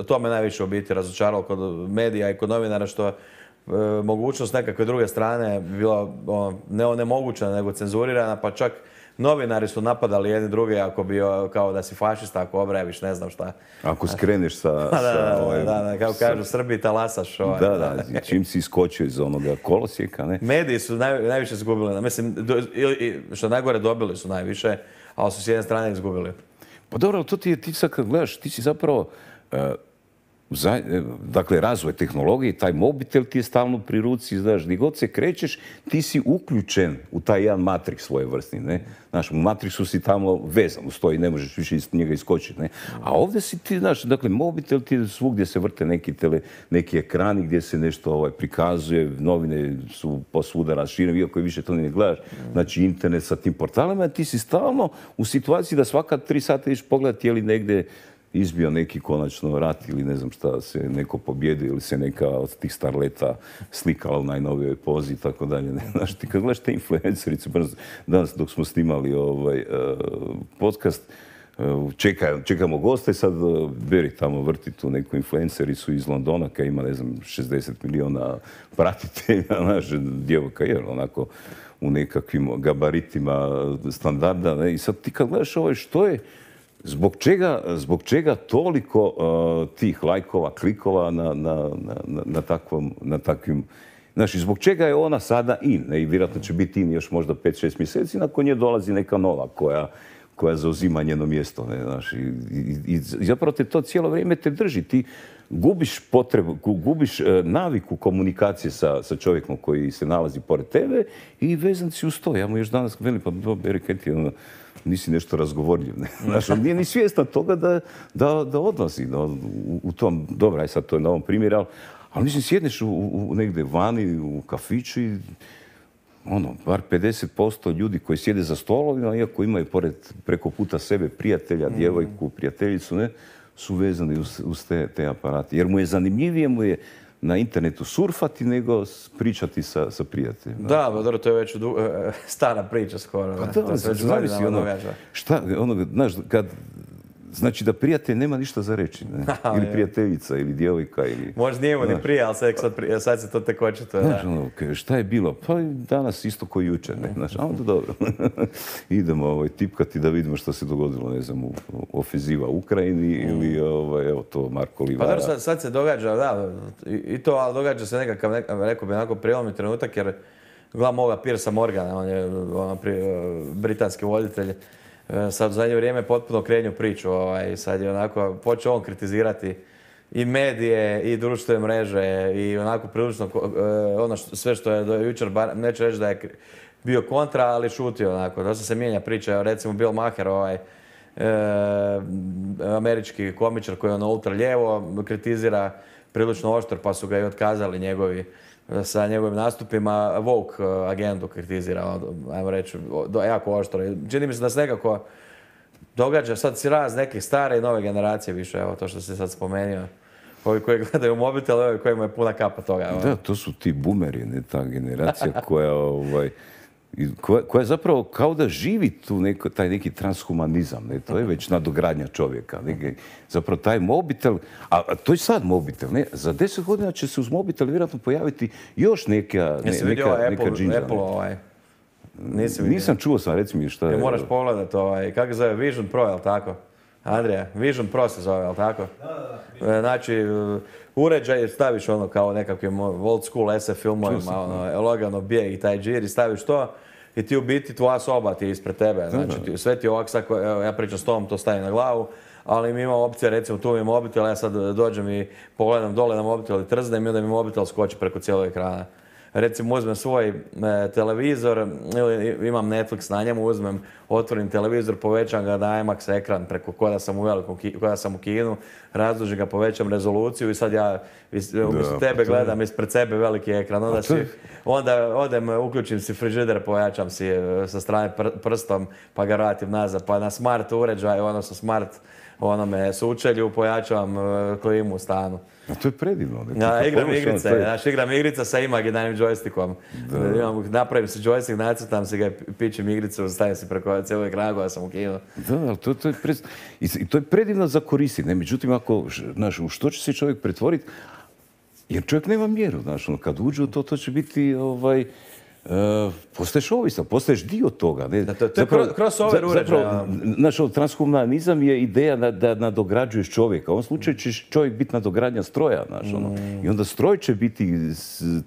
To me najviše u biti razočaralo kod medija i kod novinara, što e, mogućnost nekakve druge strane bila ono, ne onemogućena nego cenzurirana, pa čak novinari su napadali jedni druge ako bi kao da si fašista, ako obrajaviš ne znam šta. Ako skreneš sa... da, da, sa, ovaj, da, da, kao kažu Srbi, talasaš. Ovaj. Da, da, čim si iskočio iz onoga kolosijeka, ne? Mediji su naj, najviše izgubili. Mislim, do, ili, što najgore dobili su najviše, ali su s jedne strane izgubili. Pa dobro, ali to ti je, ti sad kad gledaš, ti si zapravo... Uh, Za, dakle, razvoj tehnologije, taj mobitel ti je stalno pri ruci, znaš, gdje god se krećeš, ti si uključen u taj jedan matrix svoje vrstni, ne? Znaš, u matrixu si tamo vezan, uz to i ne možeš više iz njega iskočiti, ne? A ovdje si ti, znaš, dakle, mobitel ti je svugdje se vrte neki, tele, neki ekrani gdje se nešto ovaj, prikazuje, novine su posvuda raširene, iako više to ne gledaš, znači internet sa tim portalima, ti si stalno u situaciji da svaka tri sata ideš pogledati je li negdje izbio neki konačno rat ili ne znam šta, se neko pobjedio ili se neka od tih starleta slikala u najnovijoj pozi i tako dalje. Znaš, ti kad gledaš te influencerice, danas dok smo snimali ovaj uh, podcast, uh, čekaj, čekamo goste, sad uh, Beri tamo vrti tu neku influencericu iz Londona koja ima, ne znam, šezdeset milijuna pratitelja, naša djevojka je onako u nekakvim gabaritima standarda. Ne? I sad ti kad gledaš ovo, što je, zbog čega, zbog čega toliko uh, tih lajkova, klikova na, na, na, na, takvom, na takvim... Znači, zbog čega je ona sada in? Ne? I vjerojatno će biti in još možda pet šest mjeseci, nakon nje dolazi neka nova koja, koja zauzima njeno mjesto. Ne? Znači, i, i, i zapravo te to cijelo vrijeme te drži. Ti gubiš potrebu, gubiš uh, naviku komunikacije sa, sa čovjekom koji se nalazi pored tebe i vezan si uz to. Ja mu još danas velim, pa do Beriketi, ono, nisi nešto razgovorljiv. Ne? Znači, on nije ni svjestan toga da, da, da odlazi no, u, u tom, dobro, aj sad to je na ovom primjeru, ali, ali mislim, sjedneš u, u negdje vani, u kafiću i ono, bar pedeset posto ljudi koji sjede za stolovima, iako imaju pored, preko puta sebe prijatelja, djevojku, prijateljicu, ne, su vezani uz, uz te, te aparate. Jer mu je zanimljivije, mu je na internetu surfati nego pričati sa, sa prijateljima. Da, dobro, to je već du... stara priča skoro. Pa da, to se već zavisi ono, šta, ono, znaš, kad, znači da prijatelj nema ništa za reći, ne? Ili prijateljica, ili djevojka, ili... Možda nije mu ni prije, ali sad, sad, prije, sad se to tek očito. Znaš, ono, šta je bilo? Pa danas isto ko jučer, ne? Znaš, a onda dobro. Idemo ovaj, tipkati da vidimo što se dogodilo, ne znam, u ofenziva u Ukrajini ili, ovaj, evo to, Marko Livara. Pa dobro, sad, sad se događa, da, i, i to, ali događa se nekakav, nekakav rekao bi, onako prijelomni trenutak, jer gledam ovoga Piersa Morgana, on je ono, pri, britanski voditelj, sad u zadnje vrijeme potpuno krenju priču. Ovaj, sad je onako počeo on kritizirati i medije i društvene mreže i onako prilično ono što, sve što je do jučer, bar, neću reći da je bio kontra, ali šutio onako. Dosta se mijenja priča. Recimo Bill Maher, ovaj, e, američki komičar koji je ono ultra lijevo, kritizira prilično oštro, pa su ga i otkazali njegovi sa njegovim nastupima. Woke agendu kritizira, ajmo reći, jako oštro. Čini mi se da se nekako događa sad si raz nekih stare i nove generacije više, evo to što si sad spomenuo. Ovi koji gledaju mobitel, ovi kojima je puna kapa toga. Da, to su ti boomeri, ne, ta generacija koja, ovaj, koja, koja zapravo kao da živi tu neko, taj neki transhumanizam, ne, to je već nadogradnja čovjeka. Ne, zapravo taj mobitel, a, a to je sad mobitel, ne, za deset godina će se uz mobitel vjerojatno pojaviti još neka, ne, neka, neka, neka Apple, džinđa. Apple, ovaj. Nisam čuo sam, reci mi šta je. Ne moraš pogledati, ovaj, kako se zove, Vision Pro, je li tako? Andrija, Vision Pro se zove, je li tako? Da, da, da. Znači, uređaj, staviš ono kao nekakvim old school S F filmovima, ono, lagano bijeg i taj džir i staviš to i ti u biti tvoja soba ti je ispred tebe. Znači, ti, sve ti ovak, sad, evo, ja pričam s tobom, to stavim na glavu, ali mi imamo opcije, recimo tu mi je mobitel, ja sad dođem i pogledam dole na mobitel i trznem i onda mi mobitel skoči preko cijelog ekrana. Recimo uzmem svoj e, televizor ili imam Netflix na njemu, uzmem, otvorim televizor, povećam ga na IMAX ekran preko koda sam u velikom, koda sam u kinu, razdužim ga, povećam rezoluciju i sad ja umjesto tebe gledam ispred sebe veliki ekran. Onda, si, onda odem, uključim si frižider, pojačam si sa strane pr prstom pa ga vratim nazad, pa na smart uređaj, odnosno smart onome sučelju, pojačavam klimu u stanu. A to je predivno. Ne? Ja, igram igrice, je... znaš, igram igrica sa imaginarnim džojstikom. Imam, napravim si džojstik, nacrtam si ga, pičem igricu, stavim si preko cijelog ekrana koja sam u kinu. Da, ali to, to, je pre... I to je predivno za koristiti. Ne? Međutim, ako, znaš, u što će se čovjek pretvoriti, jer čovjek nema mjeru, znaš, ono, kad uđe u to, to će biti, ovaj, Uh, postaješ ovisan, postaješ dio toga. Ne? Da, to, to je crossover uređaja. Znaš, transhumanizam je ideja da, da nadograđuješ čovjeka. U ovom slučaju će čovjek biti nadogradnja stroja. Znaš, ono. mm. I onda stroj će biti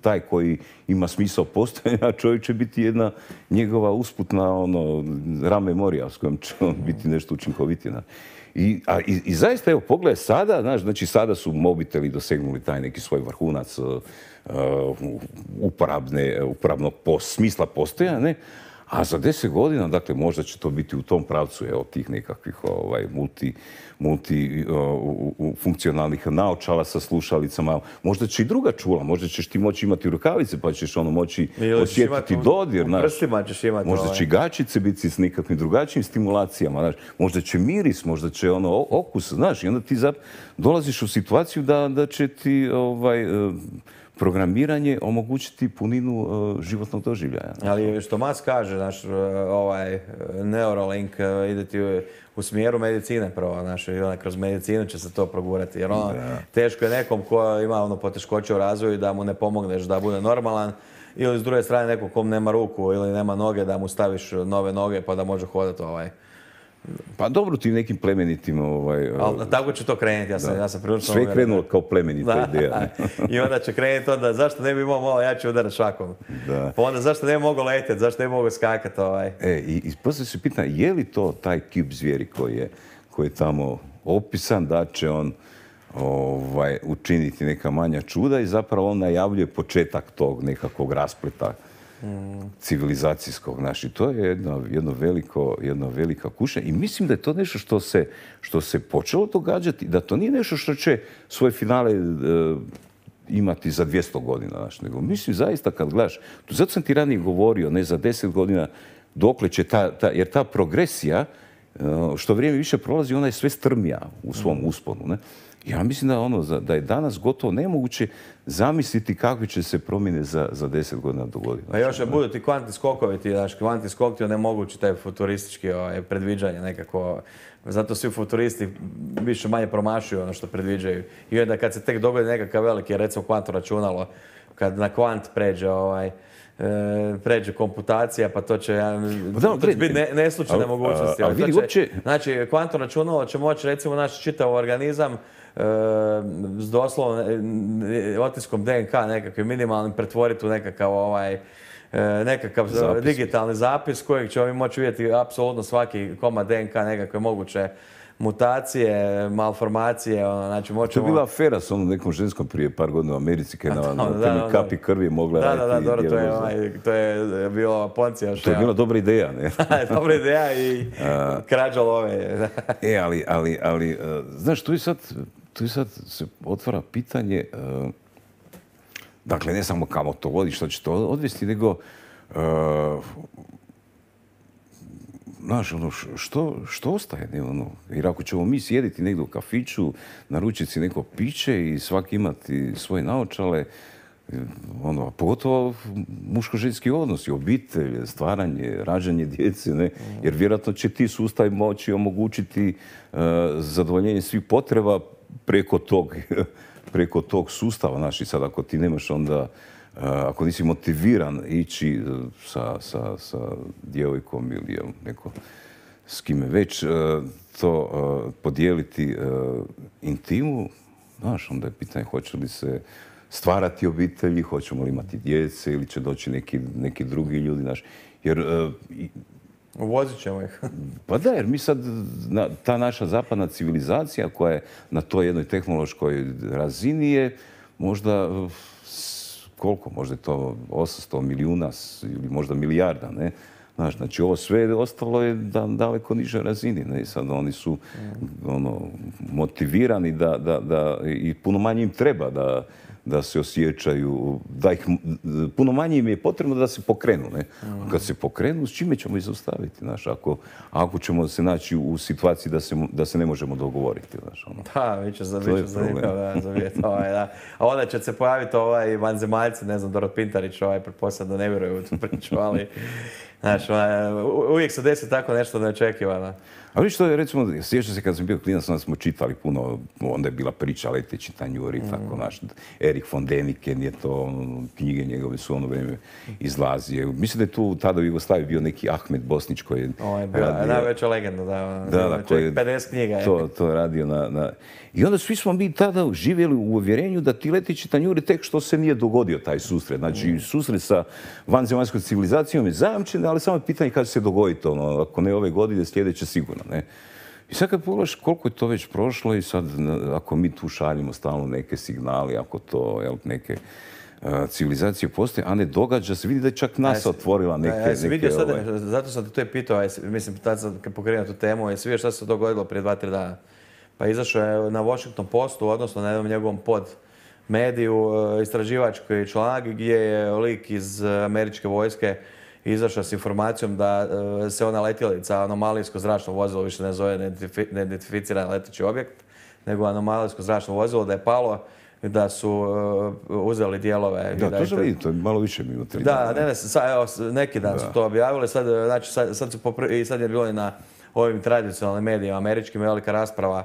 taj koji ima smisao postojanja, a čovjek će biti jedna njegova usputna ono, RAM memorija s kojom će on biti nešto učinkovitije. I, a, i, I zaista, evo, pogledaj sada, znaš, znači sada su mobiteli dosegnuli taj neki svoj vrhunac uh, uporabne, uporabnog pos, smisla postojanja, ne? A za deset godina, dakle, možda će to biti u tom pravcu, evo, tih nekakvih ovaj, multi, multi uh, u, u, funkcionalnih naočala sa slušalicama. Možda će i druga čula, možda ćeš ti moći imati rukavice, pa ćeš ono moći osjetiti dodir. U prstima ćeš imati. Možda ovaj. će gačice biti s nekakvim drugačijim stimulacijama, znaš. Možda će miris, možda će ono okus, znaš. I onda ti zap, dolaziš u situaciju da, da će ti ovaj, uh, programiranje omogućiti puninu uh, životnog doživljaja. Ali što Mas kaže, znaš, ovaj Neuralink uh, ide ti u, u smjeru medicine prvo, znaš, i onda kroz medicinu će se to progurati. Jer ono, teško je nekom ko ima ono poteškoće u razvoju da mu ne pomogneš da bude normalan, ili s druge strane nekom kom nema ruku ili nema noge da mu staviš nove noge pa da može hodati ovaj. Pa dobro ti nekim plemenitim... Ovaj, ali tako će to krenuti, ja sam, ja sam prilično... Sve je krenulo kao plemenita ideja. Ne? I onda će krenuti onda, zašto ne bi imao malo jači udarac šakom? Da. Pa onda zašto ne bi mogao letjeti, zašto ne bi mogao skakati ovaj? E, i, i poslije se pita, je li to taj kip zvijeri koji je, koji je tamo opisan, da će on ovaj, učiniti neka manja čuda i zapravo on najavljuje početak tog nekakvog raspleta civilizacijskog. Znači, to je jedno, jedno, veliko, jedno velika kuća i mislim da je to nešto što se, što se počelo događati, da to nije nešto što će svoje finale e, imati za dvjesto godina. Znači, nego mislim zaista kad gledaš, zato sam ti ranije govorio, ne za deset godina, dokle će ta, ta jer ta progresija, što vrijeme više prolazi, ona je sve strmija u svom usponu. Ne? Ja mislim da, ono, da je danas gotovo nemoguće zamisliti kakve će se promjene za, za deset godina dogoditi. A još je budu ti kvantni skokovi, ti, znaš, kvantni skok ti onemogući taj futuristički ovaj, predviđanje nekako. Zato svi futuristi više manje promašuju ono što predviđaju. I onda kad se tek dogodi nekakav veliki, recimo kvantno računalo, kad na kvant pređe ovaj, E, pređe komputacija, pa to će, pa da, to će biti ne, neslučajne mogućnosti. A, a, a vidi, će, uopće... Znači, kvantno računalo će moći, recimo, naš čitav organizam e, s doslovno e, otiskom D N K nekakvim minimalnim pretvoriti u nekakav ovaj, e, nekakav zapis. Digitalni zapis kojeg ćemo mi moći vidjeti apsolutno svaki komad D N K nekakve moguće mutacije, malformacije, ono, znači moćemo... To je bila afera s onom nekom ženskom prije par godina u Americi, kada na, na, na, na kapi krvi mogla... Da, da, da, dobro, to je, ovaj, to je bilo Poncija. To je bila dobra ideja, ne? Dobra ideja i krađa love. E, ali, ali, ali, znaš, tu je sad, tu je sad se otvara pitanje, uh, dakle, ne samo kamo to vodi, što će to odvesti, nego... Uh, Znaš, ono, što, što ostaje? Ne, ono, jer ako ćemo mi sjediti negdje u kafiću, naručiti si neko piće i svaki imati svoje naočale, ono, pogotovo muško-ženski odnosi, obitelj, stvaranje, rađanje djece, ne? Jer vjerojatno će ti sustav moći omogućiti uh, zadovoljenje svih potreba preko tog, preko tog sustava. Znaš, i sad ako ti nemaš onda Uh, ako nisi motiviran ići uh, sa, sa, sa djevojkom ili jel, neko s kime već uh, to uh, podijeliti uh, intimu, znaš, onda je pitanje hoće li se stvarati obitelji, hoćemo li imati djece ili će doći neki, neki drugi ljudi, znaš, jer... Uh, Uvozit ćemo ih. Pa da, jer mi sad, na, ta naša zapadna civilizacija koja je na toj jednoj tehnološkoj razini je možda... Uh, koliko, možda je to osamsto milijuna ili možda milijarda, ne? Znaš, znači ovo sve ostalo je da, daleko niže razini, ne? I sad oni su ono, motivirani da, da, da, i puno manje im treba da, da se osjećaju, da ih, puno manje im je potrebno da se pokrenu, ne? A kad se pokrenu, s čime ćemo ih zaustaviti, znaš, ako, ako ćemo se naći u situaciji da se, da se ne možemo dogovoriti, znaš, ono. Da, bit će za, bit će za nikao, da, za vjet, ovaj, da. A onda će se pojaviti ovaj vanzemaljci, ne znam, Dorot Pintarić, ovaj, pretpostavljam da ne vjeruju u tu priču, ali, znaš, uvijek se desi tako nešto neočekivano. A vidiš što je, recimo, sjećam se kad sam bio klinac, onda smo čitali puno, onda je bila priča Leteći tanjuri, mm. tako, naš, Erik von Däniken je to, knjige njegove su ono vrijeme izlazije. Mislim da je tu tada u Jugoslaviji bio neki Ahmed Bosnić koji je... Ovo je bila najveća legenda, da, da, da koji je pedeset knjiga. Je. To, to je radio na, na... I onda svi smo mi tada živjeli u uvjerenju da ti Leteći tanjuri tek što se nije dogodio taj susret. Znači, mm. susret sa vanzemaljskom civilizacijom je zajamčen, ali samo je pitanje kada će se dogoditi, ono, ako ne ove godine, sljedeće sigurno. Ne? I sad kad pogledaš koliko je to već prošlo i sad ako mi tu šaljimo stalno neke signali, ako to, jel, neke civilizacije postoje, a ne događa se. Vidi da je čak NASA otvorila neke... Ja sam vidio sad, ovaj... zato sam te to je pitao, mislim, tad sam pokrenuo tu temu, jesi vidio šta se dogodilo prije dva, tri dana? Pa izašao je na Washington Postu, odnosno na jednom njegovom pod mediju, istraživački članak gdje je lik iz američke vojske izašao s informacijom da se ona letjelica, anomalijsko zračno vozilo, više ne zove neidentificiran leteći objekt, nego anomalijsko zračno vozilo, da je palo, da su uh, uzeli dijelove. Da, da to sam vidio, to je malo više minuta. Da, ne, ne, sad, evo, neki dan da. su to objavili, sad, znači, sad, sad, su popr... i sad je bilo i na ovim tradicionalnim medijima, američkim, velika rasprava.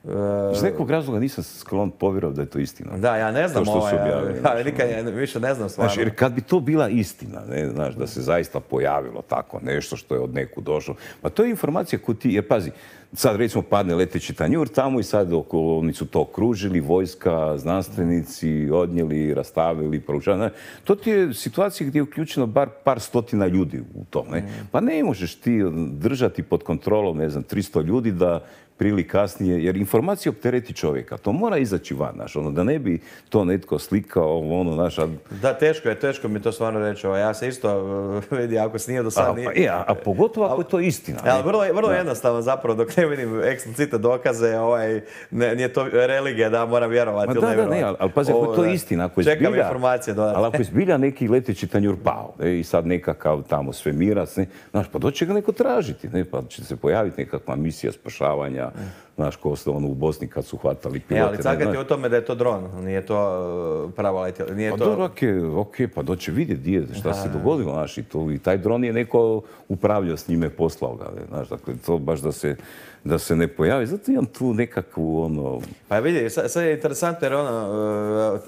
Uh, Iz nekog razloga nisam sklon povjerovao da je to istina. Da, ja ne znam, to što ovaj, su objavili. Ja, ja nikad ja, više ne znam stvarno. Znaš, jer kad bi to bila istina, ne, znaš, da se zaista pojavilo tako nešto što je od neku došlo, pa to je informacija koju ti, jer pazi, sad recimo padne leteći tanjur tamo i sad oko, oni su to okružili, vojska, znanstvenici, odnijeli, rastavili, proučavali. To ti je situacija gdje je uključeno bar par stotina ljudi u tom. Ne? Pa ne možeš ti držati pod kontrolom, ne znam, tristo ljudi da prili kasnije, jer informacija optereti čovjeka. To mora izaći van, znaš, ono, da ne bi to netko slikao, ono, znaš... A... Da, teško je, teško mi to stvarno reći. Ja se isto vidi, ako se nije do sad... A, nije... a, a, a pogotovo ako je to istina. Ja, vrlo, vrlo jednostavno zapravo, dok ne vidim eksplicitne dokaze, ovaj, ne, nije to religija da moram vjerovati Ma ili da, ne vjerovati. Da, ne, ali, ali pazi, ako je to istina, ako je zbilja... Čekam informacije dodatno. Ali ako je zbilja neki leteći tanjur pao, ne, i sad nekakav tamo svemirac, ne, znaš, pa doće ga neko tražiti, ne, pa će se pojaviti nekakva misija spašavanja, znaš, ko ste ono u Bosni kad su hvatali pilote. E, ali cagati o tome da je to dron, nije to prava letjela. Pa to... dobro, okej, okay, pa doće vidjeti gdje, šta se dogodilo, znaš, i, to, i taj dron je neko upravljao s njime, poslao ga, ne, znaš, dakle, to baš da se, da se ne pojavi. Zato imam tu nekakvu, ono... Pa vidi, sad, sad je interesantno jer ono,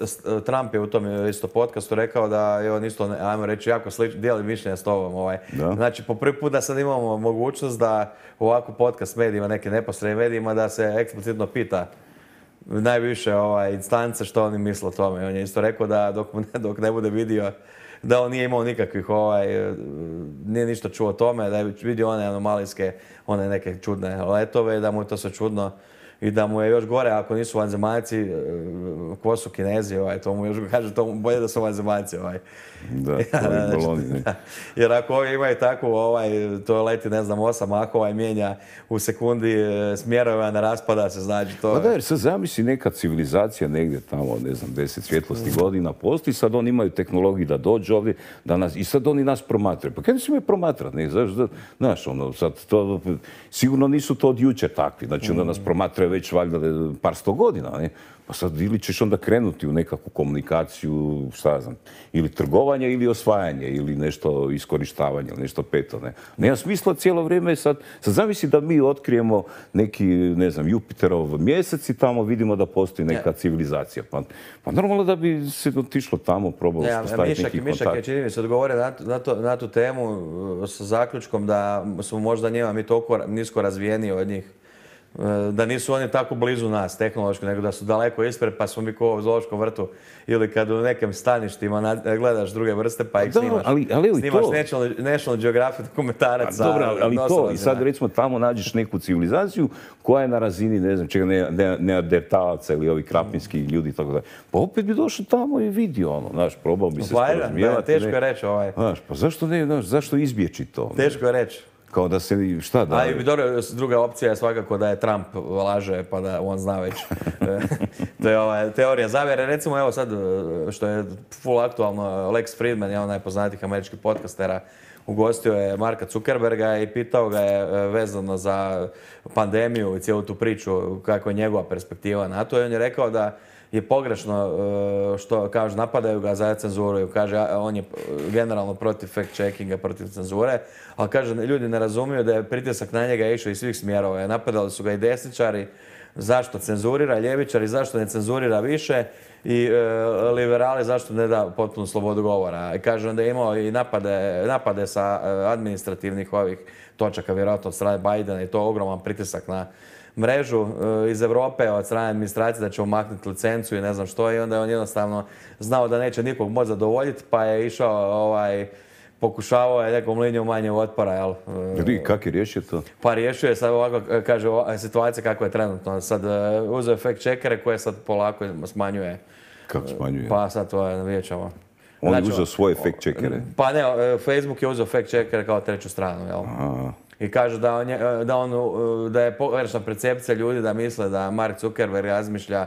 Trump je u tom isto podcastu rekao da je on isto, ajmo reći, jako slično, dijeli mišljenja s tobom. Ovaj. Znači, po prvi put da sad imamo mogućnost da ovako podcast medijima, neke neposrednim medijima, da se eksplicitno pita najviše ovaj, instance što oni misle o tome. On je isto rekao da dok, dok ne bude vidio da on nije imao nikakvih, ovaj, nije ništa čuo o tome, da je vidio one anomalijske, one neke čudne letove, da mu je to sve čudno i da mu je još gore ako nisu vanzemaljci, ko su Kinezi, ovaj, to mu još kaže, to mu bolje da su vanzemaljci. Ovaj. Da, to je baloni, ne? Jer ako ovi imaju takvu, ovaj, to leti, ne znam, osam mahova i mijenja u sekundi smjerove, ne raspada se, znači to... Pa da, jer sad zamisli neka civilizacija negdje tamo, ne znam, deset svjetlosti godina postoji, sad oni imaju tehnologiju da dođu ovdje, da nas, i sad oni nas promatraju. Pa kada se imaju promatrati, ne, znaš, ono, sad to, sigurno nisu to od jučer takvi, znači onda nas promatraju već valjda par sto godina, ne? Pa sad ili ćeš onda krenuti u nekakvu komunikaciju, šta znam, ili trgovanje ili osvajanje, ili nešto iskorištavanje, ili nešto peto, ne. Nema smisla cijelo vrijeme sad, sad zamisli da mi otkrijemo neki, ne znam, Jupiterov mjesec i tamo vidimo da postoji neka civilizacija. Pa, pa normalno da bi se otišlo tamo, probalo ja, staviti neki kontakt. Mišak je, čini mi se, odgovore na, na, to, na tu temu sa zaključkom da smo možda njima mi toliko nisko razvijeni od njih, da nisu oni tako blizu nas tehnološki, nego da su daleko ispred, pa smo mi ko u zoološkom vrtu ili kad u nekim staništima gledaš druge vrste pa ih snimaš. Ali, ali snimaš National, National Geographic dokumentarac. Dobro, ali to, i sad recimo tamo nađeš neku civilizaciju koja je na razini, ne znam, čega, neandertalaca ili ovi krapinski ljudi i tako da. Pa opet bi došao tamo i vidio ono, znaš, probao bi se sporazumijevati. Teško je reći ovaj. Znaš, pa zašto ne, znaš, zašto izbjeći to? Teško je reći. Kao da se, šta da... A i dobro, druga opcija je svakako da je Trump laže, pa da on zna već. To je ova teorija zavjere. Recimo, evo sad, što je full aktualno, Lex Fridman je onaj poznatih američkih podcastera, ugostio je Marka Zuckerberga i pitao ga je vezano za pandemiju i cijelu tu priču, kako je njegova perspektiva na to. I on je rekao da je pogrešno što, kaže, napadaju ga za cenzuru. Kaže, on je generalno protiv fact-checkinga, protiv cenzure, ali kaže, ljudi ne razumiju da je pritisak na njega išao iz svih smjerova. Napadali su ga i desničari, zašto cenzurira, ljevičari, zašto ne cenzurira više i e, liberali, zašto ne da potpunu slobodu govora. I kaže, onda je imao i napade, napade sa administrativnih ovih točaka, vjerojatno od strane Bidena i to ogroman pritisak na mrežu iz Europe od strane administracije da će umaknuti licencu i ne znam što i onda je on jednostavno znao da neće nikog moći zadovoljiti pa je išao ovaj, pokušavao je nekom linijom manje otpora, jel? I kako je riješio to? Pa riješio je sad ovako, kaže, situacija kako je trenutno. Sad uzeo fact checkere koje sad polako smanjuje Kako smanjuje? Pa sad to je, vidjet ćemo. On je Znači, uzeo svoje fact checkere. Pa ne, Facebook je uzeo fact checkere kao treću stranu, jel? Aha. I kaže da, on je, da, on, da je pogrešna percepcija ljudi da misle da Mark Zuckerberg razmišlja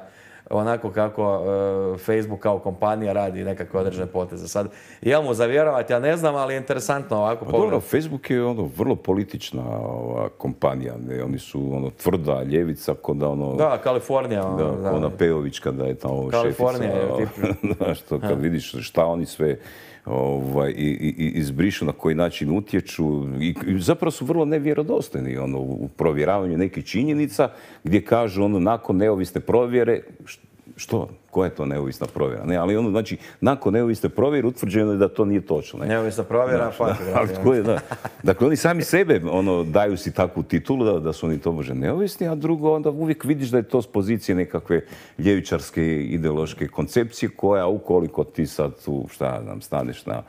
onako kako uh, Facebook kao kompanija radi nekakve određene poteze. Sad, jel mu zavjerovati, ja ne znam, ali je interesantno ovako Pa pogledati. dobro, Facebook je ono vrlo politična ova, kompanija. Ne? Oni su ono tvrda ljevica, ko da ono... Da, Kalifornija. Da, Da, ko ona Pejović kada je tamo Kalifornija šefica. je Da, što kad vidiš šta oni sve ovaj, i, i, izbrišu, na koji način utječu. I, i zapravo su vrlo nevjerodostojni ono, u provjeravanju nekih činjenica gdje kažu ono, nakon neovisne provjere, što? Koja je to neovisna provjera? Ne, ali ono, znači, nakon neovisne provjere utvrđeno je da to nije točno. Ne? Neovisna provjera, da, da. Dakle, oni sami sebe ono, daju si takvu titulu da, da su oni tobože neovisni, a drugo, onda uvijek vidiš da je to s pozicije nekakve ljevičarske ideološke koncepcije koja, ukoliko ti sad tu, šta znam, staneš na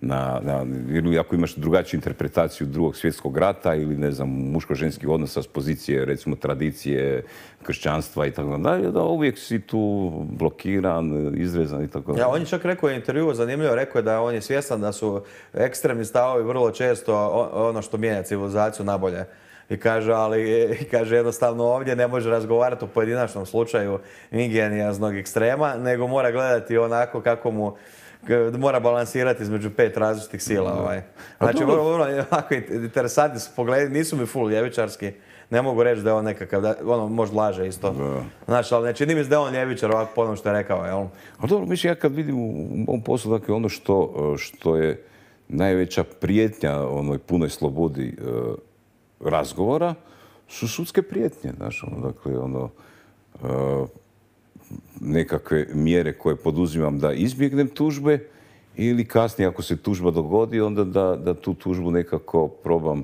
Na, na, ili ako imaš drugačiju interpretaciju drugog svjetskog rata ili ne znam, muško-ženskih odnosa s pozicije recimo tradicije, kršćanstva i tako dalje, da uvijek si tu blokiran, izrezan i tako dalje. Ja, on je čak rekao u intervjuu, zanimljivo, rekao je da on je svjestan da su ekstremni stavovi vrlo često ono što mijenja civilizaciju nabolje. I kaže, ali kaže, jednostavno ovdje ne može razgovarati o pojedinačnom slučaju ingenioznog ekstrema, nego mora gledati onako kako mu mora balansirati između pet različitih sila. Ovaj. Znači, vrlo, vrlo, ovako interesantni su pogledi, nisu mi full ljevičarski. Ne mogu reći da je on nekakav, da, ono možda laže isto. Da. Znači, ali ne čini mi se da je on ljevičar ovako po onom što je rekao, jel? A dobro, mislim, ja kad vidim u ovom poslu, dakle, ono što, što je najveća prijetnja onoj punoj slobodi e, razgovora, su sudske prijetnje, znaš, ono, dakle, ono, e, nekakve mjere koje poduzimam da izbjegnem tužbe ili kasnije ako se tužba dogodi onda da, da tu tužbu nekako probam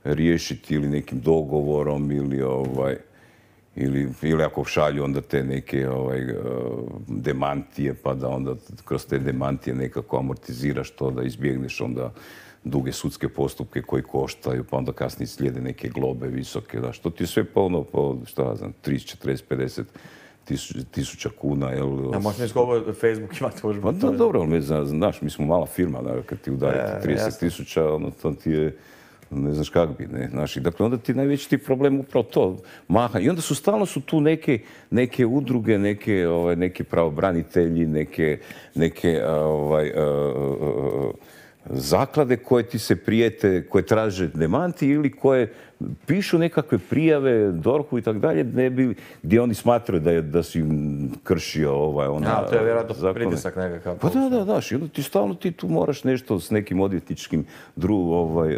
riješiti ili nekim dogovorom ili ovaj ili, ili ako šalju onda te neke ovaj, demantije pa da onda kroz te demantije nekako amortiziraš to da izbjegneš onda duge sudske postupke koji koštaju, pa onda kasnije slijede neke globe visoke, da, što ti je sve polno po, šta znam, trideset, četrdeset, pedeset tisuća kuna, jel? A možeš mi koliko Facebook ima tužbu? Pa da, dobro, ali znaš, mi smo mala firma, da, kad ti udarite trideset tisuća, ono, to ti je, ne znaš kak bi, ne, znaš, i dakle, onda ti najveći ti problem upravo to, maha. I onda su stalno su tu neke, neke udruge, neke, ovaj, neke pravobranitelji, neke, neke, ovaj, uh, uh, zaklade koje ti se prijete, koje traže demanti ili koje pišu nekakve prijave dorhu i tako dalje, ne bi, gdje oni smatraju da, je, da si im kršio ovaj, ona... Ja, to je vjerojatno pritisak nekakav. Pa da, da, daš, i onda ti stalno ti tu moraš nešto s nekim odvjetničkim dru, ovaj,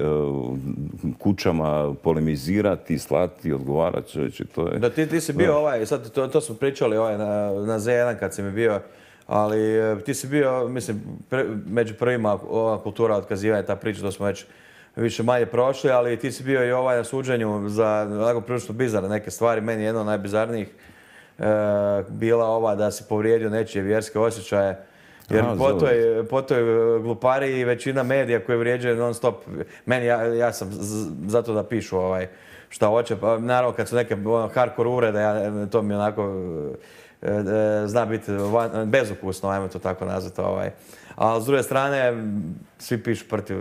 kućama polemizirati, slati, odgovarati, čovječe, to je... Da, ti, ti si bio da. ovaj, sad to, to smo pričali ovaj, na, na Z jedan kad si mi bio, ali ti si bio, mislim, pre, među prvima ova kultura otkazivanja, ta priča, to smo već više manje prošli, ali ti si bio i ovaj na suđenju za onako prilično bizarne neke stvari. Meni je jedno od najbizarnijih e, bila ova da si povrijedio nečije vjerske osjećaje. Jer Aha, po, toj, po toj glupari većina medija koje vrijeđaju non stop. Meni, ja, ja sam z, zato da pišu ovaj, šta hoće. Pa, naravno kad su neke ono, hardcore uvrede, ja, to mi onako e, e, zna biti van, bezukusno, ajmo to tako nazvati. Ovaj. A s druge strane, svi pišu protiv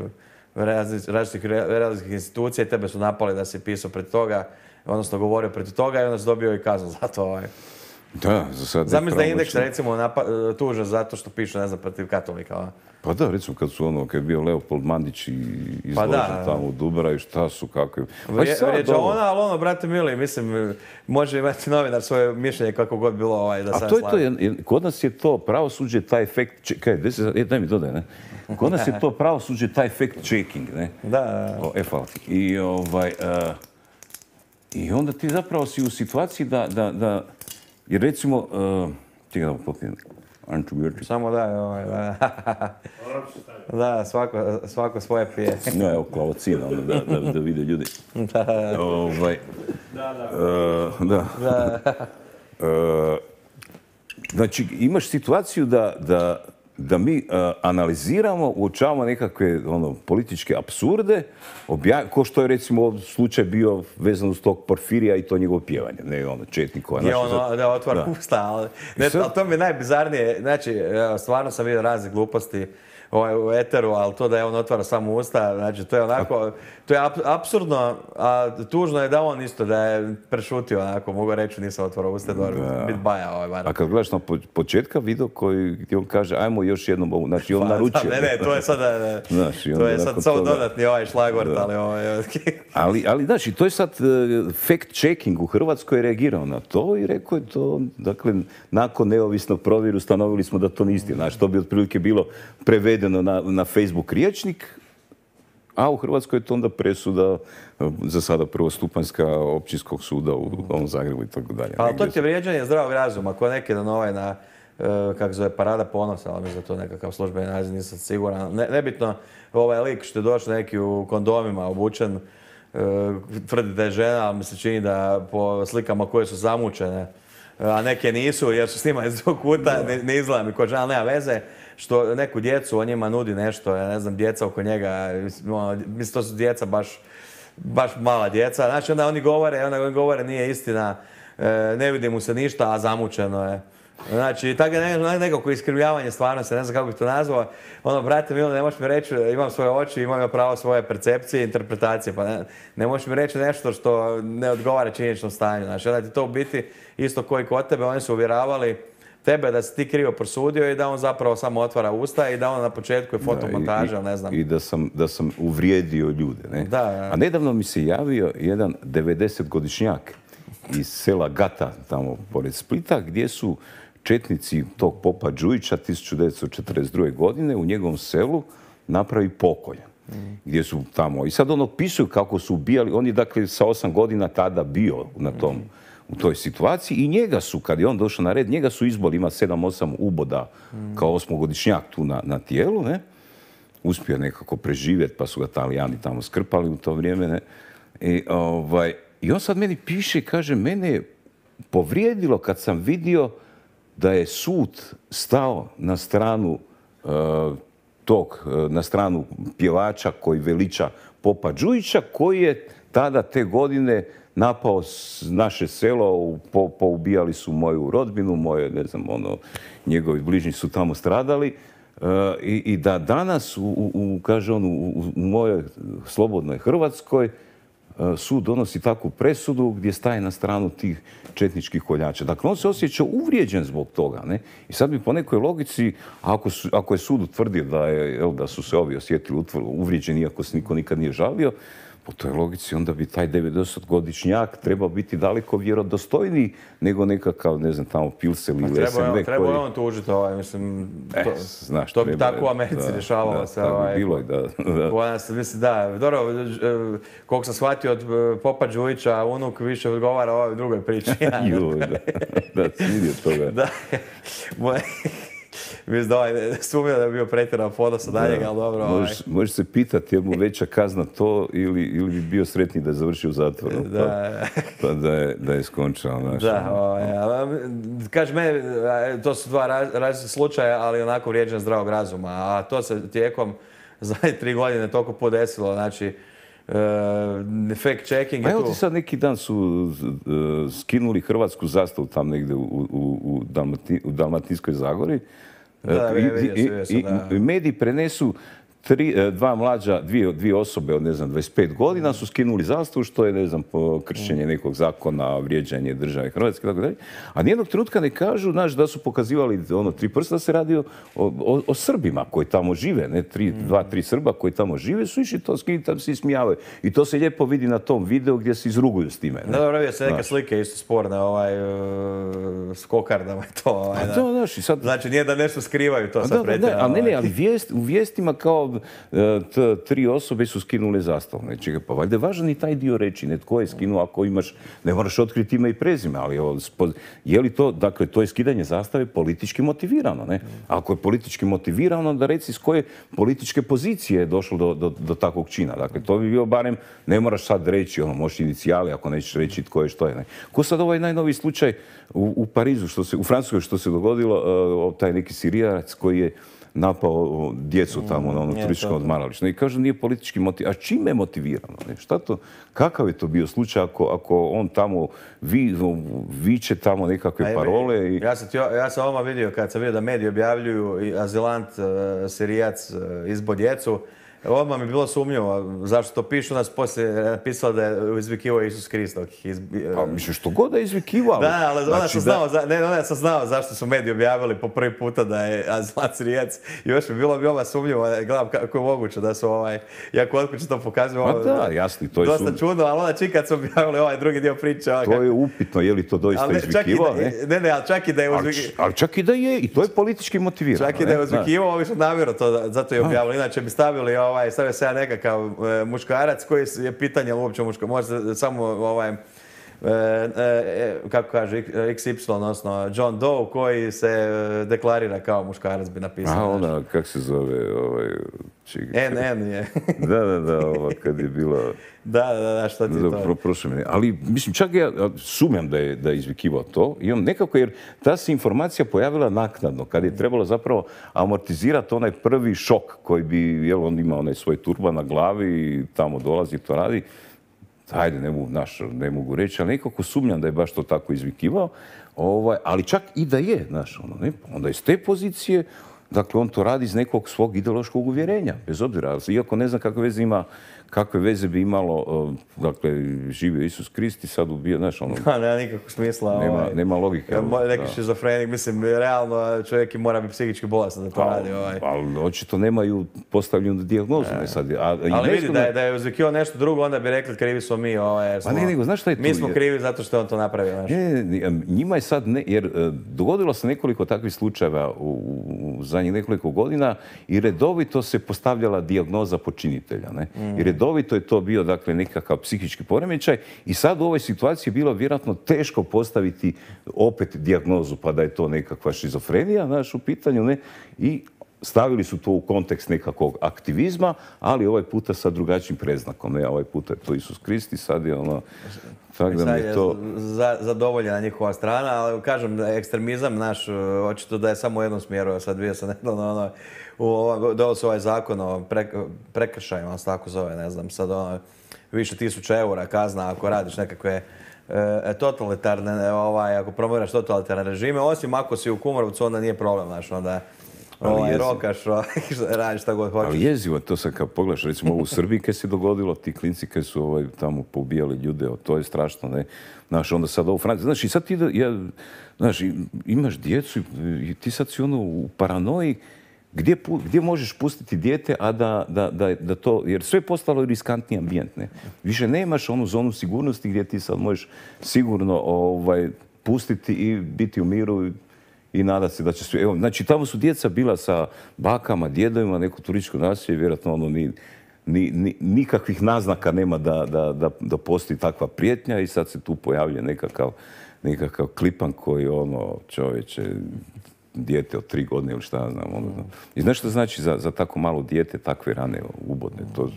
različitih različitih institucija i tebe su napali da si pisao protiv toga, odnosno govorio protiv toga i onda si dobio i kaznu za to. Ovaj. Da, za sad... Zamisli da je Indeks, recimo, tužan zato što pišu, ne znam, protiv katolika. Ovaj. Pa da, recimo kad su ono, kad je bio Leopold Mandić i izložen pa da, tamo u Dubraju, šta su, kako je... Vrijeđa ona, ali ono, brate mili, mislim, može imati novinar svoje mišljenje kako god bilo ovaj, da sam A to je to, kod nas je to pravosuđe, taj efekt, kaj, daj mi dodaj, ne? Kod nas je to pravosuđe, taj efekt checking, ne? Da, da. O, e, hvala ti. I, ovaj, uh, I onda ti zapravo si u situaciji da, da, da jer recimo, uh, čekaj da popijem, samo da, ovaj, da. Da, svako, svako svoje pije. No, evo, klavocina, ono, da, da, da vide ljudi. Da. Ovaj, da, da. Uh, da. da. uh, znači, imaš situaciju da, da da mi uh, analiziramo, uočavamo nekakve ono, političke apsurde, obja... ko što je recimo slučaj bio vezan uz tog Porfirija i to njegovo pjevanje, ne ono Četnikova. Je ono za... da otvara usta, ali, ne, sad... ali to mi je najbizarnije, znači stvarno sam vidio razne gluposti ovaj, u eteru, ali to da je on otvara samo usta, znači to je onako, to je apsurdno, a tužno je da on isto da je prešutio onako, mogu reći nisam otvarao usta, dobro, bit baja ovaj bar. A kad gledaš na početka video koji gdje on kaže ajmo još jednom ovu, znači on pa, naručio. Ne, ne, to je sada, ne, znači, to je sad samo dodatni ovaj šlagvort, da. ali ovaj... ali, ali znači, to je sad uh, fact-checking u Hrvatskoj je reagirao na to i rekao je to, dakle, nakon neovisnog provjeru ustanovili smo da to nije istina, znači to bi otprilike bilo prevedeno na, na Facebook rječnik, a u Hrvatskoj je to onda presuda za sada prvostupanjska općinskog suda u Novom Zagrebu i tako dalje. Ali to ti je vrijeđanje zdravog razuma, ko neki dan ovaj na, kako zove, Parada ponosa, ali mi za to nekakav službeni naziv, nisam siguran. Ne, nebitno, ovaj lik što je došao neki u kondomima obučen, tvrdi da je žena, ali mi se čini da po slikama koje su zamučene, a neke nisu jer su snimane iz drugog kuta, ne, ne izgleda mi ko žena, nema veze. Što neku djecu o njima nudi nešto, ja ne znam, djeca oko njega, mislim, to su djeca baš, baš mala djeca. Znači, onda oni govore, onda oni govore nije istina, ne vidi mu se ništa, a zamučeno je. Znači, tako je nekako iskrivljavanje stvarnosti, ne znam kako bih to nazvao. Ono, brate Milo, ne možeš mi reći, imam svoje oči, imam pravo svoje percepcije i interpretacije, pa ne, ne možeš mi reći nešto što ne odgovara činjeničnom stanju. Znači, onda ti to u biti isto koji kod tebe, oni su uvjeravali tebe da si ti krivo prosudio i da on zapravo samo otvara usta i da on na početku je fotomontaža, ne znam. I da sam, da sam uvrijedio ljude, ne? Da, da. A nedavno mi se javio jedan devedesetgodišnjak iz sela Gata, tamo pored Splita, gdje su četnici tog popa Đujića tisuću devetsto četrdeset druge. godine u njegovom selu napravi pokolj. Mm. Gdje su tamo. I sad ono opisuju kako su ubijali. On je dakle sa osam godina tada bio na tom, mm. u toj situaciji i njega su, kad je on došao na red, njega su izboli, ima sedam osam uboda mm. kao osmogodišnjak tu na, na tijelu, ne? Uspio nekako preživjeti, pa su ga Talijani tamo skrpali u to vrijeme, ne? I, ovaj, i on sad meni piše i kaže, mene je povrijedilo kad sam vidio da je sud stao na stranu uh, tog, uh, na stranu pjevača koji veliča popa Đujića, koji je tada te godine napao naše selo, po, poubijali su moju rodbinu, moje, ne znam, ono, njegovi bližnji su tamo stradali. Uh, i, i da danas, u, u, kaže on, u, u mojoj slobodnoj Hrvatskoj, uh, sud donosi takvu presudu gdje staje na stranu tih četničkih koljača. Dakle, on se osjeća uvrijeđen zbog toga, ne? I sad bi po nekoj logici, ako, su, ako je sud utvrdio da, je, jel, da su se ovi osjetili uvrijeđeni, iako se niko nikad nije žalio, po toj logici onda bi taj devedesetgodišnjak trebao biti daleko vjerodostojniji nego nekakav, ne znam, tamo Pilsel ili S M V koji... Treba je on tužiti ovaj, mislim, to, eh, znaš, to bi tako u Americi rješavalo da, se. Da, ovaj, bi bilo, da. da. Mislim, da, dobro, koliko sam shvatio od popa Đujića, unuk više odgovara o ovoj drugoj priči. Joj, da, da, svidio toga. Da, moje... Mislim da ovaj sumnio da je bio pretjeran ponos od njega, ali dobro... Možeš, ovaj. možeš se pitati je mu veća kazna to ili, ili bi bio sretniji da je završio u zatvoru. Da. Pa, pa da je, da je skončao. Naš, da, ovaj, kaži mene, to su dva različita slučaja, ali onako vrijeđan zdravog razuma. A to se tijekom zadnje tri godine toliko podesilo, znači... Uh, fact checking pa je tu. Evo ti sad neki dan su uh, skinuli hrvatsku zastavu tam negdje u, u, u, Dalmati, u Dalmatinskoj Zagori. Da, uh, i, vidio, vidio sam, i, da. I mediji prenesu tri, dva mlađa, dvije, dvije osobe od, ne znam, dvadeset pet godina su skinuli zastavu, što je, ne znam, kršenje nekog zakona, vrijeđanje države Hrvatske, tako dalje. A nijednog trenutka ne kažu, znaš, da su pokazivali ono tri prsta, da se radi o, o, o Srbima koji tamo žive, ne, tri, mm. dva, tri Srba koji tamo žive, su išli to skinuti, tam se ismijavaju. I to se lijepo vidi na tom videu gdje se izruguju s time. Ne? Da, dobro, se neke slike isto sporne, ovaj, uh, s kokardama i to. Ovaj, a to, znaš, i sad... Znači, nije da nešto skrivaju, to sad pretjerano. Ali ne, ne, ali vijest, u vijestima kao T, tri osobe su skinule zastavu. Znači, pa valjda je važan i taj dio reći. Netko je skinuo, ako imaš, ne moraš otkriti ime i prezime, ali je li to, dakle, to je skidanje zastave politički motivirano, ne? Ako je politički motivirano, da reci s koje političke pozicije je došlo do, do, do takvog čina. Dakle, to bi bio barem, ne moraš sad reći, ono, možeš inicijali, ako nećeš reći tko je što je, ne? Ko sad ovaj najnoviji slučaj u, u Parizu, što se, u Francuskoj, što se dogodilo, uh, taj neki Sirijanac koji je napao djecu tamo na ono turističko odmaralište. I kaže nije politički motivirano. A čime je motivirano? Ne? Šta to, kakav je to bio slučaj ako, ako on tamo vi, viče tamo nekakve parole? I... Ja sam, tjo, ja sam odmah vidio kad sam vidio da mediji objavljuju azilant, Sirijac izbo djecu. Odmah mi je bilo sumnjivo zašto to pišu, nas poslije napisalo da je izvikivao Isus Krist. Izbi... Pa misliš što god da je izvikivao. Da, ali onda znači, sam, znao, da... ne, onda sam znao zašto su mediji objavili po prvi puta da je azilant Sirijac. I još mi bilo bi odmah sumnjivo, gledam kako je moguće da su ovaj, jako od kuće to pokazuju. Pa da, jasni, to je dosta sum... čudno, ali onda čim kad su objavili ovaj drugi dio priče. Ovaj, to kako... je upitno, je li to doista ne, izvikivao, ne? Ne, ne, ali čak i da je uzvikivao. Ali čak i da je, i to je politički motivirano. Čak i da je uzvikivao, ovi su namjerno to, zato je objavili. Inače bi stavili, ovaj, stavio se ja neka kao e, muškarac koji je pitanje uopće muško. Može samo ovaj, e, e, kako kaže, iks ipsilon, odnosno John Doe koji se deklarira kao muškarac bi napisao. A ona, kak se zove, ovaj... N N je. da, da, da, ova kad je bila... Da, da, da, šta ti da, to? Pro, prošle mene. Ali, mislim, čak ja sumnjam da je, da je izvikivao to. I on nekako, jer ta se informacija pojavila naknadno, kad je trebalo zapravo amortizirati onaj prvi šok koji bi, jel, on ima onaj svoj turban na glavi i tamo dolazi, to radi. Hajde, ne mogu, naš, ne mogu reći, ali nekako sumnjam da je baš to tako izvikivao. Ovaj, ali čak i da je, znaš, ono, ne, onda iz te pozicije, dakle, on to radi iz nekog svog ideološkog uvjerenja, bez obzira. Iako ne znam kakve veze ima, kakve veze bi imalo, dakle, živio Isus Krist i sad ubio, znaš, ono... Da, nema nikakvog smisla. Nema, ovaj, nema logike. Neki šizofrenik, mislim, realno čovjek mora biti psihički bolestan da to a, radi. Ovaj. Ali očito nemaju postavljenu dijagnozu. Ne. Sad, a, ali vidi, da je, da je uzvikio nešto drugo, onda bi rekli krivi smo mi. Ovaj, pa ne, nego, znaš šta je tu? Mi smo krivi zato što je on to napravio. Znaš. Ne, ne, njima je sad, ne, jer dogodilo se nekoliko takvih slučajeva u, u zadnjih nekoliko godina i redovito se postavljala dijagnoza počinitelja. Ne? Mm. I redovito je to bio, dakle, nekakav psihički poremećaj i sad u ovoj situaciji je bilo vjerojatno teško postaviti opet dijagnozu pa da je to nekakva šizofrenija, znaš, u pitanju, ne? I stavili su to u kontekst nekakvog aktivizma, ali ovaj puta sa drugačijim predznakom, ne? Ovaj puta je to Isus Krist i sad je ono... Sad da je to... za, zadovoljena njihova strana, ali kažem da je ekstremizam naš, očito da je samo u jednom smjeru. Ja sad bio sam nedavno, ono, u, dao se ovaj zakon o pre, prekršajima, on se tako zove, ne znam, sad ono, više tisuća eura kazna ako radiš nekakve e, totalitarne, ovaj, ako promoviraš totalitarne režime, osim ako si u Kumrovcu, onda nije problem, znaš, onda ovaj, rokaš, radiš šta god hoćeš. Ali jezivo to sad kad pogledaš, recimo ovo u Srbiji kad se dogodilo, ti klinci kad su ovaj, tamo poubijali ljude, to je strašno, ne? Znaš, onda sad ovo Francija, znaš, i sad ti, da, ja, znaš, imaš djecu i ti sad si ono u paranoji, Gdje, gdje možeš pustiti dijete, a da, da, da, da to... Jer sve je postalo riskantni ambijent, ne? Više nemaš onu zonu sigurnosti gdje ti sad možeš sigurno ovaj, pustiti i biti u miru i, i nadati se da će sve... Evo, znači, tamo su djeca bila sa bakama, djedovima, neko turističko naselje, vjerojatno ono ni, ni, ni, nikakvih naznaka nema da, da, da, da postoji takva prijetnja i sad se tu pojavlja nekakav, nekakav klipan koji ono, čovječe... dijete od tri godine ili šta znam. Ono. I znaš što znači za, za tako malo dijete takve rane ubodne? To,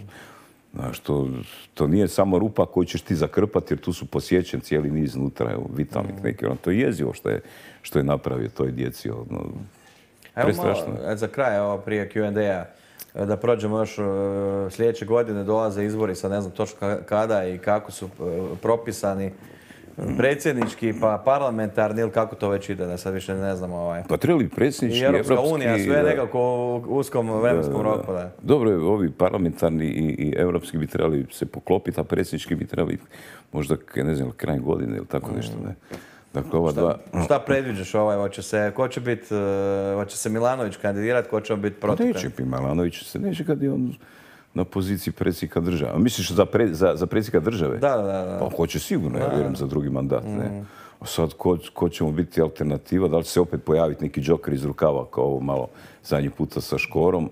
znaš, to, to nije samo rupa koju ćeš ti zakrpati jer tu su posjećen cijeli niz unutra, vitalnih neki. Ono, to je jezivo što je, što je napravio toj djeci. Ono, prestrašno. Evo, za kraj, ovo prije Q and A, da prođemo još sljedeće godine, dolaze izbori, sad ne znam točno kada i kako su propisani. Predsjednički, pa parlamentarni ili kako to već ide, da sad više ne znamo. Ovaj. Pa trebali predsjednički, i Europska evropski... unija, sve da, nekako u uskom vremenskom da, da, roku. Da. Dobro, ovi parlamentarni i, i evropski bi trebali se poklopiti, a predsjednički bi trebali možda, ne znam, kraj godine ili tako nešto. Ne. Dakle, ova šta, dva... šta predviđaš ovaj? Hoće se, ko će biti, hoće se Milanović kandidirati, ko će biti protiv? Neće bi Milanović, se neće kad je on na poziciji predsjednika države. Misliš za, pre, za, za predsjednika države? Da, da, da. Pa hoće sigurno, ja vjerujem, za drugi mandat. Mm. Ne? A sad, ko, ko će mu biti alternativa? Da li će se opet pojaviti neki džoker iz rukava, kao ovo malo zadnji puta sa Škorom?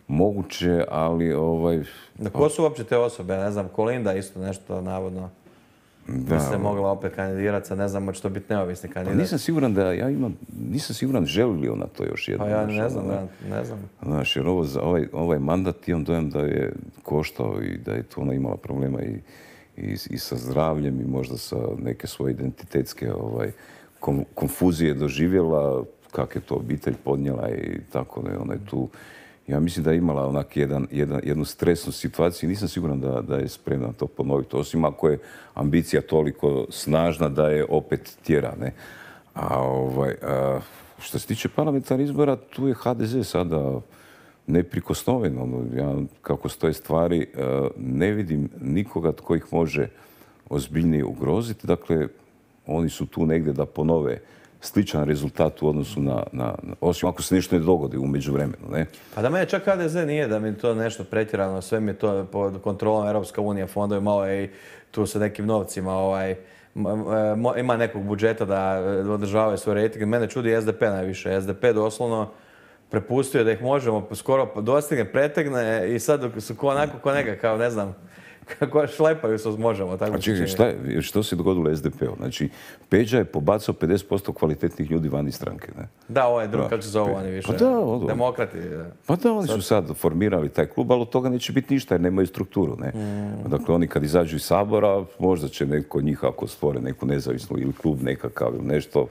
Moguće, ali ovaj... Da, ko su uopće te osobe? Ne znam, Kolinda isto nešto navodno. Da, se mogla opet kandidirati, sad ne znam, hoće to biti neovisni kandidat. Pa nisam siguran da ja imam, nisam siguran želi li ona to još jedno. Pa ja ne znam, ne, ne znam. Znaš, jer ovo, ovaj, ovaj mandat imam dojem da je koštao i da je tu ona imala problema i, i, i sa zdravljem i možda sa neke svoje identitetske ovaj, kom, konfuzije doživjela kak je to obitelj podnijela i tako da je ona je tu. Ja mislim da je imala onak jedan, jedan, jednu stresnu situaciju i nisam siguran da, da je spremna to ponoviti. Osim ako je ambicija toliko snažna da je opet tjera, ne? A ovaj, a, što se tiče parlamentarnih izbora, tu je ha de ze sada neprikosnoven. Ono, ja, kako stoje stvari, a, ne vidim nikoga tko ih može ozbiljnije ugroziti. Dakle, oni su tu negdje da ponove sličan rezultat u odnosu na, na, osim ako se nešto ne dogodi u međuvremenu, ne? Pa da mene čak ha de ze nije, da mi to nešto pretjerano, sve mi je to pod kontrolom Europska unija, fondovi malo i tu sa nekim novcima, ovaj, ima nekog budžeta da održavaju svoj rejting. Mene čudi es de pe najviše. es de pe doslovno prepustio da ih možemo skoro dostigne, pretegne i sad su ko onako ko neka, kao ne znam, kako šlepaju se možemo. Tako a čekaj, šta, što se dogodilo es de pe-u? Znači, Peđa je pobacao pedeset posto kvalitetnih ljudi van iz stranke, ne? Da, ovaj drugi, kako se zove oni više? Pa da, ono, demokrati. Da. Pa da, oni su sad formirali taj klub, ali od toga neće biti ništa jer nemaju strukturu, ne? Mm. Dakle, oni kad izađu iz Sabora, možda će neko od njih, ako stvore neku nezavisnu ili klub nekakav ili nešto,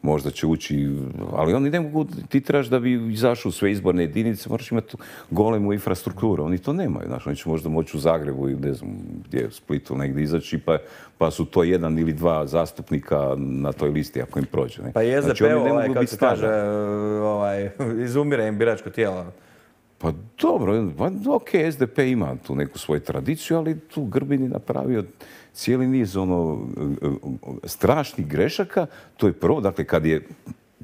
možda će ući, ali oni ne mogu, ti trebaš da bi izašao u sve izborne jedinice, moraš imati golemu infrastrukturu. Oni to nemaju, znaš, oni će možda moći u Zagrebu ili ne znam gdje, u Splitu negdje izaći, pa, pa su to jedan ili dva zastupnika na toj listi ako im prođe. Ne? Pa i es de pe, znači, ovaj, kako se kaže, ovaj, izumire im biračko tijelo. Pa dobro, pa, ok, es de pe ima tu neku svoju tradiciju, ali tu Grbin je napravio cijeli niz ono, strašnih grešaka. To je prvo, dakle, kad je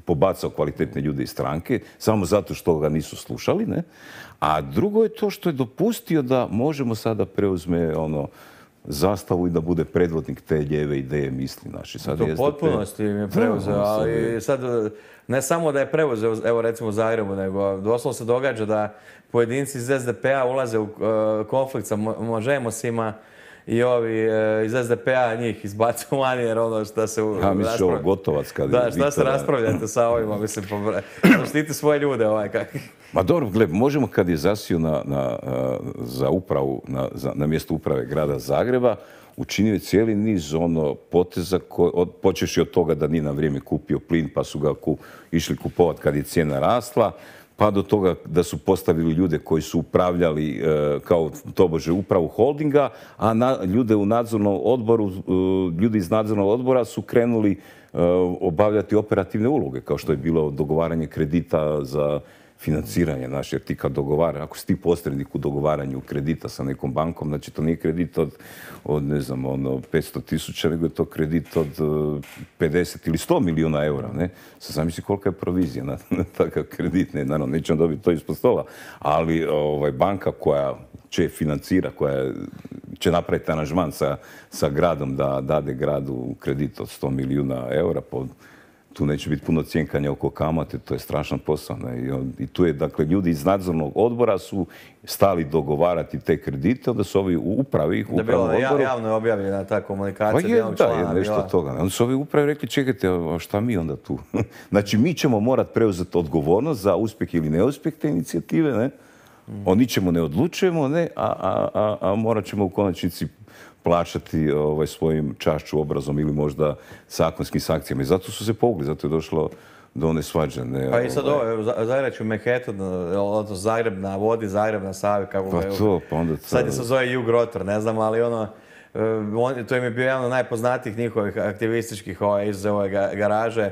pobacao kvalitetne ljude iz stranke, samo zato što ga nisu slušali, ne? A drugo je to što je dopustio da možemo sada preuzme ono, zastavu i da bude predvodnik te lijeve ideje misli naši. Sad to u potpunosti im je preuzeo, ali sad ne samo da je preuzeo, evo recimo u Zagrebu, nego doslovno se događa da pojedinci iz es de pe-a ulaze u konflikt sa Možemosima i ovi iz es de pe-a njih izbacuju van jer ono šta se... Ja misliš ovo Gotovac kad... Da, šta se raspravljate sa ovima, mislim, štiti svoje ljude ovaj kak... Ma dobro, gled, možemo kad je zasio na, na, za upravu, na, za, na mjesto uprave grada Zagreba, učinio je cijeli niz ono poteza, ko, od, počeši od toga da nije na vrijeme kupio plin pa su ga ku, išli kupovati kad je cijena rasla, pa do toga da su postavili ljude koji su upravljali e, kao tobože upravu holdinga, a na, ljude u nadzornom odboru, e, ljudi iz nadzornog odbora su krenuli e, obavljati operativne uloge, kao što je bilo dogovaranje kredita za financiranje, znači, jer ti kad dogovara, ako si ti posrednik u dogovaranju kredita sa nekom bankom, znači to nije kredit od, od ne znam, ono, petsto tisuća, nego je to kredit od pedeset ili sto milijuna eura, ne? Sad zamisli kolika je provizija na, na takav kredit, ne, naravno, nećemo dobiti to ispod stola, ali ovaj, banka koja će financira, koja će napraviti aranžman sa, sa gradom da dade gradu kredit od sto milijuna eura po tu neće biti puno cjenkanja oko kamate, to je strašan posao. Ne? I, on, I tu je, dakle, ljudi iz nadzornog odbora su stali dogovarati te kredite, onda su ovi u upravi, da bilo odboru... javno je objavljena ta komunikacija. Pa je, da, je nešto bila... toga. Onda su ovi upravi rekli, čekajte, a šta mi onda tu? Znači, mi ćemo morati preuzeti odgovornost za uspjeh ili neuspjeh te inicijative, ne? Mm. O ničemu ne odlučujemo, ne? A, a, a, a morat ćemo u konačnici plaćati ovaj, svojim čašću, obrazom ili možda zakonskim sankcijama. I zato su se povukli, zato je došlo do one svađe. Ne, pa i sad ovo, ovaj, Zagrebački Manhattan, odnosno Zagreb na vodi, Zagreb na Savi, kako pa ga je... To, pa onda to... Sad je se zove Jug Rotor, ne znam, ali ono, on, to im je bio jedan od najpoznatijih njihovih aktivističkih ovaj, iz ove garaže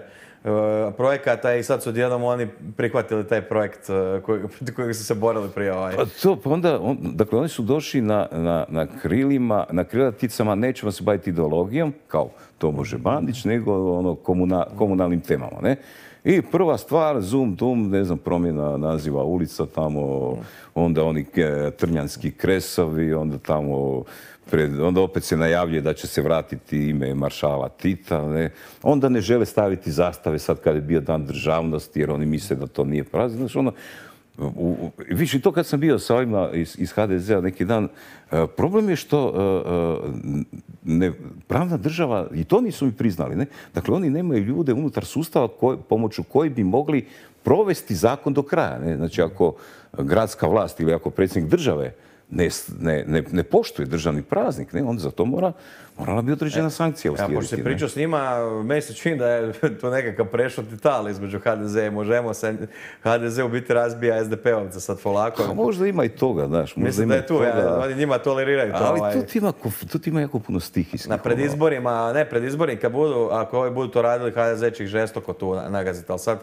projekata i sad su odjednom oni prihvatili taj projekt koji, kojeg su se borili prije ovaj. Pa to, pa onda, on, dakle, oni su došli na, na, na krilima, na krilaticama, nećemo se baviti ideologijom, kao to može Bandić, nego ono, komuna, komunalnim temama, ne? I prva stvar, zoom, dum, ne znam, promjena naziva ulica tamo, onda oni trnjanski kresovi, onda tamo, pred, onda opet se najavljuje da će se vratiti ime maršala Tita, ne? Onda ne žele staviti zastave sad kad je bio dan državnosti, jer oni misle da to nije praznik. Znači, ono, u, u, više to kad sam bio sa ovima iz, iz ha de zea neki dan, uh, problem je što uh, ne, pravna država, i to nisu mi priznali, ne? Dakle, oni nemaju ljude unutar sustava koj, pomoću koji bi mogli provesti zakon do kraja. Ne? Znači, ako gradska vlast ili ako predsjednik države ne, ne, ne, ne poštuje državni praznik, ne, onda za to mora, morala bi određena sankcija uslijediti. Ja, pošto si pričao s njima, meni se čini da je to nekakav prešutni tal između ha de ze i Možemo se. ha de ze u biti razbija es de pe-ovca sad polako. A možda ima i toga, znaš. Mislim da je tu, ja, oni njima toleriraju to. Ali ovaj. tu ti ima, tu ti ima jako puno stihijskih. Na predizborima, ne predizborima, kad budu, ako ovi budu to radili, ha de ze će ih žestoko tu nagaziti, ali sad,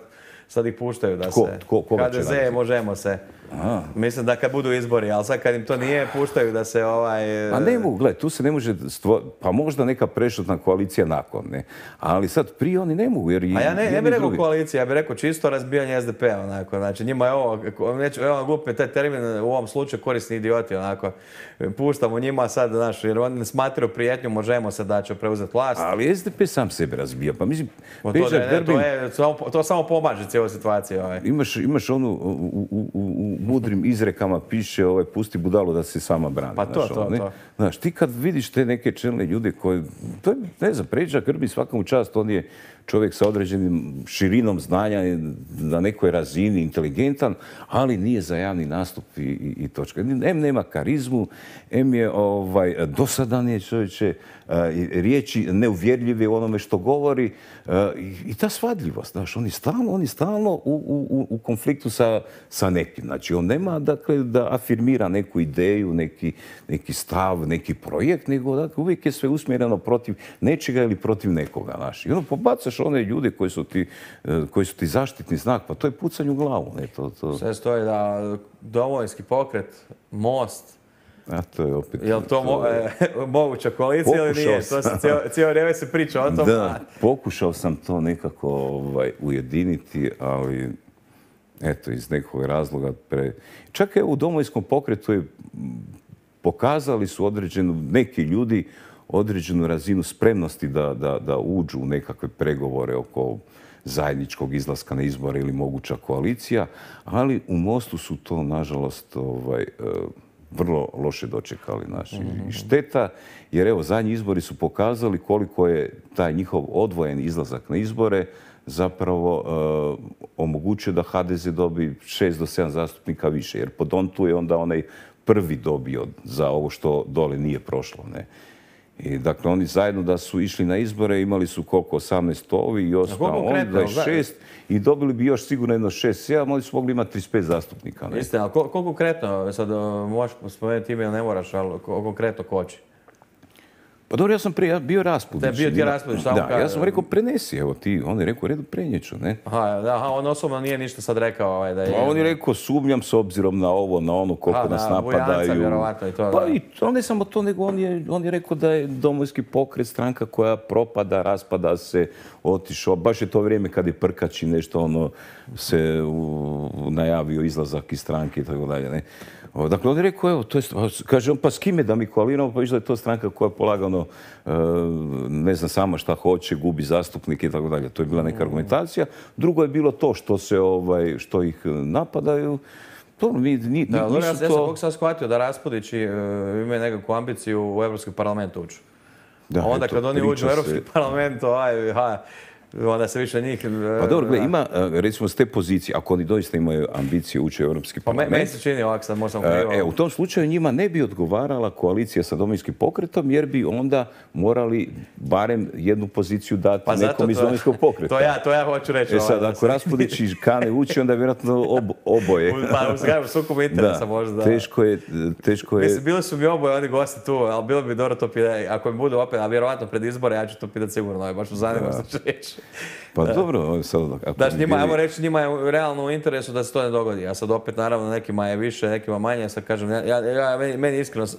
sad ih puštaju da Tko? se... Tko? Koga ha će de ze, nagaziti? Možemo se. Aha. Mislim da kad budu izbori, ali sad kad im to nije, puštaju da se ovaj... A ne mogu, gledaj, tu se ne može stvoriti, pa možda neka prešutna koalicija nakon, ne. Ali sad prije oni ne mogu, jer i A ja ne, ne jedni bih rekao drugi- koalicija, ja bih rekao čisto razbijanje es de pe-a, onako. Znači njima je ovo, neću, evo glupi taj termin u ovom slučaju korisni idioti, onako. Puštamo njima sad, znaš, jer oni ne smatraju prijetnju, Možemo se da će preuzeti vlast. Ali es de pe sam sebe razbija, pa mislim, To, Peđa da je- ne, Grbin, to, je, samo, to samo pomaže cijeloj situaciji. Ovaj. imaš, imaš onu, u, u, u, u mudrim izrekama piše, ovaj, pusti budalu da se sama brani. Pa to, znaš, to, ono, ne? to. Znaš, ti kad vidiš te neke čelne ljude koji, to je, ne znam, Peđa Grbin svaka mu čast, on je čovjek sa određenim širinom znanja, je na nekoj razini, inteligentan, ali nije za javni nastup i, i, i točka. Em nema karizmu, em je ovaj, dosadan je čovječe, a, i riječi neuvjerljive u onome što govori a, i, i ta svadljivost, znaš, on je stalno, on je stalno u, u, u konfliktu sa, sa nekim. Znači, on nema, dakle, da afirmira neku ideju, neki, neki stav, neki projekt, nego dakle, uvijek je sve usmjereno protiv nečega ili protiv nekoga, znaš. I ono, pobacaš one ljude koji su ti, eh, koji su ti zaštitni znak, pa to je pucanje u glavu, ne, to, to, Sve stoji da Domovinski pokret, Most, a to je opet... je li to mo, je- e, moguća koalicija ili Pokušao nije? To se sam. cijelo, cijelo vrijeme se priča o tom. Da, pokušao sam to nekako ovaj, ujediniti, ali eto, iz nekog razloga pre... Čak evo u Domovinskom pokretu je, m, pokazali su određenu, neki ljudi određenu razinu spremnosti da, da, da uđu u nekakve pregovore oko zajedničkog izlaska na izbore ili moguća koalicija, ali u Mostu su to, nažalost, ovaj, e, vrlo loše dočekali. Naši. I šteta, jer evo, zadnji izbori su pokazali koliko je taj njihov odvojen izlazak na izbore zapravo e, omogućio da ha de ze dobi šest do sedam zastupnika više, jer po Dontu je onda onaj prvi dobio za ovo što dole nije prošlo. Ne? I dakle, oni zajedno da su išli na izbore, imali su koliko, osamnaest ovi i koliko ostalo oni, konkretno, dvadeset šest i dobili bi još sigurno jedno šest sedam, oni su mogli imati trideset pet zastupnika. Ne? Istina, ali ko- koliko konkretno, sad o, možeš spomenuti ime ili ne moraš, ali ko- konkretno koči? Pa dobro, ja sam prije bio Raspudić. Da je bio ti Ima- Raspudić, šta mu Da, kaže? ja sam rekao prenesi, evo ti, on je rekao, redu prenijeću, ne? Aha, da, aha, on osobno nije ništa sad rekao ovaj, da je... Pa on je rekao, sumnjam s obzirom na ovo, na ono, koliko A, nas na Bujanca napadaju. vjerovatno i to, Pa da. i to, ne samo to, nego on je, on je rekao da je Domovinski pokret stranka koja propada, raspada se, otišao. Baš je to vrijeme kad je Prkač i nešto ono se u, najavio izlazak iz stranke i tako dalje, ne? O, Dakle, on je rekao, evo, to je, kaže on, pa s kime da mi koaliramo, pa išla je to stranka koja polagano, e, ne znam sama šta hoće, gubi zastupnike i tako dalje. To je bila neka argumentacija. Drugo je bilo to što se, ovaj, što ih napadaju. To mi, ni, Da, nisu dobro, ja, ja sam to... koliko sam shvatio da Raspudić i, e, imaju nekakvu ambiciju u Europski parlament ući. Da, A onda eto, kad oni uđu u priča Europski se- parlament, ovaj, ha, onda se više njih... e, Pa dobro, gle, da. ima, e, recimo, s te pozicije, ako oni doista imaju ambicije ući u Europski Pa me- parlament, meni se čini ovako, sad možda sam krivo. E, u tom slučaju njima ne bi odgovarala koalicija sa Domovinskim pokretom, jer bi onda morali barem jednu poziciju dati Pa zato nekom iz to- Domovinskog pokreta. To ja, to ja hoću reći. E sad, ovaj, ako Raspudić i Kane uči, onda vjerojatno ob, oboje. u- Pa u zgradu sukobu interesa možda. Teško je, teško je. Mislim, bili su mi oboje oni gosti tu, ali bilo bi dobro to pitati. Ako mi budu opet, a vjerovatno pred izbore, ja ću to pitati sigurno. ovaj, Baš me zanima što će reći. Pa dobro, sad, ako Znači, bi njima, bili- ajmo reći, njima je realno u interesu da se to ne dogodi. A sad opet, naravno, nekima je više, nekima manje. Sad kažem, ja, ja, ja- meni, meni iskreno s-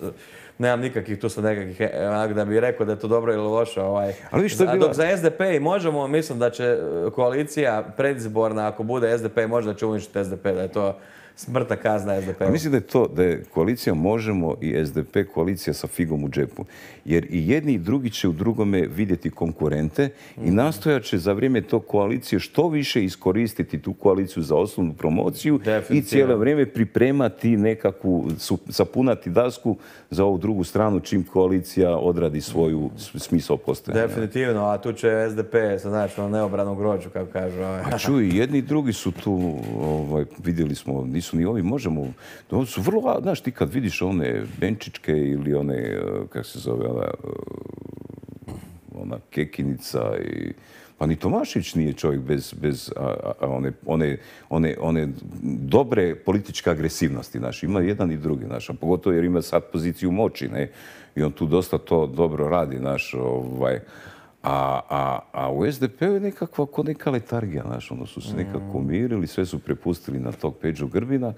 nemam nikakvih tu sad nekakvih, e, onak da bi rekao da je to dobro ili loše. Ovaj. Ali vidiš, to je A bila- dok za es de pe i možemo, mislim da će e, koalicija predizborna, ako bude es de pe, možda će uništiti es de pe, da je to smrtna kazna es de pe. Pa mislim da je to, da je koalicija Možemo i es de pe koalicija sa figom u džepu. Jer i jedni i drugi će u drugome vidjeti konkurente i nastojat će za vrijeme tog koalicije što više iskoristiti tu koaliciju za osnovnu promociju i Definitivno. cijelo vrijeme pripremati nekakvu, su- sapunati dasku za ovu drugu stranu čim koalicija odradi svoju smisao postojanja. Definitivno, a tu će S D P se naći na neobranom grođu, kako kažu. A čuj, jedni i drugi su tu, ovaj, vidjeli smo, nisu ni ovi, možemo, to su vrlo, znaš, ti kad vidiš one Benčićke ili one, kako se zove, ona, ona Kekinica i... Pa ni Tomašević nije čovjek bez, bez a, a, one, one, one, one dobre političke agresivnosti. Naš. Ima jedan i drugi, naš, a pogotovo jer ima sad poziciju moći, ne? I on tu dosta to dobro radi, naš, ovaj, a, a, a u S D P-u je nekakva ko neka letargija, naš, ono su se nekako umirili, sve su prepustili na tog Peđu Grbina,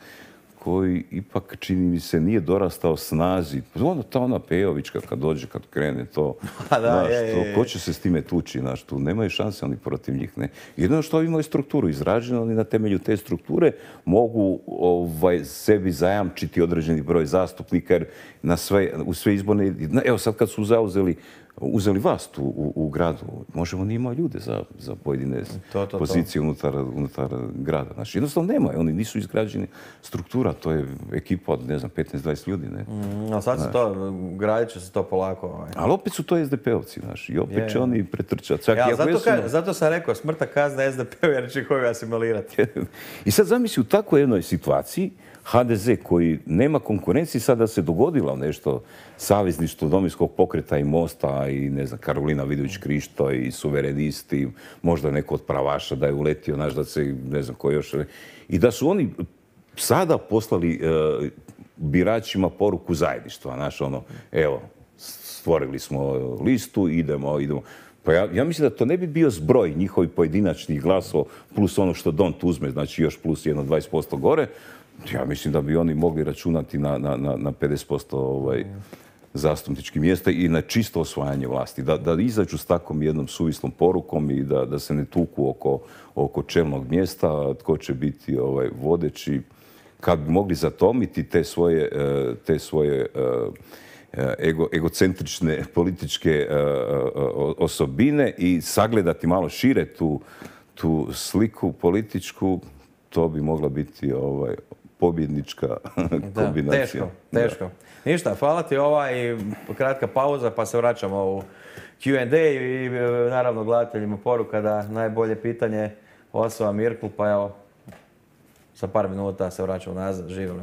koji ipak, čini mi se, nije dorastao snazi. Ono, ta ona Pejovićka kad dođe, kad krene to, da, znaš, je, je, to, je. ko će se s time tući, znaš, tu nemaju šanse oni protiv njih, ne. Jedino što imaju strukturu izraženu, oni na temelju te strukture mogu ovaj, sebi zajamčiti određeni broj zastupnika, jer na sve, u sve izborne, evo sad kad su zauzeli uzeli vlast u, u, u gradu, možemo ni imati ljude za, za pojedine to, to, pozicije to. Unutar, unutar grada. Znači, jednostavno nema, oni nisu izgrađeni struktura, to je ekipa od, ne znam, petnaest dvadeset ljudi, ne? Mm, a sad se to, gradit će se to polako. Ovaj. Ali opet su to S D P-ovci, znaš, i opet Je, će je. oni pretrčati. Čak Ja, i ako zato, jesu- ka, zato sam rekao, smrta kazna S D P-u jer će koju asimilirati. I sad zamisli u takvoj jednoj situaciji H D Z koji nema konkurencije, sada se dogodilo nešto savezništvo Domovinskog pokreta i Mosta i ne znam, Karolina Vidović-Krišto i suverenisti, možda neko od pravaša da je uletio, znaš, da se, ne znam ko još. I da su oni sada poslali e, biračima poruku zajedništva, znaš, ono, evo, stvorili smo listu, idemo, idemo. Pa ja, ja mislim da to ne bi bio zbroj njihovih pojedinačnih glasova plus ono što Dont uzme, znači još plus jedno dvadeset posto gore. Ja mislim da bi oni mogli računati na, na, na, na pedeset posto ovaj, zastupničkih mjesta i na čisto osvajanje vlasti. Da, da izađu s takvom jednom suvislom porukom i da, da se ne tuku oko, oko čelnog mjesta, tko će biti ovaj, vodeći. Kad bi mogli zatomiti te svoje, te svoje ego, egocentrične političke osobine i sagledati malo šire tu, tu sliku političku, to bi mogla biti ovaj, pobjednička kombinacija. Teško, teško. Da. Ništa, hvala ti ova i kratka pauza pa se vraćamo u Q and A i naravno gledateljima poruka da najbolje pitanje osoba Mirklu, pa evo, za par minuta se vraćamo nazad, živjeli.